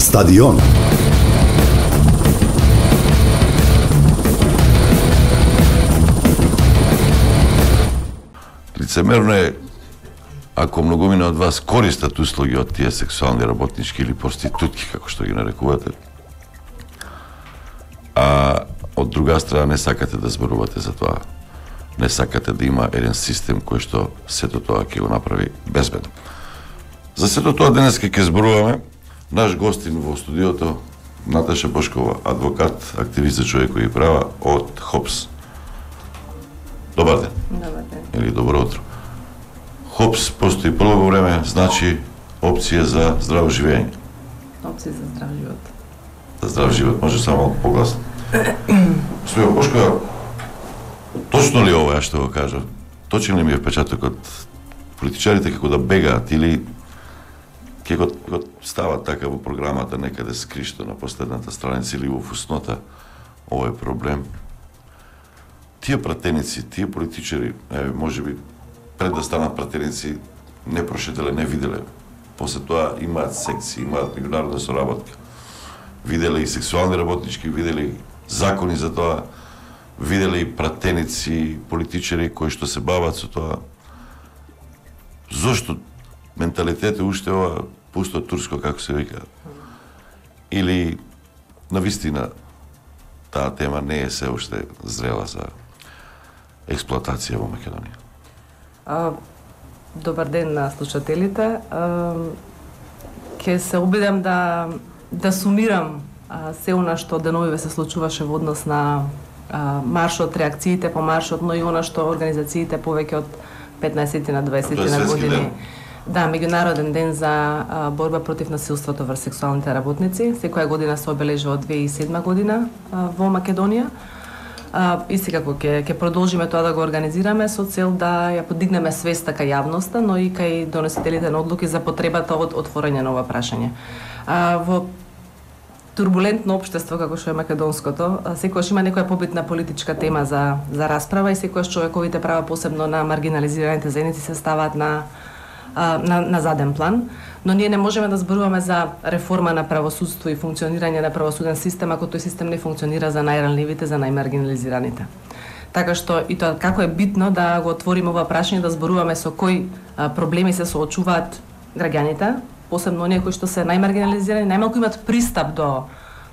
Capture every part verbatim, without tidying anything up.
Стадион. Лицемерно е ако многумина од вас користат услуги од тие сексуални работнички или проститутки, како што ги нарекувате, а од друга страна не сакате да зборувате за тоа. Не сакате да има еден систем кој што сето тоа ќе го направи безбедно. За сето тоа денеска ќе зборуваме. Наш гостин во студиото Наташа Бошкова, адвокат, активист за човекови права од ХОПС. Добар ден. Добар ден. Или добро утро. ХОПС постои прво време, значи опција за здраво живење. Опција за здрав живот. За здрав живот, може само малку погласно. Стоја Бошкова, точно ли ова што го кажа? Точен ли ми е впечатокот политичарите како да бегаат или како го стават така во програмата некаде скришто на последната страница или во фуснота, ова е проблем. Тие пратеници, тие политичари, е, може би пред да станат пратеници, не прошетеле, не виделе. После тоа имаат секции, имаат меѓународна соработка. Виделе и сексуални работнички, виделе закони за тоа, виделе и пратеници, политичари кои што се бават со тоа. Зошто менталитет е уште ова пусто турско, како се вика? Или навистина таа тема не е се уште зрела за експлоатација во Македонија? А, добар ден на слушателите. А, ке се обидам да да сумирам а, се она што деновиве се случуваше во однос на а, маршот, реакциите по маршот, но и она што организациите повеќе од петнаесет на дваесет на години. Ден. Да, меѓународен ден за а, борба против насилството врз сексуалните работници. Секоја година се обележува од две илјади и седма година а, во Македонија. А, и секако ќе ќе продолжиме тоа да го организираме со цел да ја подигнеме свеста кај јавноста, но и кај доносителите на одлуки за потребата од отворање на ова прашање. А, во турбулентно општество како што е македонското, секогаш има некоја побитна политичка тема за за расправа и секогаш човековите права, посебно на маргинализираните заедници, се ставаат на на на заден план, но ние не можеме да зборуваме за реформа на правосудство и функционирање на правосуден систем ако тој систем не функционира за најранливите, за најмаргинализираните. Така што и тоа како е битно да го отвориме ова прашање, да зборуваме со кои а, проблеми се соочуваат граѓаните, посебно оние кои што се најмаргинализирани, најмалку имат пристап до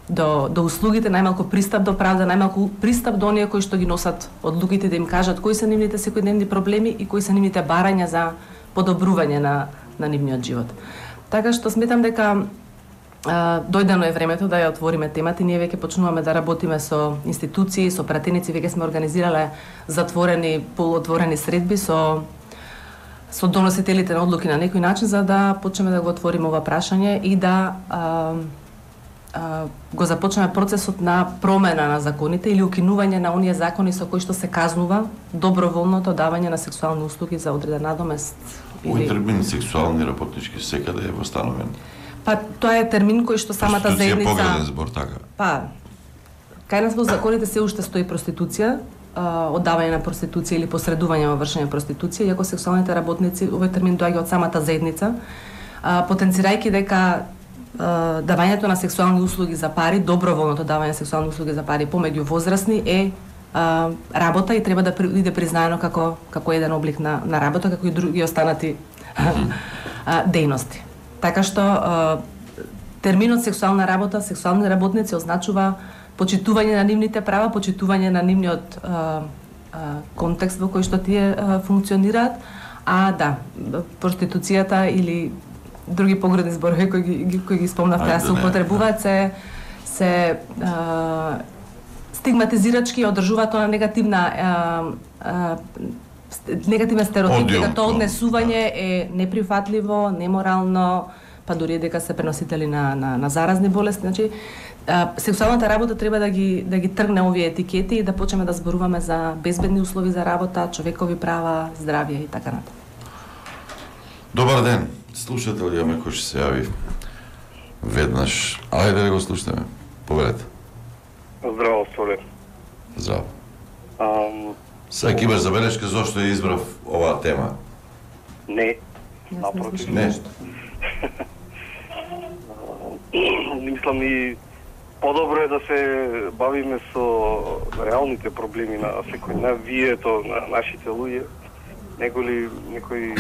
до до услугите, најмалку пристап до правда, најмалку пристап до оние кои што ги носат одлуките, да им кажат кои се нивните секојдневни проблеми и кои се нивните барања за подобрување на на нивниот живот. Така што сметам дека а, дојдено е времето да ја отвориме темата и ние веќе почнуваме да работиме со институции, со пратеници, веќе сме организирале затворени, полуотворени средби со со доносителите на одлуки на некој начин за да почнеме да го отвориме ова прашање и да а, а, го започнеме процесот на промена на законите или укинување на оние закони со кои што се казнува доброволното давање на сексуални услуги за одреден надомест. Овој термин сексуални работнички секаде е восстановен. Па тоа е термин кој што самата заедница. Проституција е погреден збор, така. Па кај нас во законите се уште стои проституција, оддавање на проституција или посредување во вршење проституција, иако сексуалните работници, овој термин доаѓа од самата заедница, потенцирајќи дека давањето на сексуални услуги за пари, доброволното давање на сексуални услуги за пари помеѓу возрастни е а, работа и треба да биде признаено како како еден облик на на работа, како и други останати а, дејности. Така што а, терминот сексуална работа, сексуални работници означува почитување на нивните права, почитување на нивниот а, а, контекст во кој што тие а, функционираат, а да, проституцијата или други погредни зборови кои ги кои ги спомнавте, да се употребуваат, се се а, стигматизирачки одржуваат тоа негативна а, а, негативен стереотип, дека тоа однесување е неприфатливо, неморално, па дури дека се преносители на на, на заразни болести. Значи, а, сексуалната работа треба да ги да ги тргне овие етикети и да почнеме да зборуваме за безбедни услови за работа, човекови права, здравје и така натаму. Добар ден. Слушател имаме кој ќе се јави веднаш. Ајде да го слушнеме. Повелете. Здраво, Солер. Здраво. Ам... Сега ќе имаш забелешка зошто ја избрав оваа тема? Не, напротив. Не. мислам и подобро е да се бавиме со реалните проблеми на секој на вието на нашите луѓе, некои некои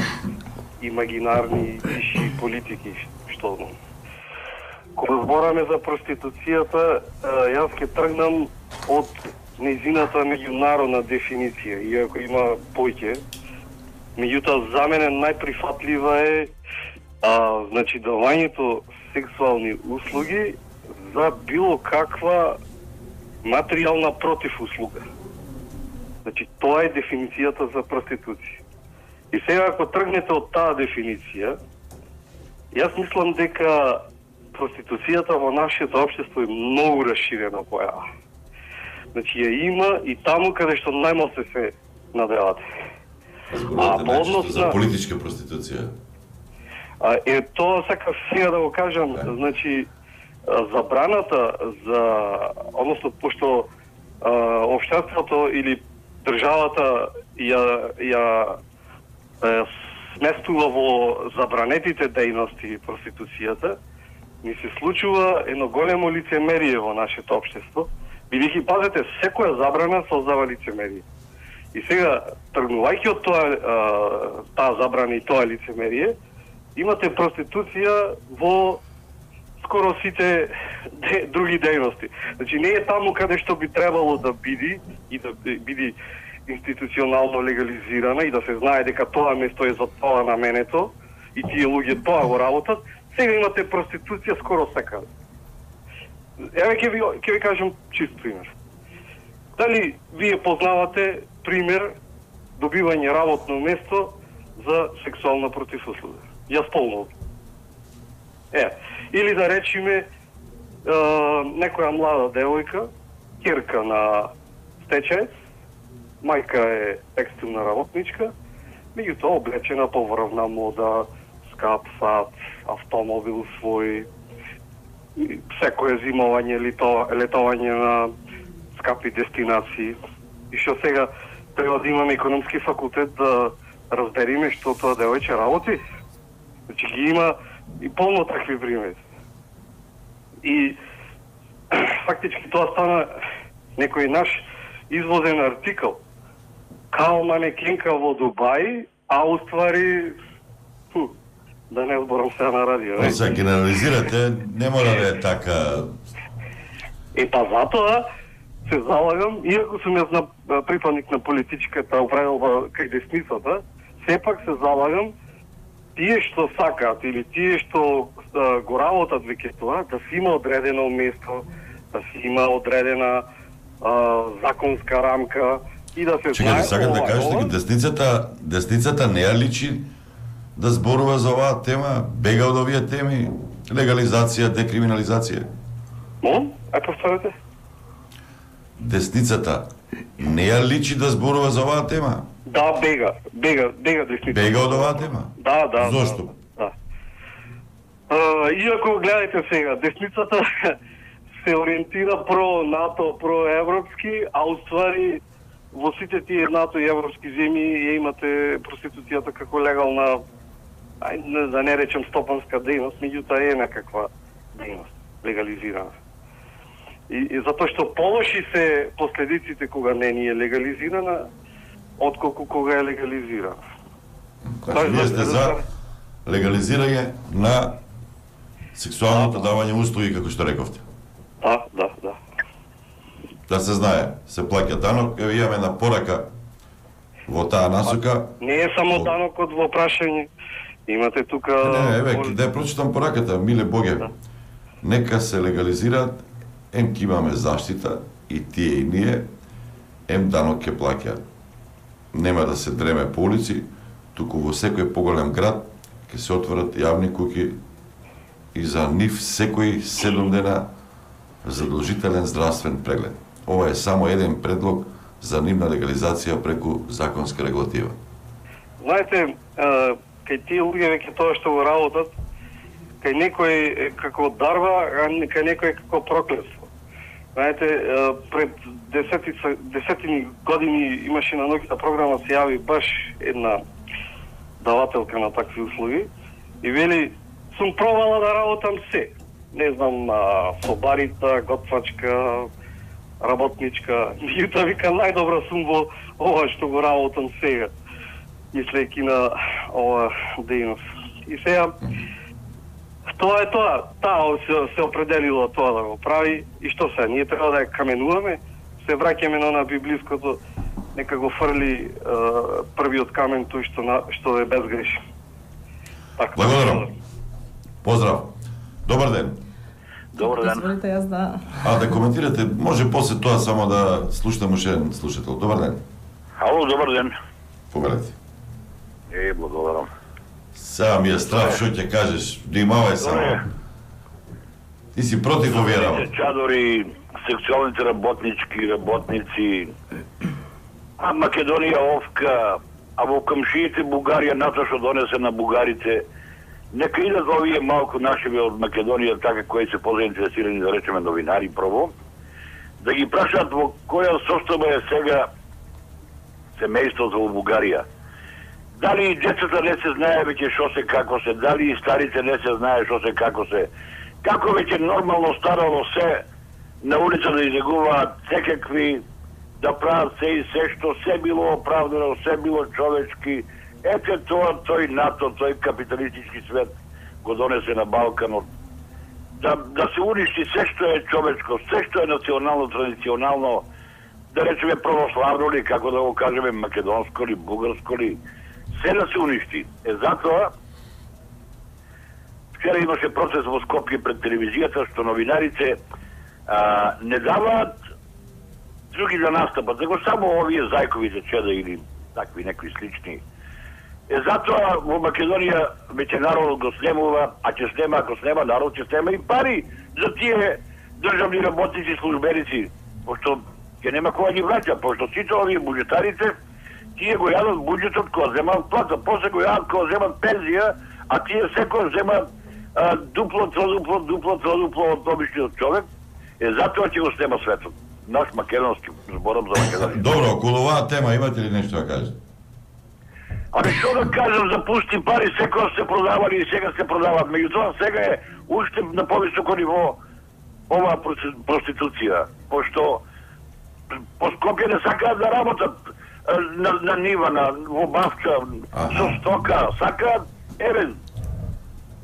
имагинарни виши политики што кога збораме за проституцијата, јас ќе тргнам од нејзината меѓународна дефиниција, иако има поќе. Меѓутоа, за мене најприфатлива е а, значи давањето сексуални услуги за било каква материјална противуслуга. Значи, тоа е дефиницијата за проституција. И сега, ако тргнете од таа дефиниција, јас мислам дека проституцијата во нашето општество е многу расширена појава. Значи, ја има и таму каде што најмалку се надевате. Зборувате најчесто за политичка проституција. А, е, тоа сакав сега да го кажам, okay. Значи, забраната за, односно, пошто а, општеството или државата ја, ја е, сместува во забранетите дејности проституцијата, ни се случува едно големо лицемерие во нашето општество, бидејќи, пазете, секоја забрана создава лицемерие. И сега, тргнувајќи од тоа, а, таа забрана и тоа лицемерие, имате проституција во скоро сите де, други дејности. Значи, не е таму каде што би требало да биде и да биде институционално легализирана и да се знае дека тоа место е за тоа наменето и тие луѓе тоа го работат. Сега имате проституција скоро секаде. Еве ќе ви ќе ви кажам чист пример. Дали вие познавате пример добивање работно место за сексуална противуслуга? Јас полно. Е, или да речиме е, некоја млада девојка, ќерка на стечаец, мајка е текстилна работничка, меѓутоа облечена по врвна мода, скап сат, автомобил свој, секое зимување, летување на скапи дестинации. И што сега треба да имаме економски факултет да разбериме што тоа девојче работи. Значи ги има и полно такви примери. И фактички тоа стана некој наш извозен артикл. Као манекенка во Дубај, а уствари фу, да не зборам сега на радио. Не се генерализирате, не мора да е така. Е, па затоа се залагам, иако сум јас на припадник на политичката управилба кај десницата, сепак се залагам тие што сакаат или тие што а, го работат веќе тоа, да си има одредено место, да си има одредена а, законска рамка и да се Чекайте, сакам да кажете дека десницата, десницата не ја личи да зборува за оваа тема, бега од овие теми, легализација, декриминализација. Мон? А повторете? Десницата не ја личи да зборува за оваа тема. Да, бега, бега, бега десницата. Бега од оваа тема? Да, да. Зошто? Да. да. А, иако гледате сега, десницата се ориентира про НАТО, про европски, а уствари во сите тие НАТО и европски земји ја имате проституцијата како легална, ај, не, да не речем стопанска дејност, меѓутоа е некаква дејност, легализирана. И, и затоа што полоши се последиците кога не ни е легализирана, отколку кога е легализирана. Значи, вие сте за легализирање на сексуалното давање услуги, како што рековте. Да, да, да. Да се знае, се плаќа данок, еве имаме една порака во таа насока. Не е само данокот во прашање. Имате тука... Не, не, еве, да ја прочитам пораката, миле Боге. Да. Нека се легализираат, ем ки имаме заштита, и тие и ние, ем данок ќе плаќаат. Нема да се дреме по улици, туку во секој поголем град ќе се отворат јавни куќи и за нив секој седум дена задолжителен здравствен преглед. Ова е само еден предлог за нивна легализација преку законска регулатива. Знаете, кај тие луѓе веќе тоа што го работат, кај некој како дарба, а кај некој како проклетство. Знаете, пред десети, десетини години имаше на ноќната програма, се јави баш една давателка на такви услуги и вели, сум пробала да работам се. не знам, собарица, готвачка, работничка. Меѓутоа вика најдобра сум во ова што го работам сега, мислејќи на ова дејност. И сега тоа е тоа, таа се, се определила тоа да го прави и што се, ние треба да ја каменуваме, се враќаме на на библиското, нека го фрли е, првиот камен тој што на, што е безгрешен. Така. Благодарам. Поздрав. Добар ден. Добар ден. Дозволите јас да... А да коментирате, може после тоа само да слушнем уште еден слушател. Добар ден. Ало, добар ден. Повелете. Е, благодарам. Сега ми е страх што ќе кажеш, внимавај само. Ти си против овие работи. Чадори, сексуалните работнички, работници, а Македонија овка, а во камшиите Бугарија НАТО што донесе на бугарите, нека идат овие малку нашиве од Македонија, така кои се позаинтересирани, да речеме новинари прво, да ги прашат во која состојба е сега семејството во Бугарија. Дали и децата не се знае веќе што се како се, дали и старите не се знае што се како се, како веќе нормално старало се на улица да излегуваат секакви, да прават се и се што се било оправдано, се било човечки. Ете тоа, тој НАТО, тој капиталистички свет го донесе на Балканот. Да, да се уништи се што е човечко, се што е национално, традиционално, да речеме православно ли, како да го кажеме, македонско ли, бугарско ли, се да се уништи. Е затоа, вчера имаше процес во Скопје пред телевизијата, што новинарите а, не даваат други да настапат, него само овие зајковите чеда или такви некои слични. Е затоа во Македонија веќе народот го снемува, а ќе снема, ако снема народ, ќе снема и пари за тие државни работници, службеници, пошто ќе нема која ги враќа, пошто сите овие буџетарите, тие го јадат буџетот кога земат плата, после го јадат кога земат пензија, а тие секој земат а, дупло, тrodупло, дупло, тrodупло од обичниот човек. Е затоа ќе го снема светот. Наш македонски, зборам за Македонија. Добро, околу оваа тема имате ли нешто да кажете? Ами што да кажам за пусти пари, секој се продавали и сега се продават. Меѓутоа сега е уште на повисоко ниво оваа проституција, пошто по Скопје не сакаат да работат на, на нива, на во бавча, со стока, сакаат еве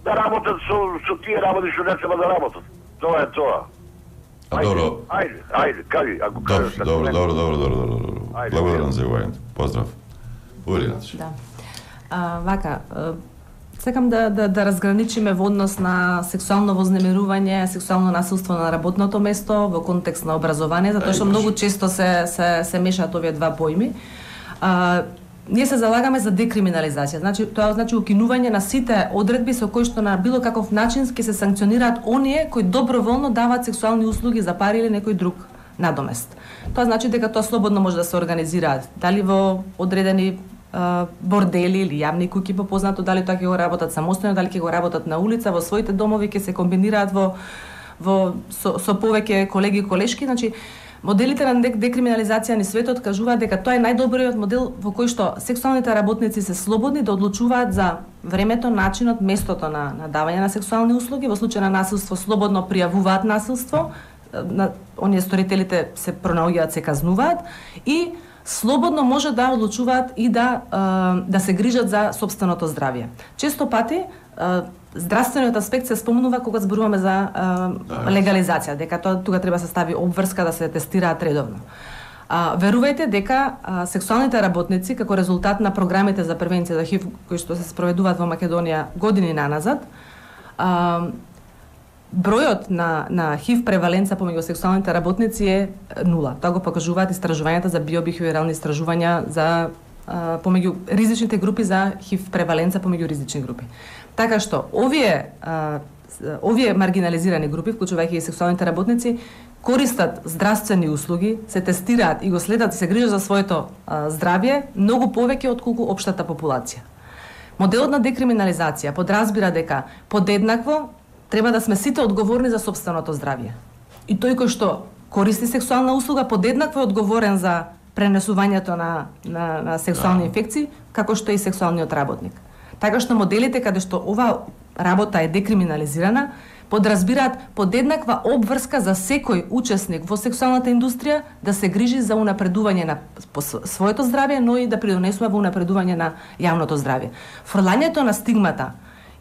да работат со, со тие работи што не треба да работат. Тоа е тоа. А добро. Ајде, ајде, кажи, ако кажеш. Добро, добро, добро, добро, добро, добро. Благодарам за јавањето. Поздрав. Да. А, вака, сакам да, да, да разграничиме во однос на сексуално вознемирување, сексуално насилство на работното место во контекст на образование, затоа што многу често се, се, се мешаат овие два поими. А, ние се залагаме за декриминализација, значи тоа значи укинување на сите одредби со кои што на било каков начин ќе се санкционираат оние кои доброволно даваат сексуални услуги за пари или некој друг надомест. Тоа значи дека тоа слободно може да се организираат, дали во одредени бордели или јавни куќи, попознато, дали тоа ќе го работат самостојно, дали ќе го работат на улица, во своите домови, ќе се комбинираат во, во со, со повеќе колеги и колешки. Значи, моделите на декриминализација ни светот кажуваат дека тоа е најдобриот модел во кој што сексуалните работници се слободни да одлучуваат за времето, начинот, местото на, на давање на сексуални услуги. Во случај на насилство слободно пријавуваат насилство, на оние сторителите се пронаоѓаат, се казнуваат и слободно може да одлучуваат и да да се грижат за сопственото здравје. Често пати здравствениот аспект се спомнува кога зборуваме за легализација, дека тоа тука треба да се стави обврска да се тестираат редовно. А, верувајте дека а, сексуалните работници како резултат на програмите за превенција за ХИВ кои што се спроведуваат во Македонија години наназад, а, бројот на на ХИВ преваленца помеѓу сексуалните работници е нула. Тоа го покажуваат истражувањата за биобихевиорални истражувања за а, помеѓу ризичните групи за ХИВ преваленца помеѓу ризични групи. Така што овие а, овие маргинализирани групи, вклучувајќи и сексуалните работници, користат здравствени услуги, се тестираат и го следат и се грижат за своето а, здравје многу повеќе отколку општата популација. Моделот на декриминализација подразбира дека подеднакво треба да сме сите одговорни за сопственото здравје. И тој кој што користи сексуална услуга подеднакво е одговорен за пренесувањето на, на, на сексуални инфекции, како што и сексуалниот работник. Така што моделите каде што ова работа е декриминализирана, подразбираат подеднаква обврска за секој учесник во сексуалната индустрија да се грижи за унапредување на своето здравје, но и да придонесува во унапредување на јавното здравје. Фрлањето на стигмата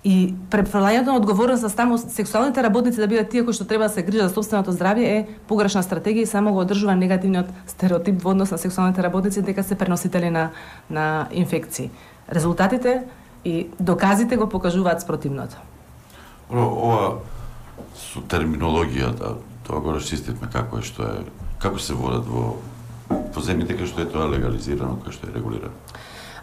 и префрлањето на одговорност за само сексуалните работници да бидат тие кои што треба да се грижат за сопственото здравје е погрешна стратегија и само го одржува негативниот стереотип во однос на сексуалните работници дека се преносители на на инфекции. Резултатите и доказите го покажуваат спротивното. Ова со терминологијата, тоа го расчистивме како е, што е, како се водат во во земјите кај што е тоа легализирано, кај што е регулирано.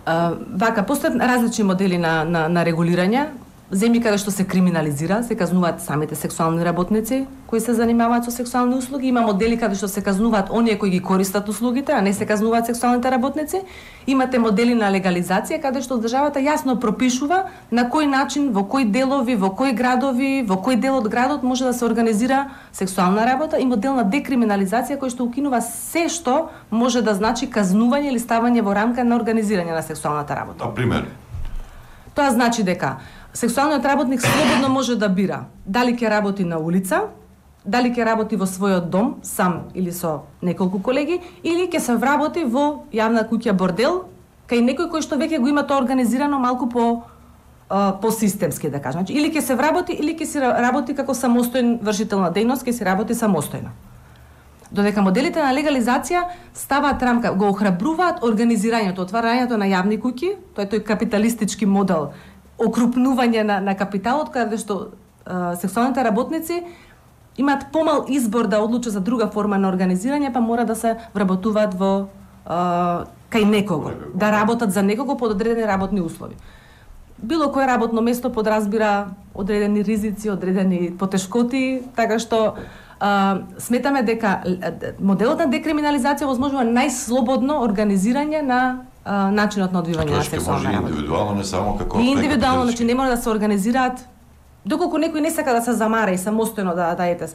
Uh, вака, постојат различни модели на, на, на регулирање. Земји каде што се криминализира, се казнуваат самите сексуални работници кои се занимаваат со сексуални услуги. Има модели каде што се казнуваат оние кои ги користат услугите, а не се казнуваат сексуалните работници. Имате модели на легализација каде што државата јасно пропишува на кој начин, во кои делови, во кои градови, во кој дел од градот може да се организира сексуална работа, и модел на декриминализација кој што укинува се што може да значи казнување или ставање во рамка на организирање на сексуалната работа. На пример, тоа значи дека сексуалниот работник слободно може да бира дали ќе работи на улица, дали ќе работи во својот дом сам или со неколку колеги, или ќе се вработи во јавна куќа бордел кај некој кој што веќе го има тоа организирано малку по по системски, да кажам. Значи, или ќе се вработи или ќе се работи како самостоен вршител на дејност, ќе се работи самостојно. Додека моделите на легализација ставаат рамка, го охрабруваат организирањето, отварањето на јавни куќи, тоа е тој капиталистички модел, окрупнување на, на капиталот, каде што а, сексуалните работници имаат помал избор да одлучат за друга форма на организирање, па мора да се вработуваат во а, кај некого, да работат за некого под одредени работни услови. Било кое работно место подразбира одредени ризици, одредени потешкоти, така што а, сметаме дека моделот на декриминализација возможува најслободно организирање на а, начинот на одвивање на сексуална работа. Индивидуално, не само како И индивидуално, значи не мора да се организираат доколку некој не сака да се замара и самостојно да да ете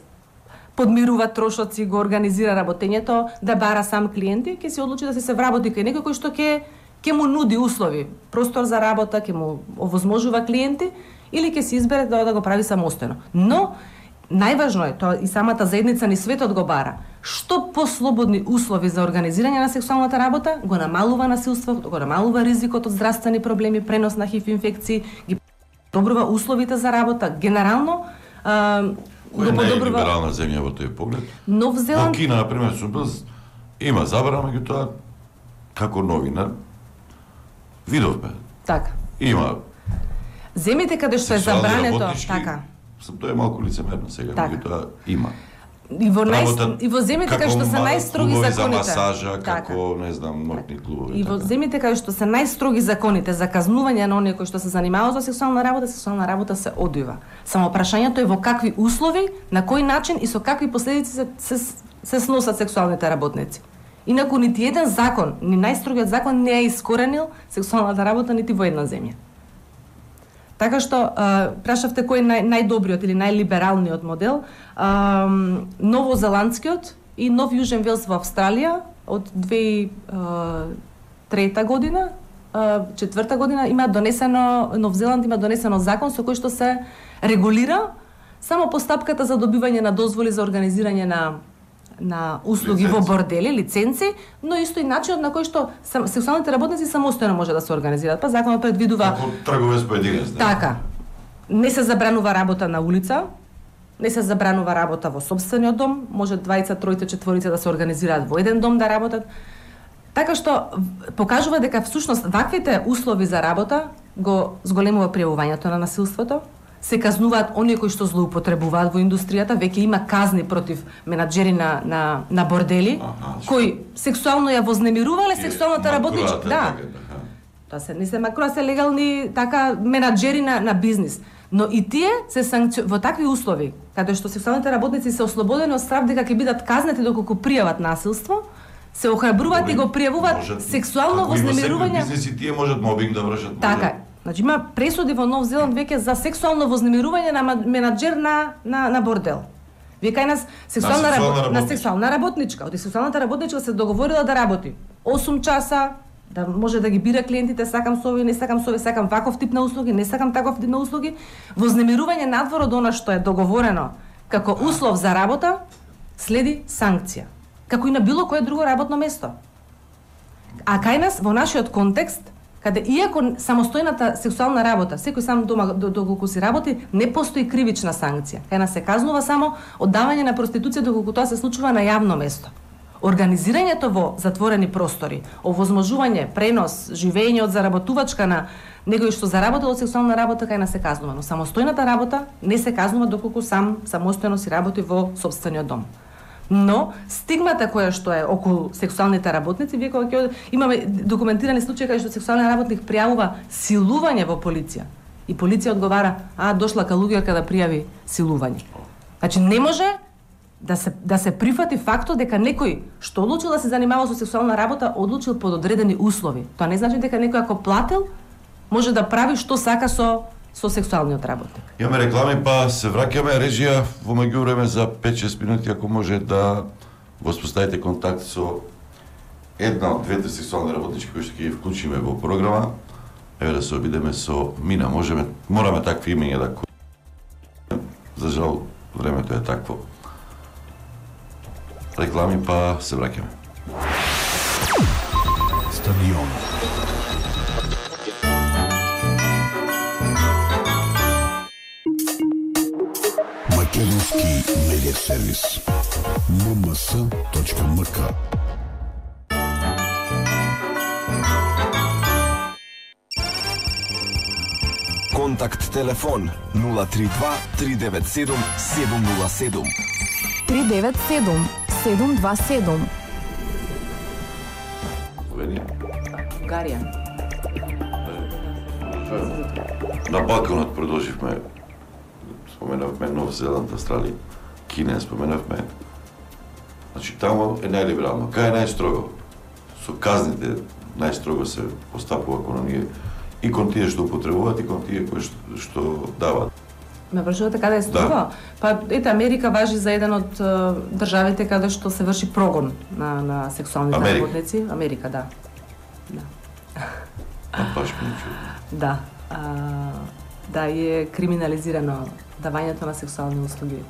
подмирува трошоци, го организира работењето, да бара сам клиенти, ќе се одлучи да се се вработи кај некој кој што ќе ќе му нуди услови, простор за работа, ќе му овозможува клиенти, или ќе се избере да, да го прави самостојно. Но најважно е, тоа и самата заедница ни светот го бара, што послободни услови за организирање на сексуалната работа го намалува насилството, го намалува ризикот од здравствени проблеми, пренос на ХИВ инфекции, ги подобрува условите за работа, генерално а, Кој не е либерална земја во тој поглед? Нов Зеланд... Во Кина, например, сум бил, има забрана, меѓутоа, како новинар, видовме. Така. Има земите каде што е забрането, така. Тоа е малку лицемерно сега, така. Меѓутоа има. И во нај и во земите каде што се најстроги законите за масажа, така. Како не знам, ноќни клубови. И во земите каде што се најстроги законите за казнување на оние кои што се занимаваат со сексуална работа, сексуална работа се одвива. Само прашањето е во какви услови, на кој начин и со какви последици се се, се сносат сексуалните работници. Инаку нити еден закон, ни најстрогиот закон не е искоренил сексуалната работа нити во една земја. Така што, а, прашавте кој е нај, најдобриот или најлибералниот модел, а, новозеландскиот и Нов Јужен Велс во Австралија од две тисячи и трета година, а, четврта година има донесено, Нов Зеланд има донесено закон со кој што се регулира само постапката за добивање на дозволи за организирање на на услуги лиценци. Во бордели, лиценци, но исто и начинот на кој што сам, сексуалните работници самостојно може да се организираат. Па законот предвидува како трговец поединец. Така. Не се забранува работа на улица, не се забранува работа во сопствениот дом, може двајца, тројца, четворица да се организираат во еден дом да работат. Така што покажува дека всушност ваквите услови за работа го зголемува пријавувањето на насилството, се казнуваат оние кои што злоупотребуваат во индустријата, веќе има казни против менаџери на на на бордели, ага, кои сексуално ја вознемирувале сексуалната работничка, да. Тоа се не се макро се легални така менаџери на на бизнис. Но и тие се санкци... во такви услови, каде што сексуалните работници се ослободени од страв дека ќе бидат казнети доколку пријават насилство, се охрабруваат и го пријавуваат сексуално вознемирување. Бизнеси тие можат мобинг да вршат. Така. Значи има пресуди во Нов Зеланд веќе за сексуално вознемирување на менаџер на на на бордел. Вие кај нас сексуална, на сексуална, работ... на сексуална работничка, од сексуалната работничка се договорила да работи осум часа да може да ги бира клиентите, сакам со овие, не сакам со овие, сакам ваков тип на услуги, не сакам таков тип на услуги. Вознемирување надвор од она што е договорено како услов за работа, следи санкција, како и на било кое друго работно место. А кај нас, во нашиот контекст, каде иако самостојната сексуална работа, секој сам дома доколку си работи, не постои кривична санкција. Кај нас се казнува само оддавање на проституција доколку тоа се случува на јавно место. Организирањето во затворени простори, овозможување, пренос, живење од заработувачка на некој што заработил од сексуална работа, кај нас се казнува, но самостојната работа не се казнува доколку сам самостојно си работи во сопствениот дом. Но стигмата која што е околу сексуалните работници, вие кога ќе имаме документирани случаи каде што сексуален работник пријавува силување во полиција и полиција одговара: "А, дошла калуѓерка да пријави силување." Значи не може да се да се прифати фактот дека некој што одлучил да се занимава со сексуална работа, одлучил под одредени услови. Тоа не значи дека некој ако платил може да прави што сака со со сексуалниот работник. Имаме реклами, па се враќаме. Режија, во меѓувреме за пет-шест минути, ако може да воспоставите контакт со една од двете сексуални работнички кои што ќе ги вклучиме во програма. Еве да се обидеме со Мина. Можеме, мораме такви имења да... За жал, времето е такво. Реклами, па се враќаме. Стадион. Македонски медиа сервис. ем ем ес точка ем ка. Контакт телефон нула три два три девет седум седум нула седум. три девет седум седум два седум. Словенија. Бугарија. На Балканот продолживме. Споменавме Нов Зеланд, Австралија, Кина споменавме. Значи таму е најлиберално. Кај е најстрого? Со казните најстрого се постапува кон оние и кон тие што употребуваат и кон тие кои што, што даваат. Ме прашувате каде е строго? Да. Па ете, Америка важи за еден од uh, државите каде што се врши прогон на на сексуалните Америка. работници. Америка, да. Да. А баш ми чудно. Да. А, да, и е криминализирано давањето на сексуални услуги.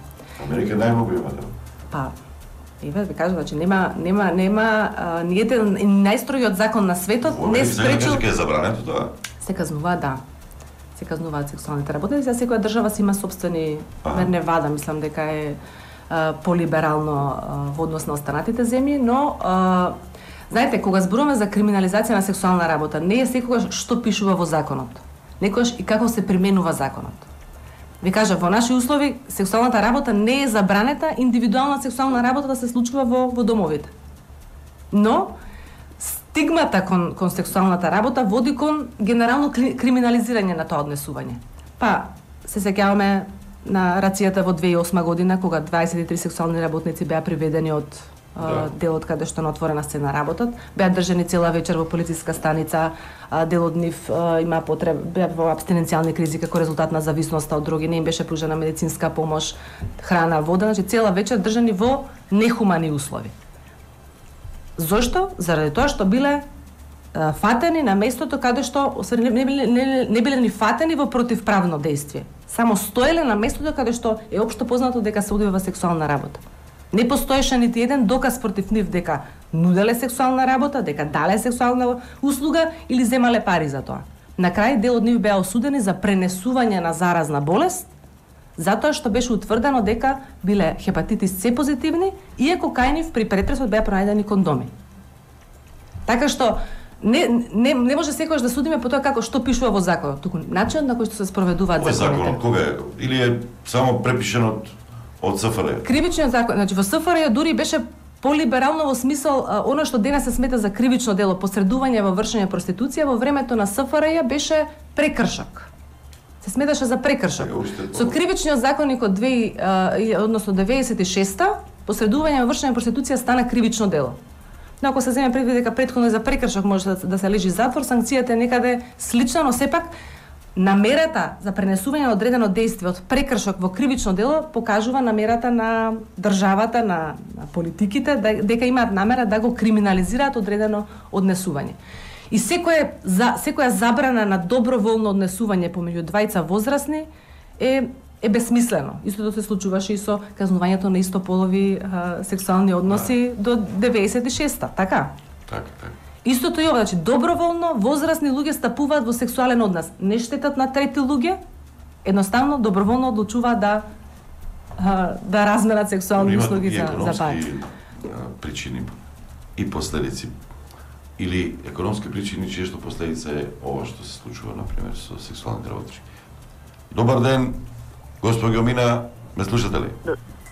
Америка најмногу има да. Па, еве ви кажам, значи нема нема нема а, ниеден најстрогиот закон на светот не спречил. Дека е забрането тоа. Се казнува, да. Се казнуваат сексуалните работници, а секоја држава си има собствени, Ага. Невада, мислам дека е а, полиберално а, во однос на останатите земји, но а, знаете, кога зборуваме за криминализација на сексуална работа, не е секогаш што пишува во законот, некогаш и како се применува законот. Ви кажа, во наши услови сексуалната работа не е забранета, индивидуална сексуална работа да се случува во, во домовите. Но стигмата кон, кон сексуалната работа води кон генерално кри, криминализирање на тоа однесување. Па, се сеќаваме на рацијата во две илјадесет и осма година, кога дваесет и три сексуални работници беа приведени од Да. делот каде што на отворена сцена работат, беа држани цела вечер во полициска станица, дел од нив има потреб, беа во абстиненцијални кризи како резултат на зависноста од дроги, не им беше пружена медицинска помош, храна, вода, значи цела вечер држани во нехумани услови. Зошто? Заради тоа што биле а, фатени на местото каде што не, не, биле, не, не биле ни фатени во противправно дејствие. Само стоеле на местото каде што е општо познато дека се одвива сексуална работа. Не постоеше нити еден доказ против нив дека нуделе сексуална работа, дека дале сексуална услуга или земале пари за тоа. На крај дел од нив беа осудени за пренесување на заразна болест, затоа што беше утврдено дека биле хепатитис С позитивни, иако кај нив при претресот беа пронајдени кондоми. Така што не не не може секогаш да судиме по тоа како што пишува во законот, туку начинот на кој што се спроведуваат Овој законите. законот кога е? Или е само препишен од од С Ф R Ј? Кривичниот закон, значи во С Ф R Ј дури беше полиберално во смисол а, она што денес се смета за кривично дело, посредување во вршење проституција, во времето на С Ф R Ј беше прекршок. Се сметаше за прекршок. Сега уште Со кривичниот законник од две, а, односно деветдесет и шеста, посредување во вршење проституција стана кривично дело. Но ако се земе предвид дека претходно за прекршок може да, да се лежи затвор, санкцијата е некаде слична, но сепак намерата за пренесување на одредено дејство од прекршок во кривично дело покажува намерата на државата, на, на политиките, да, дека имаат намера да го криминализираат одредено однесување. И секоја за секоја забрана на доброволно однесување помеѓу двајца возрастни е е безсмислено. Истото се случуваше и со казнувањето на истополови а, сексуални односи да. до деветдесет и шеста, така? Така, така. Истото и ова, значи доброволно возрастни луѓе стапуваат во сексуален однос, не штетат на трети луѓе, едноставно доброволно одлучуваат да а, да разменат сексуални услуги за за пари. Причини и последици. Или економски причини, чије што последица е ова што се случува, например, со сексуалните работнички. Добар ден, госпоѓо Мина, ме слушате ли?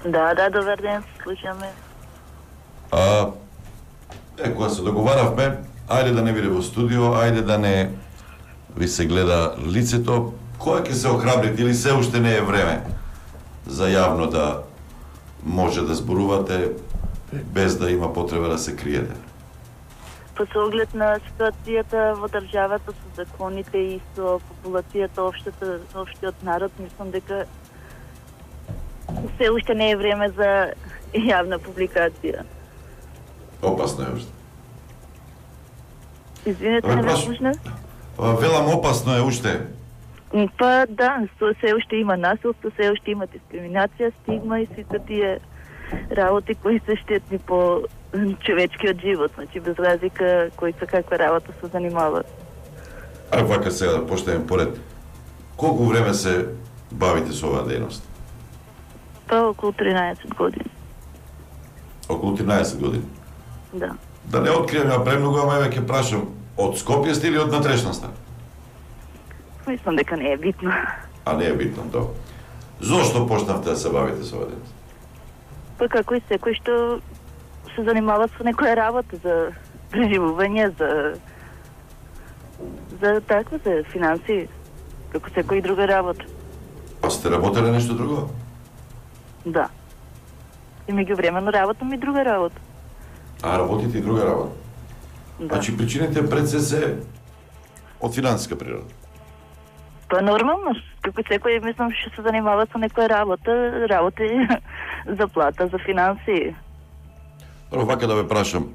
Да, да, добар ден, слушаме. А, е, кога се договаравме, ајде да не биде во студио, ајде да не ви се гледа лицето, која ќе се охрабрите или се уште не е време за јавно да може да зборувате без да има потреба да се криете? По оглед на ситуацијата во државата со законите и со популацијата, општата, општиот народ, мислам дека се уште не е време за јавна публикација. Опасно е уште. Извинете, не ме слушнав? Велам, опасно е уште. Па да, се уште има насилство, се уште има дискриминација, стигма и сите тие работи кои се штетни по човечкиот живот, значи без разлика кои се каква работа се занимават. А вака сега да поштеме поред. Колку време се бавите со оваа дејност? Па околу тринаесет години. Околу тринаесет години? Да. Да не открием ја премногу, ама еве ќе прашам, од Скопје сте или од натрешноста? Мислам дека не е битно. А не е битно, тоа. Зошто почнавте да се бавите со оваа дејност? Па како и секој што се занимава со некоја работа за преживување, за за такво, за финанси, како секој друга работа. А сте работеле нешто друго? Да. И меѓувремено работам и друга работа. А работите и друга работа? Да. Значи причините пред се се од финансиска природа? Па нормално, како секој, мислам, што се занимава со некоја работа, работи за плата, за финанси. Прво, вака да ве прашам,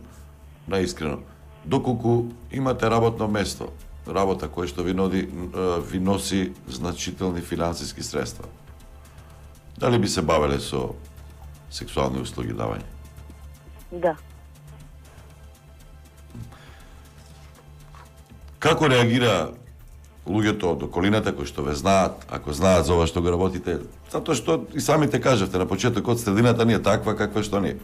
наискрено, доколку имате работно место, работа која што ви, ноди, ви носи значителни финансиски средства, дали би се бавеле со сексуални услуги давање? Да. Како реагира луѓето од околината кои што ве знаат, ако знаат за ова што го работите? Затоа што и самите кажавте на почетокот, средината ни е таква каква што не е.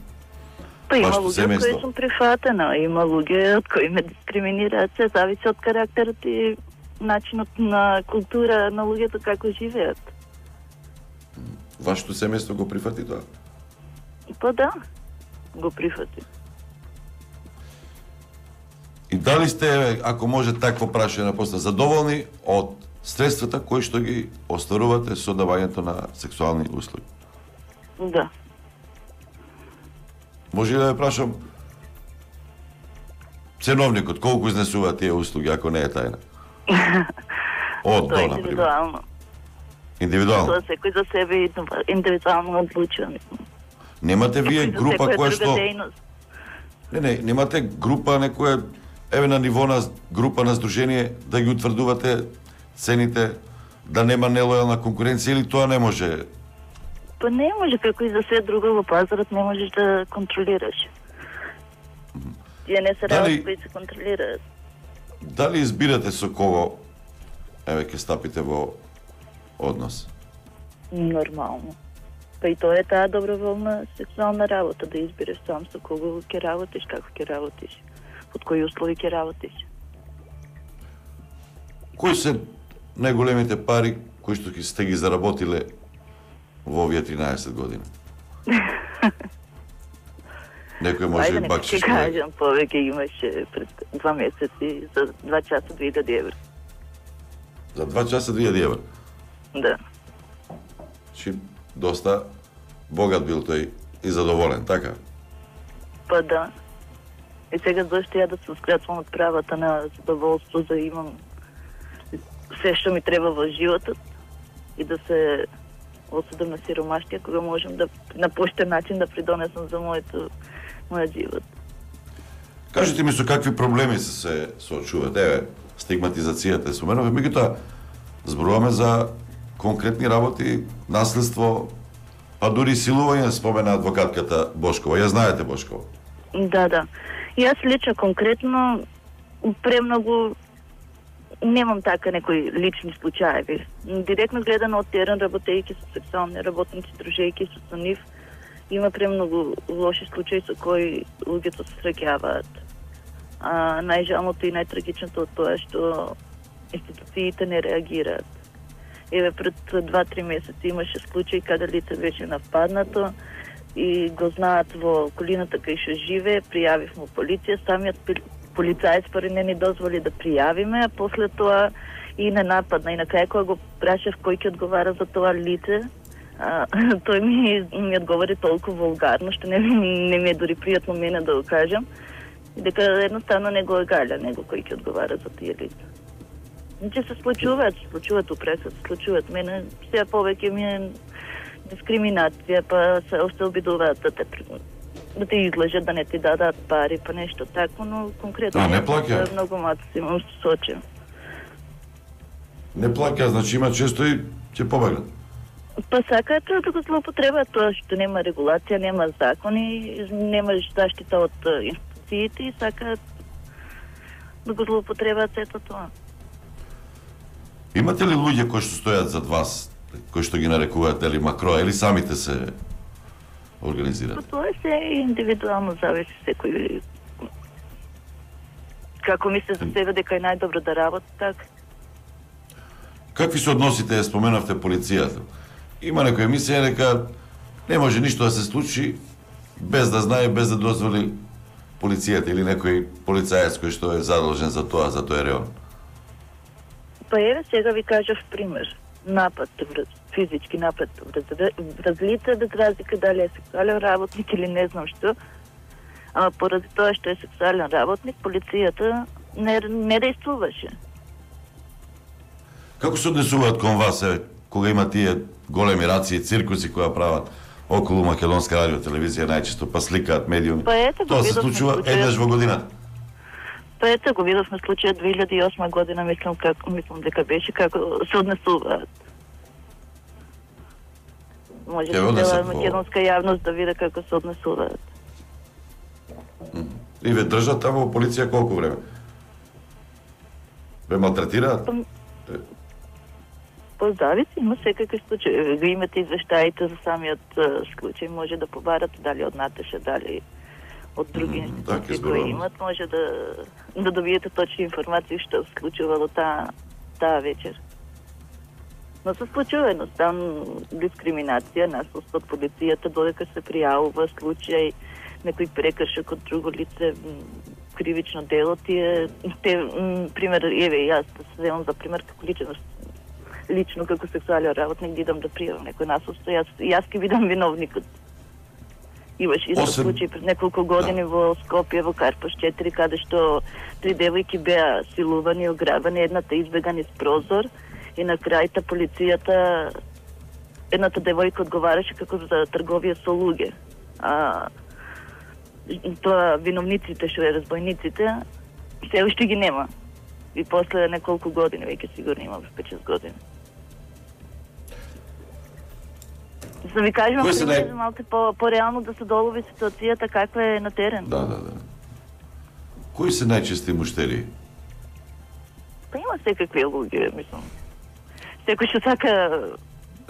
Па има Вашето луѓе од семејство. кои сум прифатена, има луѓе од кои ме дискриминираат, се зависи од карактерот и начинот на култура на луѓето како живеат. Вашето семејство го прифати тоа? Па да, го прифати. И дали сте, ако може такво прашање на поста, задоволни од средствата кои што ги остварувате со давањето на сексуални услуги? Да. Може ли да ве прашам ценовникот колку изнесува тие услуги, ако не е тајна? Од Тоа е до, например. индивидуално. Индивидуално? Тоа секој за себе индивидуално одлучува, мислам. Немате вие За група секоја која друга што... дејност. Не, не, немате група некоја, еве на ниво на група на здружение, да ги утврдувате цените, да нема нелојална конкуренција или тоа не може? Па не може, како и за се друго во пазарот не можеш да контролираш. Тие не се Дали- работи кои се контролираат. Дали избирате со кого, еве, ќе стапите во однос? Нормално. Па и тоа е таа доброволна сексуална работа, да избереш сам со кого ќе работиш, како ќе работиш, под кои услови ќе работиш. Кои се најголемите пари кои што ги сте ги заработиле во овие тринаесет години? Некој може Ајде, и нека бакшиш. ќе кажам, повеќе имаше пред два месеци за два часа две илјади евра. За два часа две илјади евра. Да. Чи доста богат бил тој и задоволен, така? Па да. И сега зашто ја да се скратувам од правата на задоволство, да имам се што ми треба во животот и да се осудам на сиромаштија, кога можам да на поштен начин да придонесам за моето мојот живот. Кажете ми со какви проблеми се се соочуваат? Еве, стигматизацијата е споменува, меѓутоа зборуваме за конкретни работи, наследство, па дури силување, спомена адвокатката Бошкова. Ја знаете Бошкова? Да, да. Јас лично конкретно премногу немам така некои лични случаеви. Директно гледано од терен, работејќи со сексуални работници, дружејќи се со нив, има премногу лоши случаи со кои луѓето се среќаваат. А најжалното и најтрагичното од тоа е што институциите не реагираат. Еве пред два-три месеци имаше случај каде лице беше нападнато и го знаат во околината кај што живее, пријавив му полиција, самиот полицаец пари не ни дозволи да пријавиме, а после тоа и не нападна. И на крај кога го прашав кој ќе одговара за тоа лице, а, тој ми, ми одговори толку вулгарно, што не, не ми е дори пријатно мене да го кажам, и дека едноставно не го е галя него кој ќе одговара за тие лица. Значи се случуваат, се случуваат упреса, се случуваат. Мене сега повеќе ми е дискриминација, па се още обидуваат да те да те излажат, да не ти дадат пари, па нешто тако, но конкретно а, не плаќа. Многу маци имам сочен. Не плаќа, значи има често и ќе побегнат. Па сакаат да го злоупотребаат тоа што нема регулација, нема закони, нема заштита од институциите и сакаат да го злоупотребаат сето тоа. Имате ли луѓе кои што стојат зад вас, кои што ги нарекуваат или макро, или самите се организираат? Тоа се индивидуално зависи секој како мисли за себе дека е најдобро да работи, така. Какви се односите, споменавте полицијата? Има некоја емисија дека не може ништо да се случи без да знае, без да дозволи полицијата или некој полицаец кој што е задолжен за тоа, за тој район. Па еве сега ви кажав пример. Напад, физички напад врз лице, без разлика дали е сексуален работник или не знам што. Ама поради тоа што е сексуален работник, полицијата не, не действуваше. Како се однесуваат кон вас, е, кога има тие големи раци и циркуси кои прават околу македонска радио телевизија најчесто, па сликаат медиуми? Па ето, тоа се случува еднаш во годината. Па ето го видовме случајот две илјади и осма година, мислам како мислам дека беше како се однесуваат. Може да цела македонска јавност да види како се однесуваат. И ве држат таму во полиција колку време? Ве малтретираат? Па зависи, има секакви случаи. Го имате извештаите за самиот случај, може да побарат дали од Наташа, дали од други институции кои имат, може да да добиете точни информации што се случувало таа таа вечер. Но се случува едноставно дискриминација, насост од полицијата, додека се пријавува случај некој прекршок од друго лице, кривично дело, тие, те, пример, еве, јас да се земам за пример како личност, лично како сексуален работник, да идам да пријавам некој насост, јас, јас ке видам виновникот. Имаш исто Осем... случај пред неколку години да. Во Скопје, во Карпаш четири, каде што три девојки беа силувани, ограбени, едната избега низ прозор и на крајта полицијата, едната девојка одговараше како за трговија со луѓе. А тоа виновниците, што е разбойниците, се уште ги нема. И после неколку години, веќе сигурно има пет-шест години. За ви кажем, ако не... малку по, по-реално да се долови ситуацијата каква е на терен. Да, да, да. Кои се најчести муштери? Па има секакви луѓе, мислам. Секој што сака...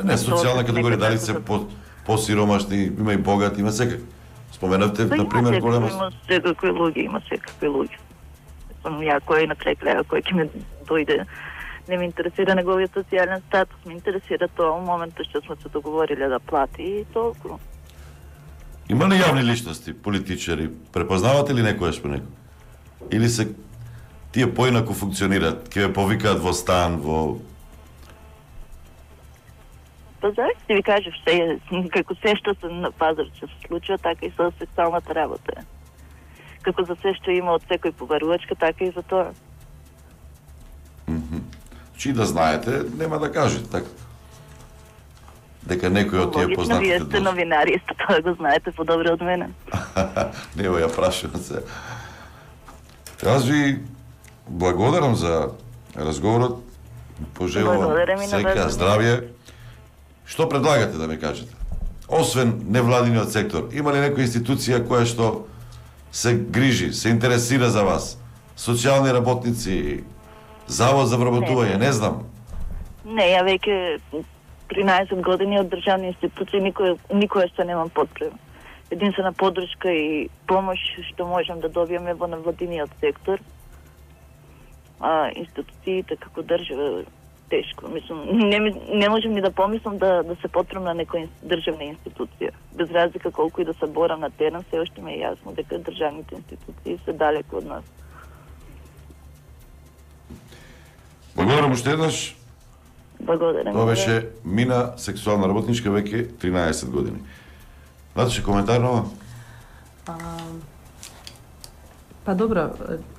Не, социјална категорија, дали се по, по-сиромашни, има и богати, има секакви. Споменавте, па, например, голема... Има секакви луѓе, има секакви луѓе. Мислам, ја кој на крај крај, кој ќе ме дојде... Не ме интересира неговиот социјален статус, ме интересира тоа во моментот што сме се договориле да плати и толку. Има ли јавни личности, политичари, препознавате ли некојаш по некој? Или се тие поинаку функционираат, ќе ве повикаат во стан, во... Па зависи, ви кажеш, се, како се што се на пазар се случува, така и со сексуалната работа. Како за се што има од секој побарувачка, така и за тоа. Mm-hmm. Чи да знаете, нема да кажете, така. Дека некој од тие познатите... Вие сте новинари, исто тоа го знаете подобро од мене. Нево ја прашувам се. Јас ви благодарам за разговорот. Пожелувам среќа, здравје. Што предлагате да ми кажете? Освен невладиниот сектор, има ли некоја институција која што се грижи, се интересира за вас? Социјални работници, завод за вработување, не, не знам. Не, ја веќе тринаесет години од државни институции никој никој што немам потреба. Единствена поддршка и помош што можам да добиеме во невладиниот сектор. А институциите како држава тешко. Мислам, не, не можем ни да помислам да, да се потребам на некоја државна институција. Без разлика колку и да се борам на терен, се уште ми е јасно дека државните институции се далеко од нас. Благодарам уште еднаш. Благодарам. Тоа беше Мина, сексуална работничка, веќе тринаесет години. Наташа, коментар на ова? Па добро,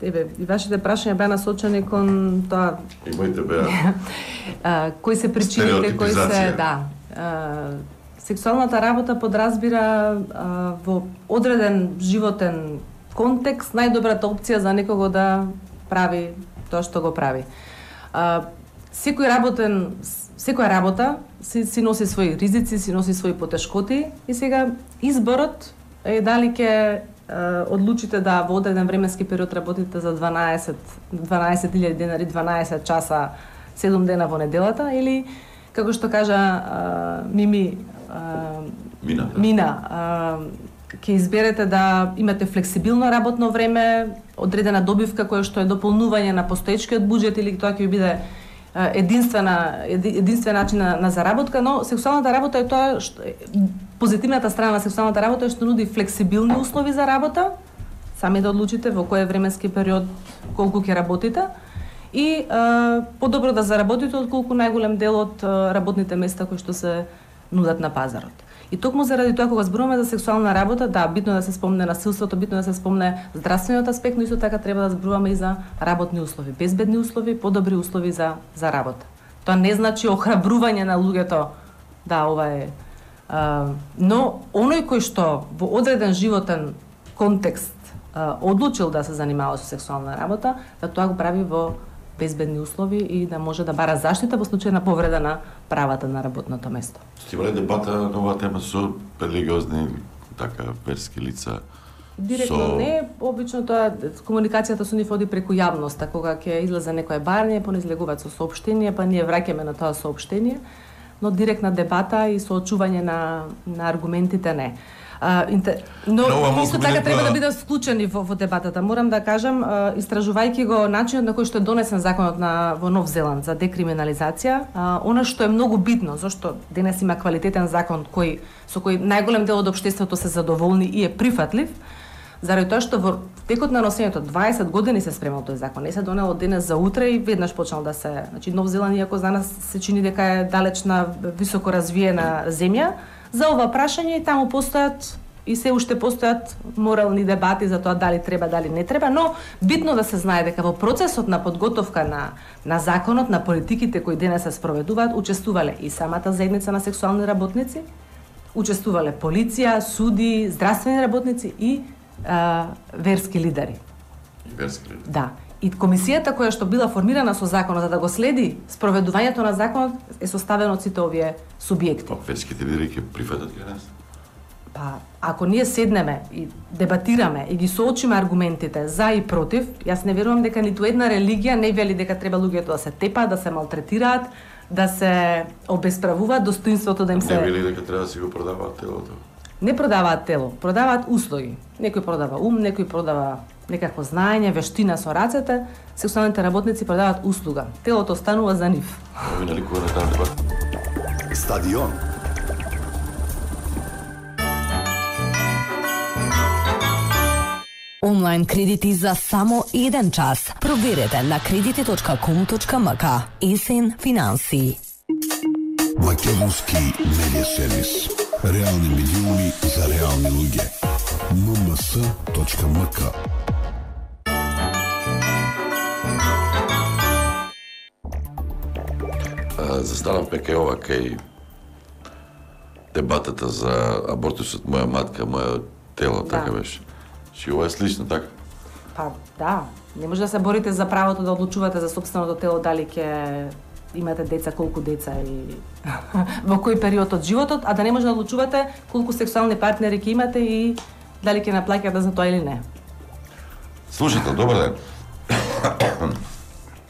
еве, и вашите прашања беа насочени кон тоа... И моите беа... кои се причините, кои се... Да. А, сексуалната работа подразбира а, во одреден животен контекст најдобрата опција за некого да прави тоа што го прави. А, секој работен, секоја работа си, си носи своји ризици, си носи своји потешкоти и сега изборот е дали ќе одлучите да во одреден временски период работите за дванаесет илјади денари, дванаесет часа, седум дена во неделата, или, како што кажа а, Мими, а, Мина, да. Мина а, ќе изберете да имате флексибилно работно време, одредена добивка која што е дополнување на постоечкиот буџет, или тоа ќе ви биде единствена единствен начин на, на заработка, но сексуалната работа е тоа што позитивната страна на сексуалната работа е што нуди флексибилни услови за работа, сами да одлучите во кој временски период колку ќе работите и е, подобро да заработите отколку најголем дел од работните места кои што се нудат на пазарот. И токму заради тоа кога зборуваме за сексуална работа, да, битно да се спомне насилството, битно да се спомне здравствениот аспект, но исто така треба да зборуваме и за работни услови, безбедни услови, подобри услови за за работа. Тоа не значи охрабрување на луѓето, да, ова е а, но оној кој што во одреден животен контекст а, одлучил да се занимава со сексуална работа, да тоа го прави во безбедни услови и да може да бара заштита во случај на повреда на правата на работното место. Стивале дебата на оваа тема со религиозни, така, верски лица? Директно со... не, обично тоа комуникацијата со нив оди преку јавноста, кога ќе излезе некое барње, понизлегуваат со соопштение, па ние враќаме на тоа соопштение, но директна дебата и соочување на на аргументите не. А, интер... Но, но исто така треба да бидат вклучени во, во дебатата. Морам да кажам, а, истражувајќи го начинот на кој што е донесен законот на во Нов Зеланд за декриминализација, а, она што е многу битно, зашто денес има квалитетен закон кој со кој најголем дел од општеството се задоволни и е прифатлив, заради тоа што во текот на носењето дваесет години се спремал тој закон, не се донел од денес за утре и веднаш почнал да се, значи Нов Зеланд иако за нас се чини дека е далечна високо развиена земја, за ова прашање и таму постојат и се уште постојат морални дебати за тоа дали треба, дали не треба, но битно да се знае дека во процесот на подготовка на на законот, на политиките кои денес се спроведуваат, учествувале и самата заедница на сексуални работници, учествувале полиција, суди, здравствени работници и а, верски лидери. И верски лидери. Да. И комисијата која што била формирана со законот за да го следи спроведувањето на законот е составена од сите овие субјекти. Па верските лидери ќе прифатат кај нас? Па, ако ние седнеме и дебатираме и ги соочиме аргументите за и против, јас не верувам дека ниту една религија не вели дека треба луѓето да се тепаат, да се малтретираат, да се обесправуваат, достоинството да им се... Не вели дека треба да си го продаваат телото? Не продаваат тело, продаваат услуги. Некој продава ум, некој продава некакво знаење, вештина со рацете, сексуалните работници продаваат услуга. Телото останува за нив. Ови наликува на таа дебата. Стадион. Онлайн кредити за само еден час. Проверете на кредити точка ком точка ем ка. Есен финанси. Македонски медиа сервис. Реални милиони за реални луѓе. ем ем ес точка ем ка. Застанав пека ова кај дебатата за абортусот, моја матка, моја тело, Да. така беше. Чи ова е слично, така? Па да, Не може да се борите за правото да одлучувате за сопственото тело, дали ќе имате деца, колку деца и во кој период од животот, а да не може да одлучувате колку сексуални партнери ќе имате и дали ќе наплаќате за тоа или не. Слушател, добар ден.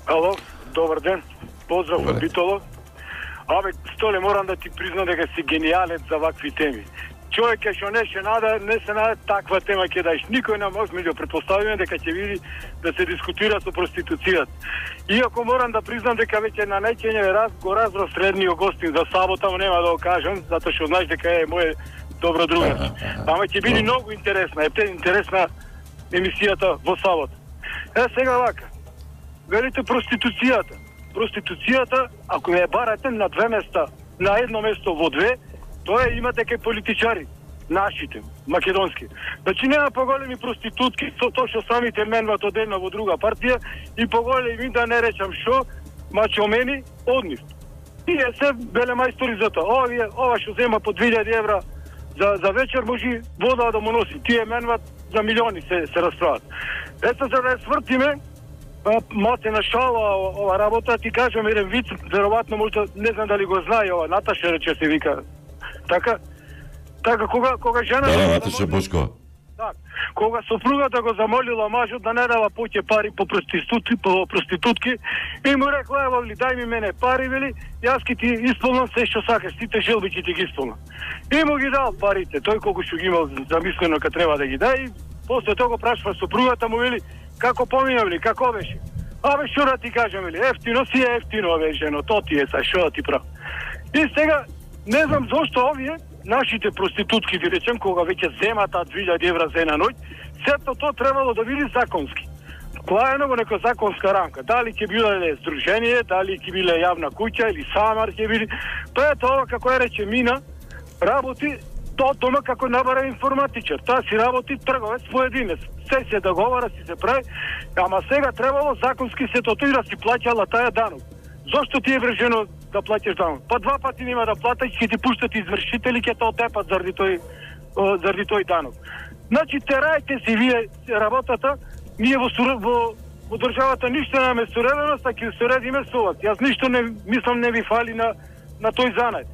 Ало, добар ден. Поздрав од Битоло. Абе, Столе, морам да ти признам дека си гениалец за вакви теми. Човек е што не се нада, не се нада таква тема ќе даеш. Никој не може, меѓу претпоставиме дека ќе види да се дискутира со проституцијата. Иако морам да признам дека веќе на најчење раз го разбрав средниот гостин за сабота, нема да го кажам, затоа што знаеш дека е мој добро другар. Ама ќе биде многу интересна, е интересна емисијата во сабота. Е, сега вака. Велите проституцијата. Проституцијата, ако не ја барате на две места, на едно место во две, тоа имате кај политичари, нашите, македонски. Значи нема поголеми проститутки, со тоа што самите менват од една во друга партија и поголеми, да не речам шо, мачомени од нив. Тие се беле мајстори за тоа. Овие, ова што зема по две илјади евра за, за вечер, може вода да му носи. Тие менват за милиони се, се расправат. Ето за да ја свртиме, мате на шала ова работа, ти кажам еден виц, веројатно можда, не знам дали го знае ова, Наташа рече се вика. Така, така кога кога жена Да, Наташа Бошко. Так, кога сопругата го замолила мажот да не дава поќе пари по проститутки, по проститутки, и му рекла, ево ли, дај ми мене пари, вели, јас ки ти исполнам се што сакаш, сите желби ќе ти ги исполнам. И му ги дал парите, тој колку што ги имал замислено ка треба да ги дај, и после тоа го прашува сопругата му, вели, како поминав ли, како беше? Абе, што да ти кажам, вели, ефтино си е ефтино, бе, жено, то ти е са, што да ти прав. И сега, не знам зошто овие, нашите проститутки, ви речем, кога веќе земат две илјади евра за една ноќ, сето тоа требало да биде законски. Клаено во нека законска рамка. Дали ќе биле здружение, дали ќе биле јавна куќа или самар ќе биде. Тоа е тоа, како е рече Мина, работи тоа дома како набара информатичар. Таа си работи трговец поединец. Се се договара, си се прави, ама сега требало законски сето тоа да си плаќала таа данок. Зошто ти е врежено да плаќаш данок? Па два пати нема да платиш, ќе ти пуштат извршители, ќе те отепат заради тој заради тој данок. Значи терајте си вие работата, ние во во, во државата ништо немаме суреденост, а ќе суредиме со вас. Јас ништо не мислам не ви фали на на тој занат.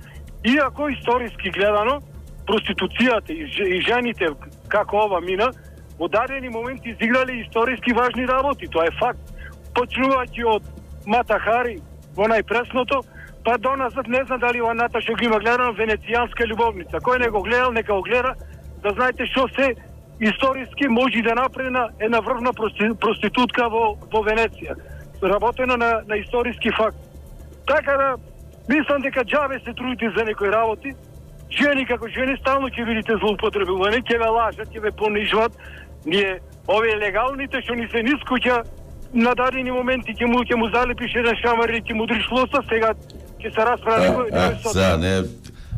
Иако историски гледано, проституцијата и, и жените како ова Мина во дадени моменти изиграле историски важни работи, тоа е факт. Почнувајќи од Мата Хари во најпресното, па до назад не знам дали ова Наташа го има гледано, Венецијанска љубовница. Кој не го гледал, нека го гледа, да знаете што се историски може да направи една врвна проститутка во, во Венеција. Работено на, на историски факт. Така да, мислам дека џабе се трудите за некои работи. Жени како жени стално ќе видите злоупотребувани, ќе ве лажат, ќе ве понижват. Ние, овие легалните што ни се нискуќа, на дадени моменти ќе му ќе му залепиш еден шамар и ќе му дриш лоса, сега ќе се расправи некој. А, сега не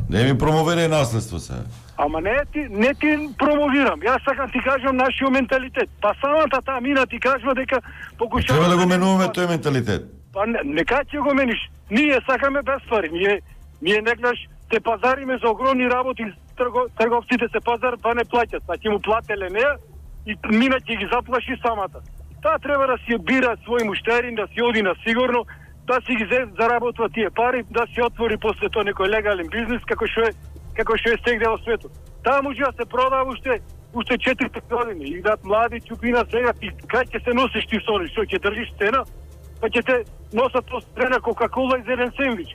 не ми промовирај наследство сега. Ама не ти не ти промовирам. Јас сакам ти кажам нашиот менталитет. Па самата таа Мина ти кажува дека покушава. Треба да го менуваме тој менталитет. Па не, нека ќе го мениш. Ние сакаме без пари. Ние ние неглаш се пазариме за огромни работи, трго, трговците се пазар па не плаќат. Па ќе му плателе неа и Мина ќе ги заплаши самата. Таа треба да си бира свој муштери, да си оди на сигурно, да си ги заработва тие пари, да си отвори после тоа некој легален бизнис како што е како што е стегде во светот. Таа може да се продава уште уште четири години и да млади чупина сега ти кај ќе се носиш ти со нив, што ќе држиш цена, па ќе те носат тоа цена Кока-кола и за еден сендвич.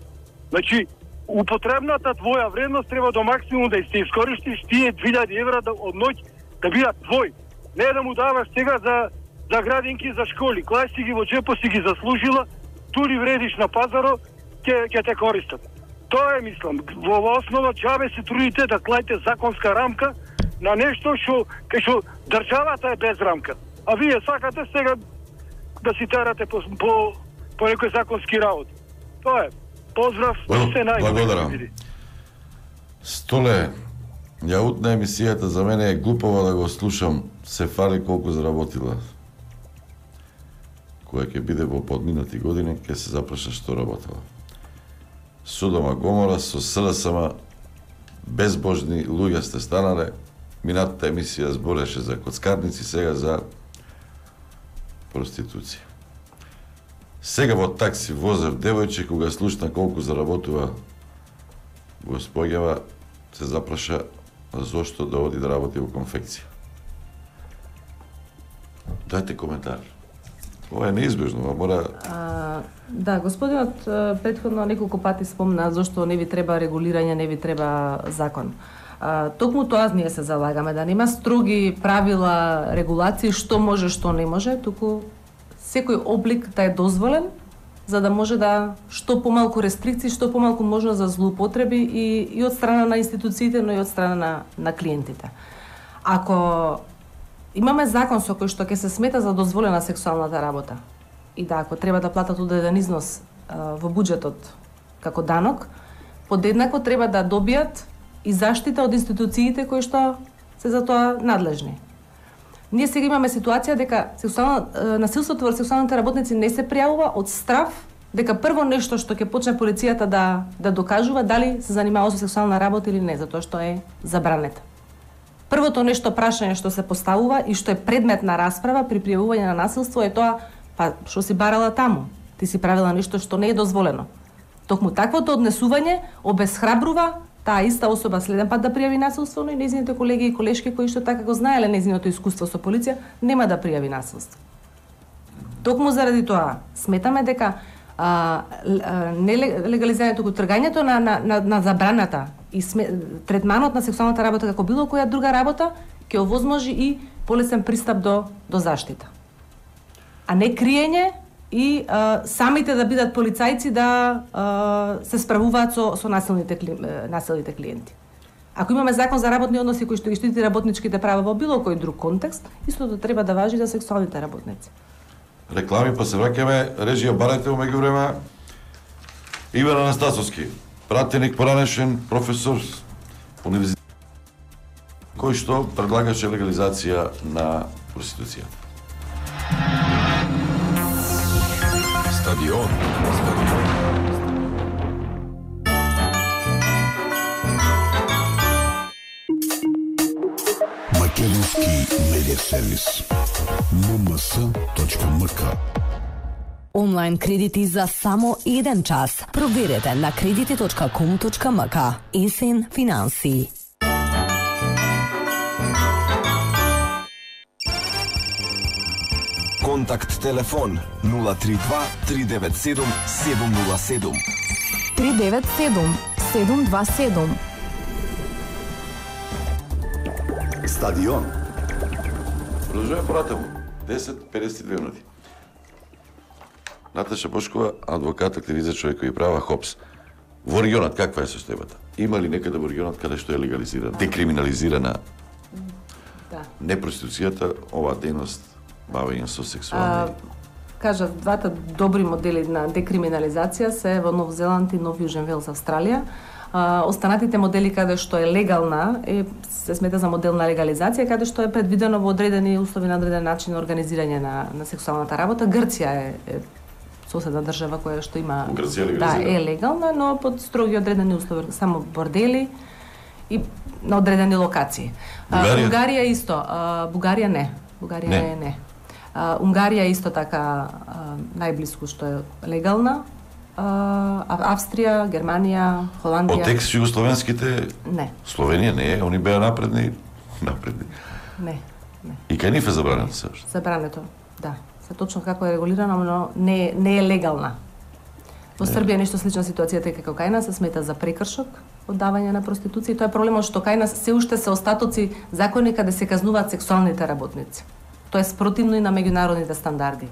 Значи употребната твоја вредност треба до максимум да се искористиш тие две илјади евра да, од ноќ да бидат твој. Не да му даваш сега за за градинки, за школи. Кога си ги во джепо си ги заслужила, тури вредиш на пазаро, ќе ќе те користат. Тоа е, мислам, во основа џабе се трудите да клајте законска рамка на нешто што кај што државата е без рамка. А вие сакате сега да си терате по по, по некои законски работи. Тоа е. Поздрав, Well, се најдобро. благодарам. Столе, ја утна емисијата за мене е глупава да го слушам, се фали колку заработила. Која ќе биде во подминати години, ќе се запраша што работела. Содома Гомора со СДСМ безбожни луѓе сте станале. Минатата емисија збореше за коцкарници, сега за проституција. Сега во такси возев девојче, кога слушна колку заработува господјава, се запраша зошто да оди да работи во конфекција. Дајте коментар. Ова е неизбежно, мора... А, да, господинот претходно неколку пати спомна зашто не ви треба регулирање, не ви треба закон. А, токму тоа ние се залагаме, да нема строги правила, регулации, што може, што не може, туку секој облик да е дозволен, за да може да што помалку рестрикции, што помалку можност за злоупотреби и, и од страна на институциите, но и од страна на, на клиентите. Ако имаме закон со кој што ќе се смета за дозволена сексуалната работа и да, ако треба да платат одреден износ а, во буџетот како данок, подеднакво треба да добијат и заштита од институциите кои што се за тоа надлежни. Ние сега имаме ситуација дека сексуално насилството врз сексуалните работници не се пријавува од страв дека прво нешто што ќе почне полицијата да да докажува дали се занимава со сексуална работа или не, затоа што е забранета. Првото нешто прашање што се поставува и што е предмет на расправа при пријавување на насилство е тоа, па што си барала таму? Ти си правила нешто што не е дозволено. Токму таквото однесување обесхрабрува таа иста особа следен пат да пријави насилство, но и нејзините колеги и колешки кои што така го знаеле нејзиното искуство со полиција, нема да пријави насилство. Токму заради тоа сметаме дека а, не легализирањето, тргањето на, на, на, на забраната и сме, третманот на сексуалната работа како било која друга работа ќе овозможи и полесен пристап до до заштита. А не криење и а, самите да бидат полицајци да а, се справуваат со со насилните кли, насилните клиенти. Ако имаме закон за работни односи кој што ги штити работничките права во било кој друг контекст, истото треба да важи за сексуалните работници. Реклами, па се враќаме, режија барете во меѓувреме. Иван Анастасовски, пратеник поранешен професор универзитет, кој што предлагаше легализација на проституцијата. Стадион. Македонски медиа сервис. ем ем ес точка ем ка. Онлайн кредити за само еден час. Проверете на кредити точка ком точка ем ка. Есен финанси. Контакт телефон нула три два три девет седум седум нула седум. три девет седум седум два седум. Стадион. Продолжуваме понатаму. десет педесет и две минути. Наташа Бошкова, адвокат, активист, човек кој права ХОПС. Во регионот каква е состојбата? Има ли некаде во регионот каде што е легализирана, декриминализирана Да. не проституцијата, оваа дејност бавење со сексуални? Кажав, двата добри модели на декриминализација се во Нов Зеланд и Нов Јужен Велс, Австралија. А, останатите модели каде што е легална е се смета за модел на легализација, каде што е предвидено во одредени услови на одреден начин организирање на на сексуалната работа. Грција е, е соседна држава која што има Грција да е легална, но под строги одредени услови, само бордели и на одредени локации. Бугарија, а, Бугарија исто, а, Бугарија не. Бугарија не, не. не. А, Унгарија исто така а, најблиску што е легална. А, Австрија, Германија, Холандија. Од текст југословенските? Не. Словенија не е, они беа напредни, напредни. Не, не. И кај нив е забрането се уште? Забрането, да. Се точно како е регулирано, но не, не е легална. Во Србија нешто слична ситуацијата е како кај нас, се смета за прекршок од давање на проституција. Тоа е проблемот што кај нас се уште се остатоци закони каде се казнуваат сексуалните работници. Тоа е спротивно и на меѓународните стандарди.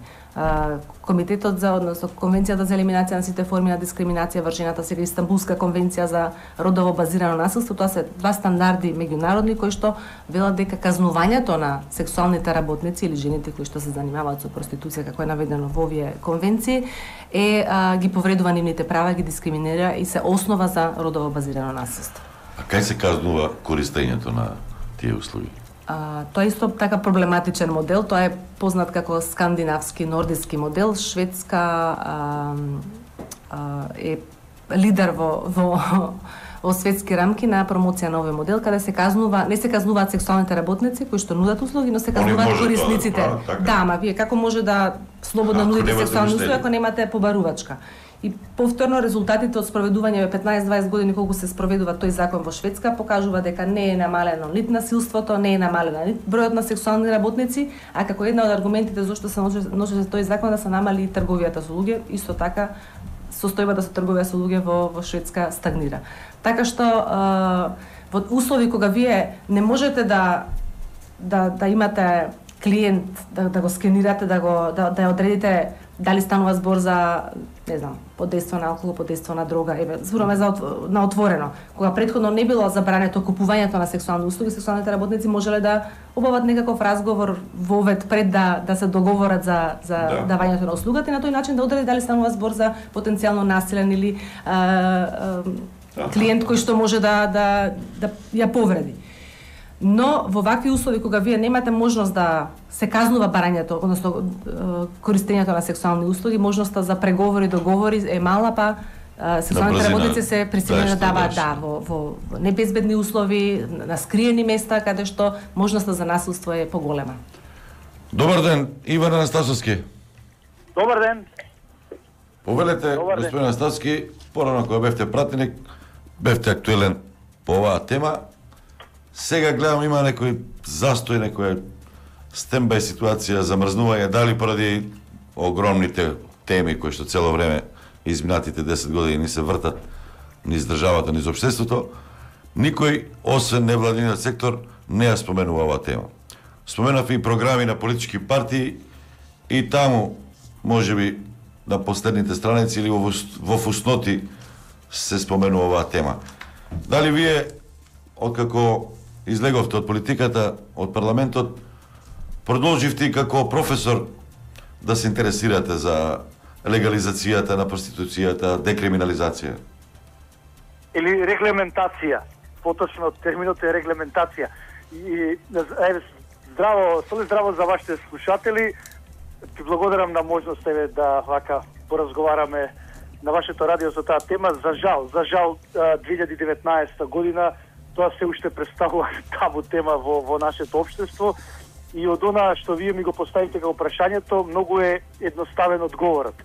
Комитетот за, односно Конвенцијата за елиминација на сите форми на дискриминација врз жената, сега Истанбулска конвенција за родово базирано насилство, тоа се два стандарди меѓународни кои што велат дека казнувањето на сексуалните работници или жените кои што се занимаваат со проституција, како е наведено во овие конвенции, е а, ги повредува нивните права, ги дискриминира и се основа за родово базирано насилство. А кај се казнува користењето на тие услуги? А, тоа е исто така проблематичен модел, тоа е познат како скандинавски, нордиски модел. Шведска а, а, е лидер во, во, во светски рамки на промоција на овој модел, каде се казнува, не се казнуваат сексуалните работници кои што нудат услуги, но се казнуваат корисниците. Да, да, ама вие како може да слободно нудите сексуални услуги ако немате побарувачка? И повторно резултатите од спроведување во петнаесет-дваесет години колку се спроведува тој закон во Шведска покажува дека не е намалено нит насилството, не е намалено нит бројот на сексуални работници, а како една од аргументите зашто се носи тој закон да се намали и трговијата со луѓе, исто така состојбата со трговија со луѓе во, во Шведска стагнира. Така што а, во услови кога вие не можете да да да имате клиент, да, да го скенирате, да го да, да одредите дали станува збор за, не знам, под дејство на алкохол, под дејство на дрога, еве, зборуваме за на отворено. Кога претходно не било забрането купувањето на сексуални услуги, сексуалните работници можеле да обават некаков разговор во вет пред да да се договорат за за да. давањето на услугата и на тој начин да одреди дали станува збор за потенцијално насилен или а, а, клиент кој што може да да да ја повреди. Но во вакви услови кога вие немате можност да се казнува барањето, односно користењето на сексуални услуги, можноста за преговори, договори е мала, па сексуалните работници се присилени да даваат да, во, во небезбедни услови, на скриени места, каде што можноста за насилство е поголема. Добар ден, Иван Анастасовски. Добар ден. Повелете, господин Анастасовски, порано кога бевте пратеник, бевте актуелен по оваа тема. Сега гледам има некој застој, некоја стендбај ситуација, замрзнување, дали поради огромните теми кои што цело време изминатите десет години ни се вртат низ државата, низ општеството, никој, освен невладиниот сектор, не ја споменува оваа тема. Споменав и програми на политички партии и таму, можеби, на последните страници или во, во фусноти се споменува оваа тема. Дали вие, откако излеговте од политиката, од парламентот, продолживте и како професор да се интересирате за легализацијата на проституцијата, декриминализација? Или регламентација. Поточно терминот е регламентација. И еве здраво, соли здраво за вашите слушатели. Ти благодарам на можност еве да вака поразговараме на вашето радио за таа тема. За жал, за жал две илјади и деветнаесетта година тоа се уште представува табу тема во, во нашето општество и од она што вие ми го поставите како прашањето, многу е едноставен одговорот.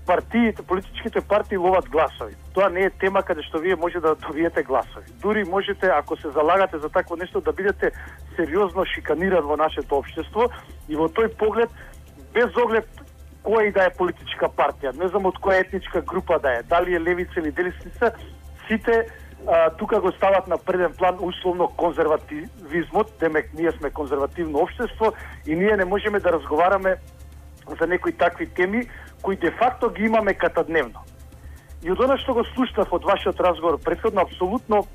Партиите, политичките партии ловат гласови. Тоа не е тема каде што вие може да добиете гласови. Дури можете, ако се залагате за такво нешто, да бидете сериозно шиканиран во нашето општество и во тој поглед, без оглед која и да е политичка партија, не знам од која етничка група да е, дали е левица или десница, сите а, тука го стават на преден план условно конзервативизмот, демек ние сме конзервативно општество и ние не можеме да разговараме за некои такви теми кои де факто ги имаме катадневно. И од она што го слушнав од вашиот разговор претходно, апсолутно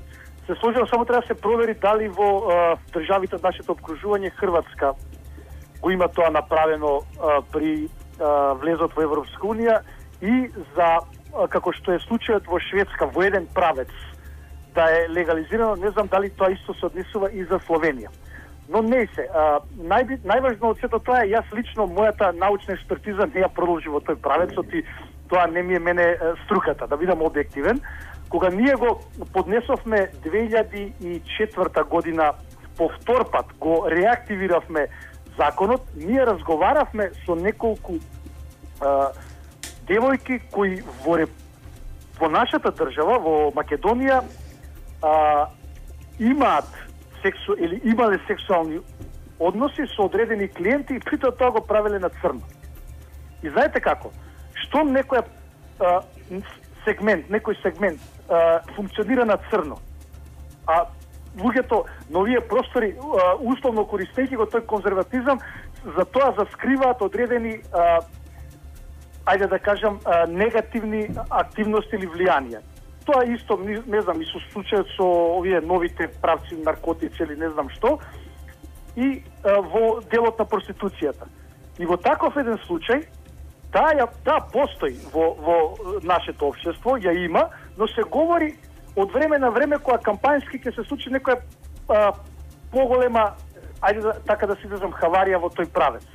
се сложено, само треба да се провери дали во а, државите од нашето обкружување, Хрватска го има тоа направено а, при а, влезот во Европска унија и за, а, како што е случајот во Шведска, во еден правец да е легализирано, не знам дали тоа исто се однесува и за Словенија. Но не се. А, нај, најважно од сето тоа е, јас лично, мојата научна експертиза не ја продолжи во тој правецот и тоа не ми е мене струката, да бидам објективен. Кога ние го поднесовме две илјади и четврта година по втор пат, го реактивиравме законот, ние разговаравме со неколку а, девојки кои во, во нашата држава, во Македонија, а, имаат сексу или имале сексуални односи со одредени клиенти и притоа тоа го правеле на црно. И знаете како? Што некој а, сегмент, некој сегмент а, функционира на црно, а луѓето на овие простори, а, условно користејќи го тој конзерватизам, за тоа заскриваат одредени, а, ајде да кажам, а, негативни активности или влијанија. Тоа исто, не, не знам, и со случајот со овие новите правци, наркотици или не знам што, и а, во делот на проституцијата. И во таков еден случај, таа, таа постои во, во нашето општество, ја има, но се говори од време на време кога кампањски ќе се случи некоја а, поголема, ајде да, така да се изразам, хаварија во тој правец.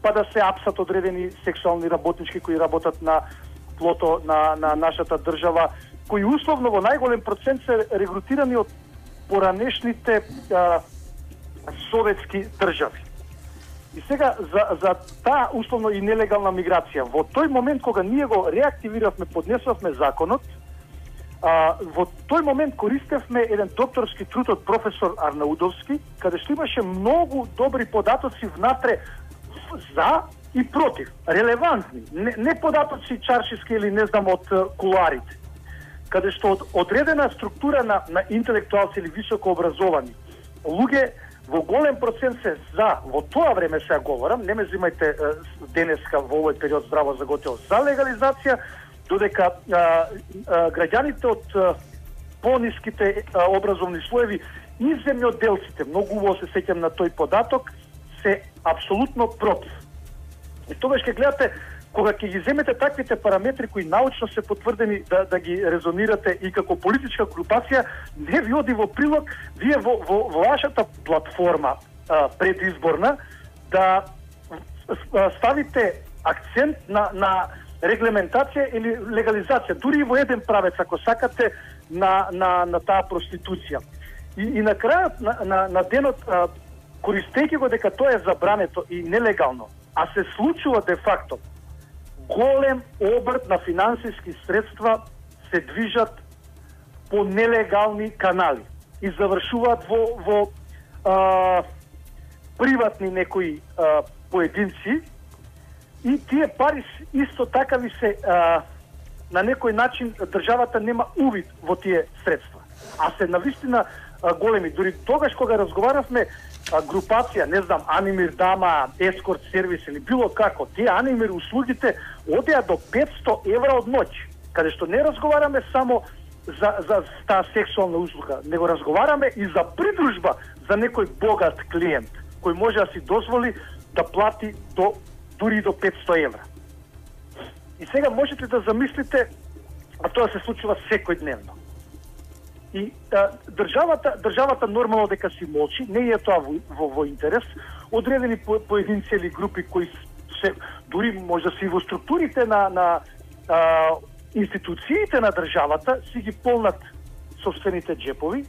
Па да се апсат одредени сексуални работнички кои работат на плото на, на нашата држава, кои условно во најголем процент се регрутирани од поранешните а, советски држави. И сега за за таа условно и нелегална миграција, во тој момент кога ние го реактивиравме, поднесовме законот, а, во тој момент користевме еден докторски труд од професор Арнаудовски, каде што имаше многу добри податоци внатре за и против, релевантни, не, не податоци чаршиски или не знам од куларите, каде што од одредена структура на, на интелектуалци или високо образовани луѓе во голем процент се за, во тоа време сега говорам, не ме взимајте денеска во овој период здраво за готово, за легализација, додека а, а, граѓаните од а, пониските а, образовни слоеви и земјоделците, многу убаво се сеќам на тој податок, се апсолутно против. И тогаш ќе гледате, кога ќе ги земете таквите параметри кои научно се потврдени да, да ги резонирате и како политичка групација, не ви оди во прилог, вие во, во, во вашата платформа а, предизборна да а, ставите акцент на, на регламентација или легализација, дури и во еден правец, ако сакате, на, на, на таа проституција. И, и на крајот на, на, на денот, а, користејќи го дека тоа е забрането и нелегално, а се случува де факто, голем обрт на финансиски средства се движат по нелегални канали и завршуваат во, во а, приватни некои а, поединци, и тие пари исто така ви се а, на некој начин државата нема увид во тие средства. А се навистина а, големи. Дури тогаш кога разговаравме а, групација, не знам, Анимир Дама, Ескорт сервис или било како, тие Анимир услугите одеа до петсто евра од ноќ, каде што не разговараме само за, за таа сексуална услуга, него разговараме и за придружба за некој богат клиент, кој може да си дозволи да плати до дури до петсто евра. И сега можете да замислите, а тоа се случува секојдневно. И а, државата, државата нормално дека си молчи, не е тоа во, во, во интерес, одредени по, поединци или групи кои се, дури може да си во структурите на, на а, институциите на државата, си ги полнат собствените джепови,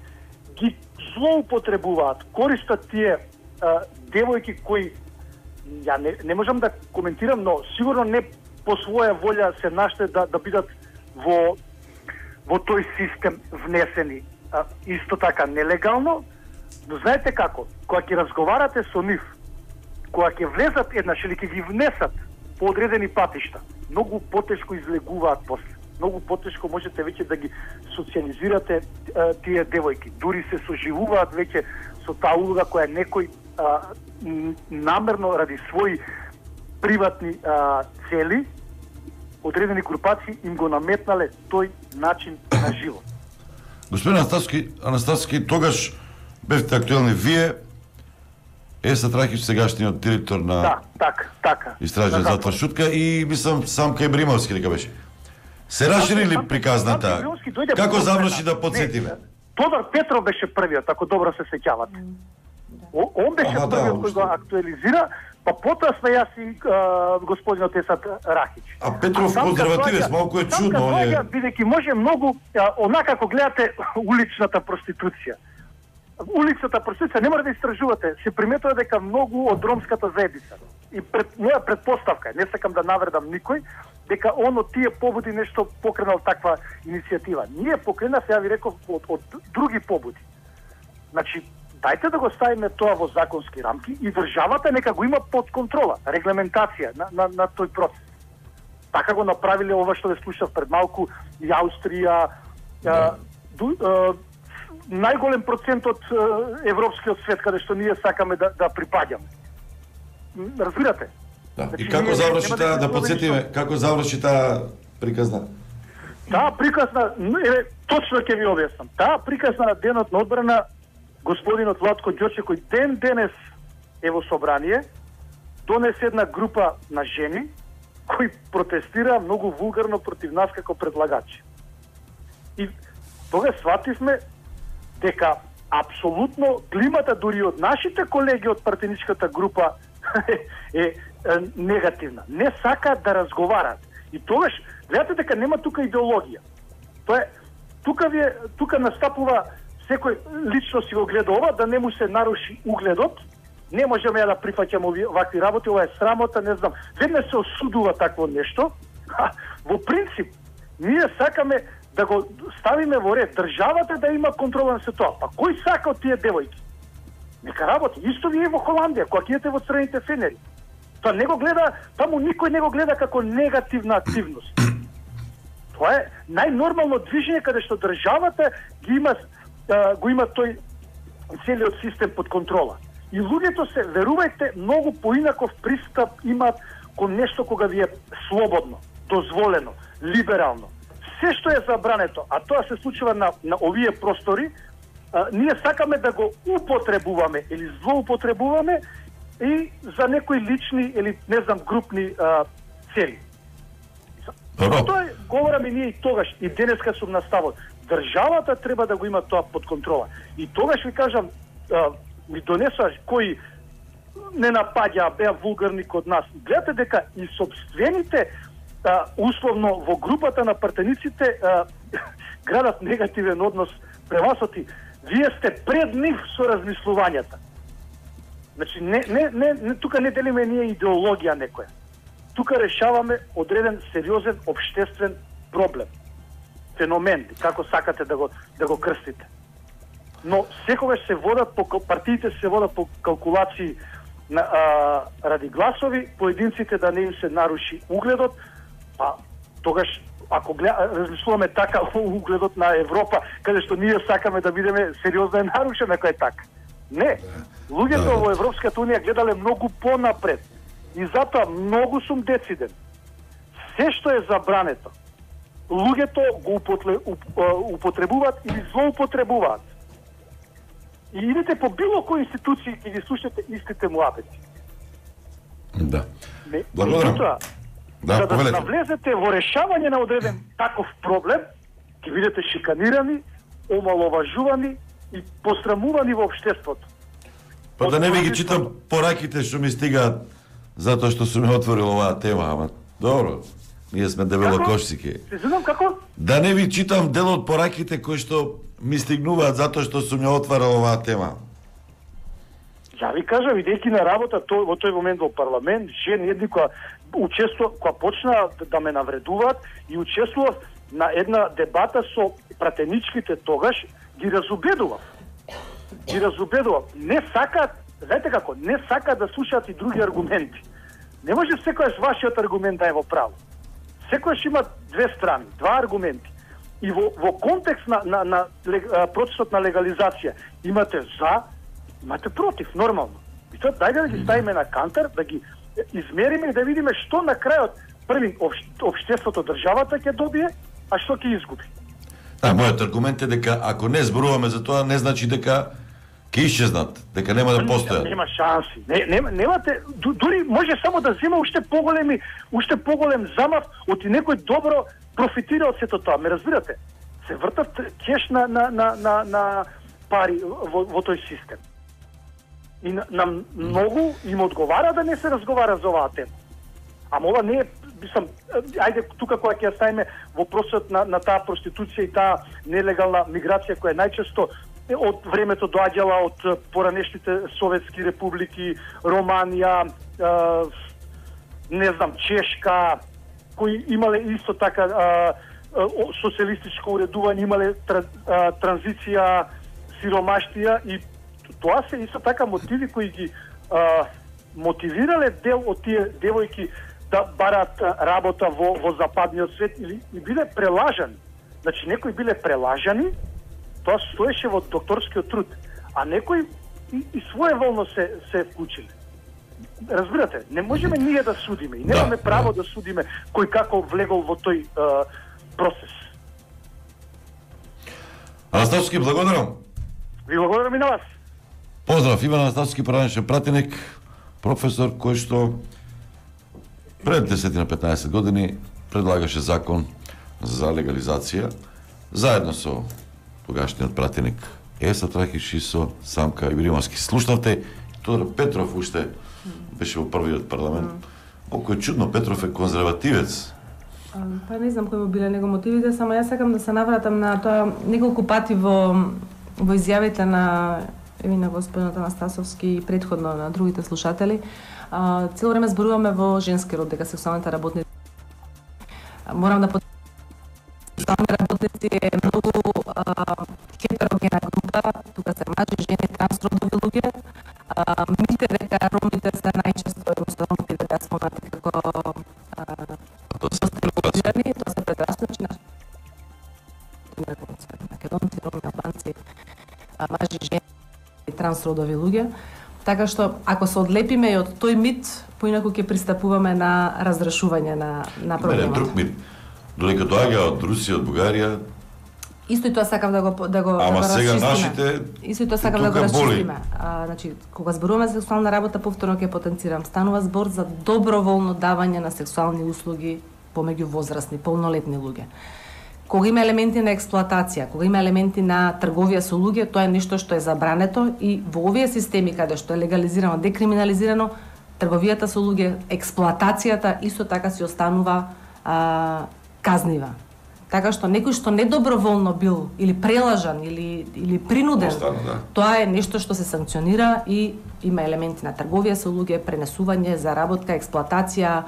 ги злоупотребуваат, користат тие а, девојки кои, ја не, не можам да коментирам, но сигурно не по своја волја се наште да, да бидат во, во тој систем внесени. А, исто така нелегално, но знаете како, кога ќе разговарате со нив, кога ќе влезат еднаш или ќе ги внесат по одредени патишта, многу потешко излегуваат после. Многу потешко можете веќе да ги социализирате а, тие девојки. Дури се соживуваат веќе со таа улога која некој а, намерно ради своји приватни а, цели, одредени групации им го наметнале тој начин на живот. Господин Анастасовски, Анастасовски, тогаш бевте актуелни вие, Еса Трахич, сегашниот директор на да, така, така. Истражен затвор Шутка, и мислам сам кај Бримовски дека беше. Се расшири ли приказната? Како заврши да подсетиме? Тодор Петров беше првиот, ако добро се сеќавате. Он беше Аха, првиот да, кој го актуализира, па потоа сме јас и а, господинот Есат Рахич. А Петров конзервативец, малку е чудно, он е... Бидејќи може многу, а, онака како гледате уличната проституција. Уличната проституција не мора да истражувате, се приметува дека многу од ромската заедница. И пред, моја предпоставка, не сакам да навредам никој, дека он од тие побуди нешто покренал таква иницијатива. Ние покренав, ја ви реков, од, од други побуди. Значи, дајте да го ставиме тоа во законски рамки и државата нека го има под контрола, регламентација на, на, на тој процес. Така го направиле ова што ве слушав пред малку и Аустрија, да. ду, а, најголем процент од а, европскиот свет каде што ние сакаме да, да припаѓаме. Разбирате? Да. Значи, и како заврши таа, да подсетиме, како заврши таа приказна? Таа приказна, е, точно ќе ви објаснам. Таа приказна на денот на одбрана господинот Владко Ѓорче, кој ден денес е во собрание, донесе една група на жени кои протестира многу вулгарно против нас како предлагачи. И тога свативме дека апсолутно климата дури од нашите колеги од партиничката група е, е, е негативна. Не сакаат да разговарат. И тогаш гледате дека нема тука идеологија. Тоа е тука ви тука настапува секој лично си го гледа ова, да не му се наруши угледот. Не можеме да прифаќаме вакви работи, ова е срамота, не знам. Веднаш се осудува такво нешто. А, во принцип, ние сакаме да го ставиме во ред, државата да има контрола на се тоа. Па кој сака од тие девојки? Нека работи. Исто ви е во Холандија, кога киете во црвените фенери. Тоа не го гледа, таму никој не го гледа како негативна активност. Тоа е најнормално движење каде што државата ги има, а, го има тој целиот систем под контрола. И луѓето се, верувајте, многу поинаков пристап имаат кон нешто кога ви е слободно, дозволено, либерално. Се што е забрането, а тоа се случува на, на овие простори, а, ние сакаме да го употребуваме или злоупотребуваме и за некои лични или не знам групни а, цели. Тоа е, говораме ние и тогаш, и денеска сум на ставот. Државата треба да го има тоа под контрола. И тогаш ви кажам, а, ми донесуваш кои не напаѓа, беа вулгарни код нас. Гледате дека и собствените а, условно во групата на партениците а, градат негативен однос према со ти. Вие сте пред нив со размислувањата. Значи, не, не, не, не, тука не делиме ние идеологија некоја. Тука решаваме одреден сериозен обштествен проблем. Феномен, како сакате да го, да го крстите. Но секогаш се водат по партиите се водат по калкулации на а, ради гласови, поединците да не им се наруши угледот, па тогаш ако гледа, размислуваме така угледот на Европа, каде што ние сакаме да бидеме сериозно е нарушен, ако е така. Не, луѓето во Европската унија гледале многу понапред. И затоа многу сум дециден. Се што е забрането, луѓето го употребуваат или злоупотребуваат. И идете по било кој институции и ги слушате истите муабети. Да. Не, благодарам. Тоа, да, за да повелете. навлезете во решавање на одреден таков проблем, ќе бидете шиканирани, омаловажувани и посрамувани во општеството. Па да не ви ги читам пораките што ми стигаат затоа што сум ја отворил оваа тема, ама добро. Ние сме дебелокошцики. Се знам како? Да не ви читам дел од пораките кои што ми стигнуваат затоа што сум ја отварал оваа тема. Ја ви кажам, идејќи на работа тој, во тој момент во парламент, жени едни која учествува, која почна да ме навредуваат и учествував на една дебата со пратеничките тогаш, ги разубедував. Ги разубедував. Не сакаат, знаете како, не сакаат да слушаат и други аргументи. Не може секојаш вашиот аргумент да е во право. Секојаш има две страни, два аргументи. И во, во контекст на, на, на процесот на легализација имате за, имате против, нормално. И тоа дајде да ги ставиме на кантар, да ги измериме и да видиме што на крајот први општеството, државата ќе добие, а што ќе изгуби. Да, мојот аргумент е дека ако не зборуваме за тоа, не значи дека ќе исчезнат, дека нема да постојат. Нема шанси. Не, нема, немате, дури може само да зема уште поголеми, уште поголем замав од и некој добро профитира од сето тоа. Ме разбирате? Се вртат кеш на, на, на, на, на пари во, во тој систем. И на, на многу им одговара да не се разговара за оваа тема. Ама ова не е, мислам, ајде тука кога ќе ја ставиме вопросот на, на таа проституција и таа нелегална миграција која најчесто од времето доаѓала од поранешните советски републики, Романија, е, не знам, Чешка, кои имале исто така е, социјалистичко уредување, имале тра, е, транзиција, сиромаштија и тоа се исто така мотиви кои ги е, мотивирале дел од тие девојки да барат работа во, во западниот свет или и биле прелажани. Значи, некои биле прелажани, тоа стоеше во докторскиот труд, а некои и, и своеволно се, се вклучиле. Разбирате, не можеме ние да судиме и немаме да, право да. да судиме кој како влегол во тој е, процес. Анастасовски, благодарам. Ви благодарам и на вас. Поздрав, Иван Анастасовски, параничен пратеник, професор кој што пред десет на петнаесет години предлагаше закон за легализација заедно со тогашниот пратеник Еса Трахиш и со Самка Ибримовски. Слушнавте, Тодор Петров уште беше во првиот парламент. Колку е чудно, Петров е конзервативец. Па не знам кои му биле него мотивите, само јас сакам да се навратам на тоа неколку пати во во изјавите на еви на господинот Анастасовски и претходно на другите слушатели. А, цело време зборуваме во женски род дека сексуалните работници. Морам да под сексуални работници е многу хетерогена група, тука се мажи, жени, трансродови луѓе. Мите дека ромите се најчесто, односно ромите дека спомнати како стерилизирани, тоа се предрасочи на македонци, роми, албанци, мажи, жени и трансродови луѓе. Така што, ако се одлепиме и од тој мит, поинаку ќе пристапуваме на разрешување на, на проблемот. Не, друг мит. Додека доаѓа од Русија, од Бугарија, исто и тоа сакам да го да го ама да го сега расчистиме. нашите Исто и тоа сакам да го расчистиме. А, значи, кога зборуваме за сексуална работа, повторно ќе потенцирам, станува збор за доброволно давање на сексуални услуги помеѓу возрастни, полнолетни луѓе. Кога има елементи на експлоатација, кога има елементи на трговија со луѓе, тоа е нешто што е забрането и во овие системи каде што е легализирано, декриминализирано, трговијата со луѓе, експлоатацијата исто така си останува а, казнива. Така што некој што недоброволно бил или прелажан или или принуден, Остана, да. Тоа е нешто што се санкционира и има елементи на трговија со луѓе, пренесување, заработка, експлоатација,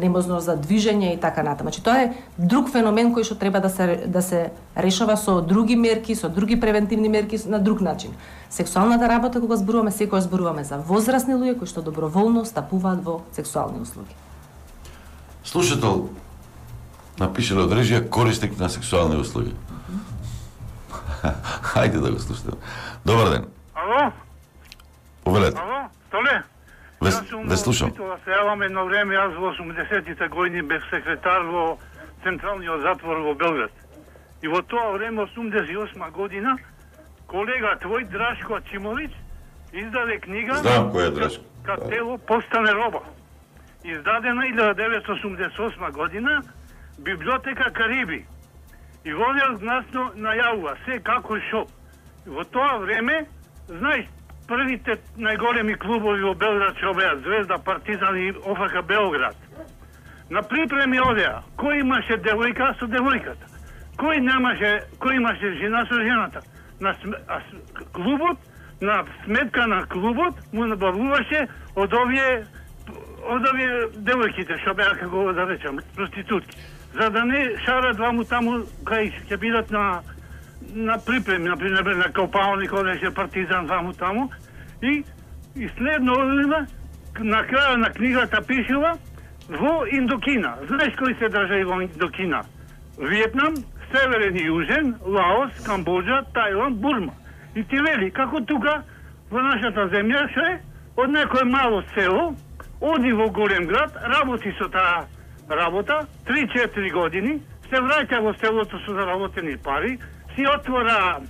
неможност за движење и така натаму. Значи тоа е друг феномен кој што треба да се да се решава со други мерки, со други превентивни мерки на друг начин. Сексуалната работа кога зборуваме, секогаш зборуваме за возрастни луѓе кои што доброволно стапуваат во сексуални услуги. слушател напише од режија корисник на сексуални услуги. Хајде да го слушаме. Добар ден. Ало? Повелете. Ало? Столе? Ве, Јас сум ве слушам. Да се јавам едно време, јас во осумдесетите години бев секретар во Централниот затвор во Белград. И во тоа време, осумдесет и осма година, колега твој Драшко Чимович издаде книга Знам кој е Драшко. Кад тело постане роба. Издадена илјада деветстотини осумдесет и осма година, Библиотека Кариби. И водел гнасно најавува се како шо. И во тоа време, знаеш, првите најголеми клубови во Белград што беа Звезда, Партизан и ОФК Белград. На припреми одеа, кој имаше девојка со девојката, кој немаше, кој имаше жена со жената. На см... а, клубот, на сметка на клубот му набавуваше од овие од овие девојките што беа, како да речам, проститутки. За да не шарат ваму таму кај ќе бидат на на припреми, например на Копалник, одеше Партизан ваму таму. И, и следно одеме, на краја на книгата пишува во Индокина. Знаеш кои се држави во Индокина? Виетнам, Северен и Јужен, Лаос, Камбоџа, Тајланд, Бурма. И ти вели, како тука, во нашата земја, што е, од некој мало село, оди во голем град, работи со таа работа, три-четири години, се враќа во селото со заработени пари, си отвора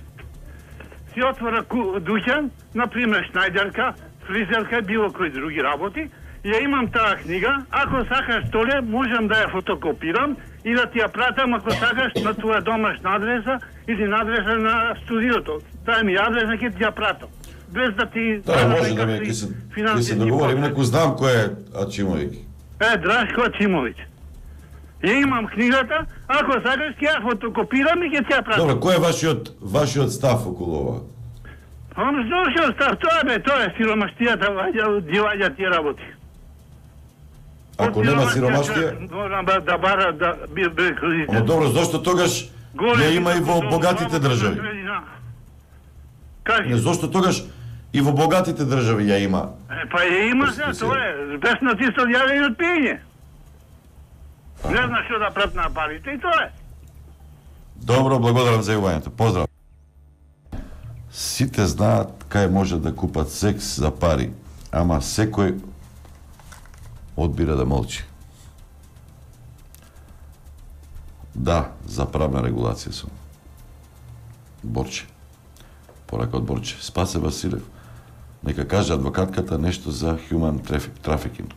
си отвора дуќан, например шнајдерка, фризерка, било кои други работи. Ја имам таа книга, ако сакаш толе, можам да ја фотокопирам и да ти ја пратам, ако сакаш, на твоја домашна адреса или на адреса на студиото. Дај ми адреса, ќе ти ја пратам. Без да ти... Да, може да ми, ќе се, ќе се договорим, неко знам кој е Ачимовик. Е, Драшко Ачимович. Ја имам книгата, ако сакаш ќе ја фотокопирам и ќе ти ја пратам. Добро, кој е вашиот вашиот став околу ова? Он што став, тоа бе, тоа е сиромаштијата, ги ваѓа тие работи. Ако нема сиромаштија? Морам да бара да би бе. Но добро, зошто тогаш ја има и во богатите држави? Не, зошто тогаш и во богатите држави ја има? Е, па ја има, се, тоа е, беснатисто јаве и од пиење. Не знам што да прат на парите и тоа е. Добро, благодарам за јавувањето. Поздрав. Сите знаат кај може да купат секс за пари, ама секој одбира да молчи. Да, за правна регулација сум. Борче. Порака од Борче. Спасе Василев. Нека каже адвокатката нешто за human trafficking.